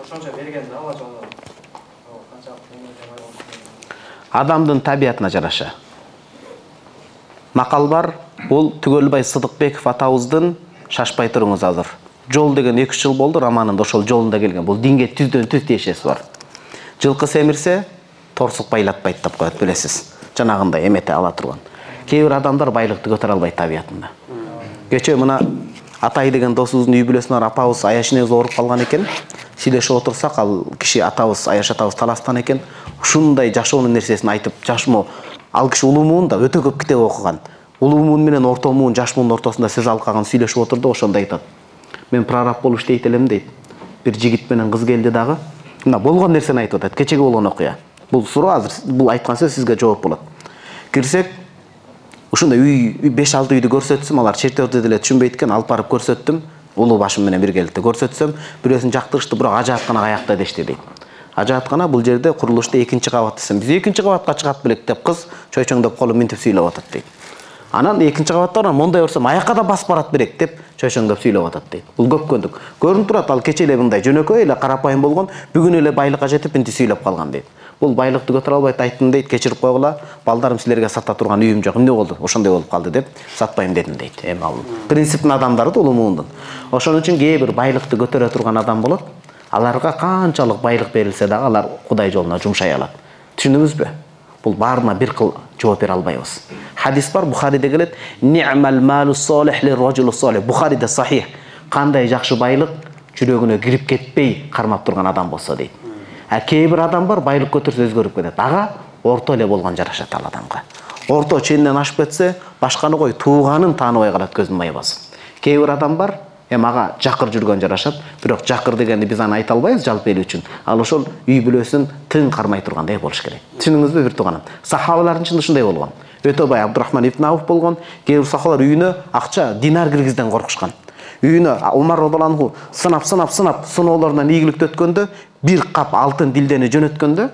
ошончо бергенде Алла жолу канчалык деңгээлде мая болуш керек? Адамдын табиятына жараша. Макал бар, бул Түгөлбай Сыдыкбеков атабыздын Шашпай туруңуз азыр. Жол деген эки үч жыл болду, романында ошол жолунда келген. Бул динге түздөн түз тиешеси бар. Жылкы семирсе, торсук байлатпайт деп коет, билесиз. Жанагындай эмете ала турган. Кээ бир адамдар байлыкты көтөрө албайт табиятында. Кечээ мына Атай деген досубуздун үй бүлөсүнөн апабыз Аяшинебиз ооруп калган экен. Сүйлөшүп отурсак, ал киши атабыз, Аяш атабыз таластан экен. Ушундай жашоонун нерсесин айтып, жашмоо, ал киши улуу муун да өтө көп китеп окуган. Улуу муун менен орто муун, жаш муунун ортосунда сөз алкаган сүйлөшүп отурду, ошондо айтат. Мен прораб болуп иштейт элем дейт. Бир жигит менен кыз келди дагы. Мына болгон нерсени айтып атат. Кечеги болгон окуя. Бул суроо азыр бул айткан сөз сизге жооп болот. Кирсек, ушундай үй беш алты үйдү көрсөтсөм, алар чертежди деле түшүнбөйт экен, алып барып көрсөттүм. Улуу башым менен биргеликте көрсөтсөм, бирөөсүн жактырышты, бирок ажааткана каякта дешти дейт. Ажааткана бул жерде курулушта экинчи кабат десем, биз экинчи кабатка чыгат белек деп кыз чойчоңдоп колун минтип сүйлөп атат дейт. Анан экинчи кабаттан мондай көрсөм, аякка да басып барат берек деп чойчоңдоп сүйлөп атат дейт. Бул көпкөндүк. Көрүнүп турат, ал кече эле мындай жөнөкөй эле карапайым болгон, бүгүн эле байлыкка жетип инти сүйлөп калган дейт. Бул байлыкты көтөрө албайт, айттым дейт, кечирип койгула, балдарым силерге сата турган үйүм жок, эмне болду? Ошондой болуп калды деп сатпайм дедим дейт. Эми ал принциптин адамдары да улуу муундун. Ошон үчүн кээ бир байлыкты көтөрө турган адам болот. Аларга канчалык байлык берилсе дагы алар Кудай жолуна жумшай алат. Түшүндүңүзбү? Бул баарына бир кыл жооп бере албайбыз. Хадис бар, Бухариде келет: "Ни'мал малу солих лир-раджулу солих." Бухариде сахих. Кандай жакшы байлык жүрөгүнө кирип кетпей кармап турган адам болсо дейт. А кээ бир адам бар, байлык көтөрсө өзгөрүп кетет. Ага орто эле болгон жарашат ал адамга. Орто ченинен ашып кетсе, башканы кой, тууганын тааныбай калат көзүн май басып. Кээ бир адам бар, эми ага жакыр жүргөн жарашат, бирок жакыр дегенди биз аны айта албайбыз жалпы эл үчүн. Ал ошол үй бүлөсүн тың кармай тургандай болуш керек. Түшүндүңүзбү бир тууганым? Сахабалардын ичинде ушундай болгон. Өтө бай Абдурахман ибн Ауф болгон, кээ бир сахабалар үйүнө акча, динар киргизден коркушкан. Үйүнө Умар радыйаллаху сынап сынап сынап сыноолорунан ийгиликти өткөндө, бир кап алтын дилдени жөнөткөндө,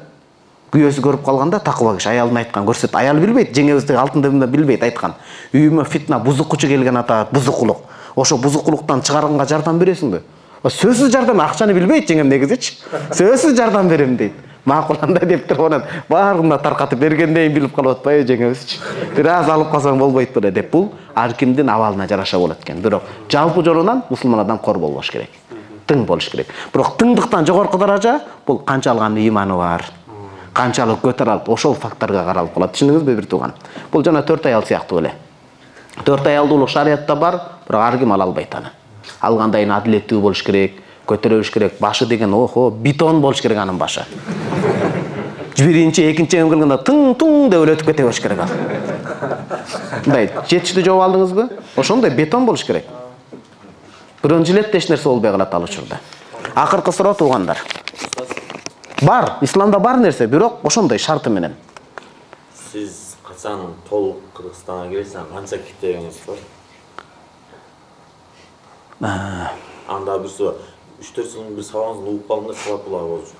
күйөөсү көрүп калганда такыба киши аялына айткан, көрсөт, аял билбейт, жеңебиздеги алтын деп билбейт, айткан. Үйүмө фитна, бузукчу келген атат, бузукулук. ошо бузукулуктан чыгарганга жардам бересиңби? Сөзсүз жардам, акчаны билбейт жеңем негизичи. Сөзсүз жардам берем дейт. Макул андай деп туруп анан баарына таркатып бергендейин билип калып атпайбы жеңебизчи. Бир аз алып калсаң болбойт беле деп бул ар кимдин абалына жараша болот экен. Бирок жалпы жолунан мусулман адам кор болбош керек. Тың болуш керек. Бирок тыңдыктан жогорку даража бул канча алган ыйманы бар, канчалык көтөрө алат, ошол факторго каралып калат. Түшүндүңүзбү бир тууган? Бул жана төрт аял сыяктуу эле. Төрт аялдуулук шариятта бар, бирок ар ким ала албайт аны. Алгандайын адилеттүү болуш керек, көтөрө билиш керек. Башы деген охо, бетон болуш керек анын башы. Биринчи, экинчи эм кылганда тың-тың деп өтүп кете болуш керек ал. Мындай жетиштүү жооп алдыңызбы? Ошондой бетон болуш керек. Бирөө жилетте эч нерсе болбой калат ал учурда. Акыркы суроо туугандар. Бар, исламда бар нерсе, бирок ошондой шарты менен. Сиз качан толук Кыргызстанга келесиз, канча киттегиңиз бар? Анда бир суу үч төрт жылдын бир сабагыңызды угуп калдым да сабак булар болчу.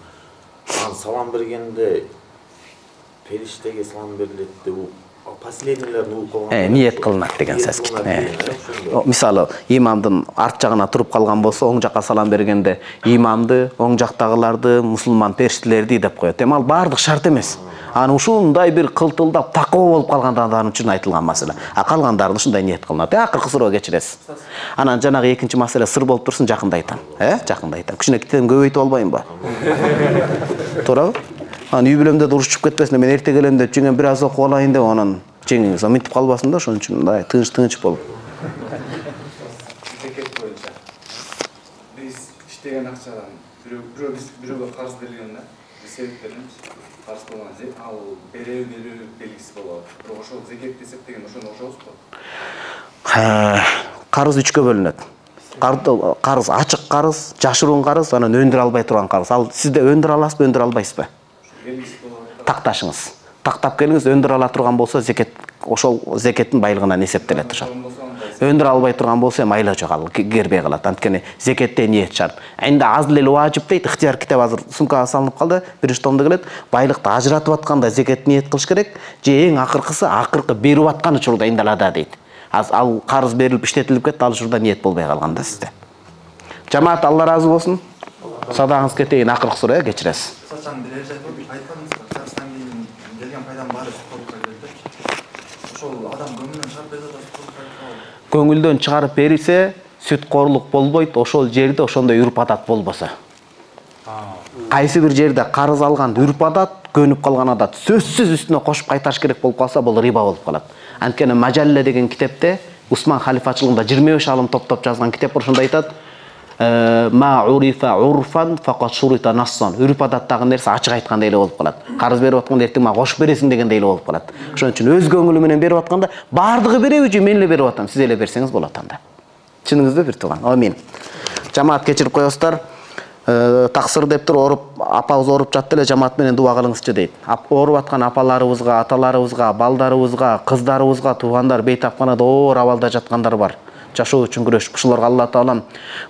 Аны салам бергенде периштеге салам берилет деп последнийлерин угуп калган. Э, ниет кылынат деген сөз. Мисалы, имамдын арт жагына туруп калган болсо, оң жакка салам бергенде имамды, оң жактагыларды, мусулман периштелерди деп коет. Эми ал бардык шарт эмес. Аны ушундай бир кылтылдап такоо болуп калган адамдар үчүн айтылган маселе. А калгандарын ушундай ниет кылынат. Э, акыркы суроо кечиресиз. Анан жанагы экинчи маселе сыр болуп турсун, жакында айтам. Э, жакында айтам. Кичине китем көбөйтүп албайынбы? Туурабы? Анан үй бүлөмдө да урушуп кетпесин, мен эрте келем деп жеңем бир аз окуп алайын деп анан жеңиңиз мынтип калбасын да, ошон үчүн мындай тыныч-тыныч болуп. Зекет боюнча биз иштеген акчадан бирөө бирөө биз бирөөгө карыз берилген да, себеп беребиз. Карыз болгон ал берүү берүү белгиси болот. Бирок ошол зекет эсептеген ошону кошобузбу? Карыз үчкө бөлүнөт. Карыз ачык карыз, жашыруун карыз, анан өндүрө албай турган карыз. Ал сизде өндүрө аласызбы, өндүрө албайсызбы? Такташыңыз. Тактап келиңиз, өндүрө ала турган болсо, зекет ошол зекеттин байлыгынан эсептелет ошол. Өндүрө албай турган болсо, эми айла жок, ал кербей калат. Анткени зекетте ниет шарт. Энди азыл эле важип дейт, ыктыяр китеп азыр сумкага салынып калды, биринчи томдо келет. Байлыкты ажыратып атканда зекет ниет кылыш керек. Же эң акыркысы, акыркы берип аткан учурда индалада дейт. Ал карыз берилип иштетилип кетти, ал учурда ниет болбой калганда сизде. Жамаат, Алла ыраазы болсун. Садагыңыз кетейин, акыркы суроо кечиресиз. Сачан бир эже айтпадыңызбы, Кыргызстан менен келген пайдам баары спортко келди. Ошол адам көңүлүнөн чыгарып берсе да спортко. Көңүлдөн чыгарып берилсе, сүткорлук болбойт, ошол жерде ошондой үрп адат болбосо. Кайсы бир жерде карыз алган үрп адат, көнүп калган адат сөзсүз үстүнө кошуп кайтарыш керек болуп калса, бул риба болуп калат. Анткени Мажалле деген китепте Усман халифачылыгында жыйырма беш алым топтоп жазган китеп бар, ошондо айтат: ма урифа урфан фaqat шурита нассан. Үрп адаттагы нерсе ачык айткандай эле болуп калат. Карыз берип атканда эртең мага кошуп бересиң дегендей эле болуп калат. Ошон үчүн өз көңүлү менен берип атканда бардыгы береби же мен эле берип атам, сиз эле берсеңиз болот анда. Түшүндүңүзбү бир тууган? Амин. Жамаат кечирип коесуздар. Таксыр деп туруп оруп, апабыз оруп жатты эле, жамаат менен дуа кылыңызчы дейт. Оруп аткан апаларыбызга, аталарыбызга, балдарыбызга, кыздарыбызга, туугандар, бейтапканада оор абалда жаткандар бар. Жашоо үчүн күрөшүп, ушуларга Алла таалам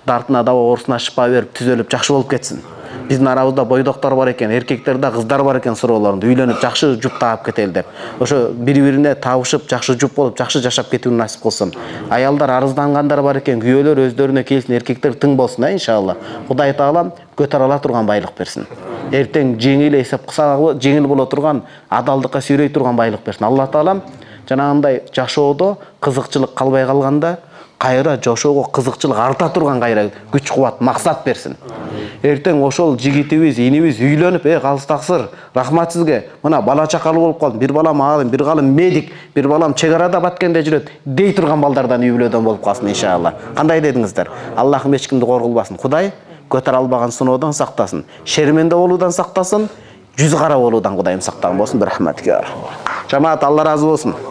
дартына даба, оорусуна шифа берип, түзөлүп, жакшы болуп кетсин. Биздин арабызда бойдоктор бар экен, эркектер да, кыздар бар экен суроолорунда, үйлөнүп жакшы жуп таап кетели деп. Ошо бири-бирине табышып, жакшы жуп болуп, жакшы жашап кетүүнү насип кылсын. Аялдар арыздангандар бар экен, күйөөлөр өздөрүнө келсин, эркектер тың болсун, а иншалла. Кудай таалам көтөрө ала турган байлык берсин. Эртең жеңил эсеп кылса, жеңил боло турган, адалдыкка сүйрөй турган байлык берсин. Алла таалам жанагындай жашоодо кызыкчылык калбай калганда, кайра жашоого кызыкчылык арта турган кайра күч кубат, максат берсин. Эртең ошол жигитибиз, инибиз үйлөнүп, э калыс таксыр, рахмат сизге. Мына бала чакалуу болуп калдым, бир балам алым, бир балам медик, бир балам чек арада баткенде жүрөт, дей турган балдардан үй бүлөдөн болуп калсын иншалла. Кандай дедиңиздер? Аллахым эч кимди кор кылбасын. Кудай көтөрө албаган сыноодон сактасын. Шерменде болуудан сактасын, жүз кара болуудан Кудайым сактаган болсун. Рахмат. Жамаат, Алла ыраазы болсун.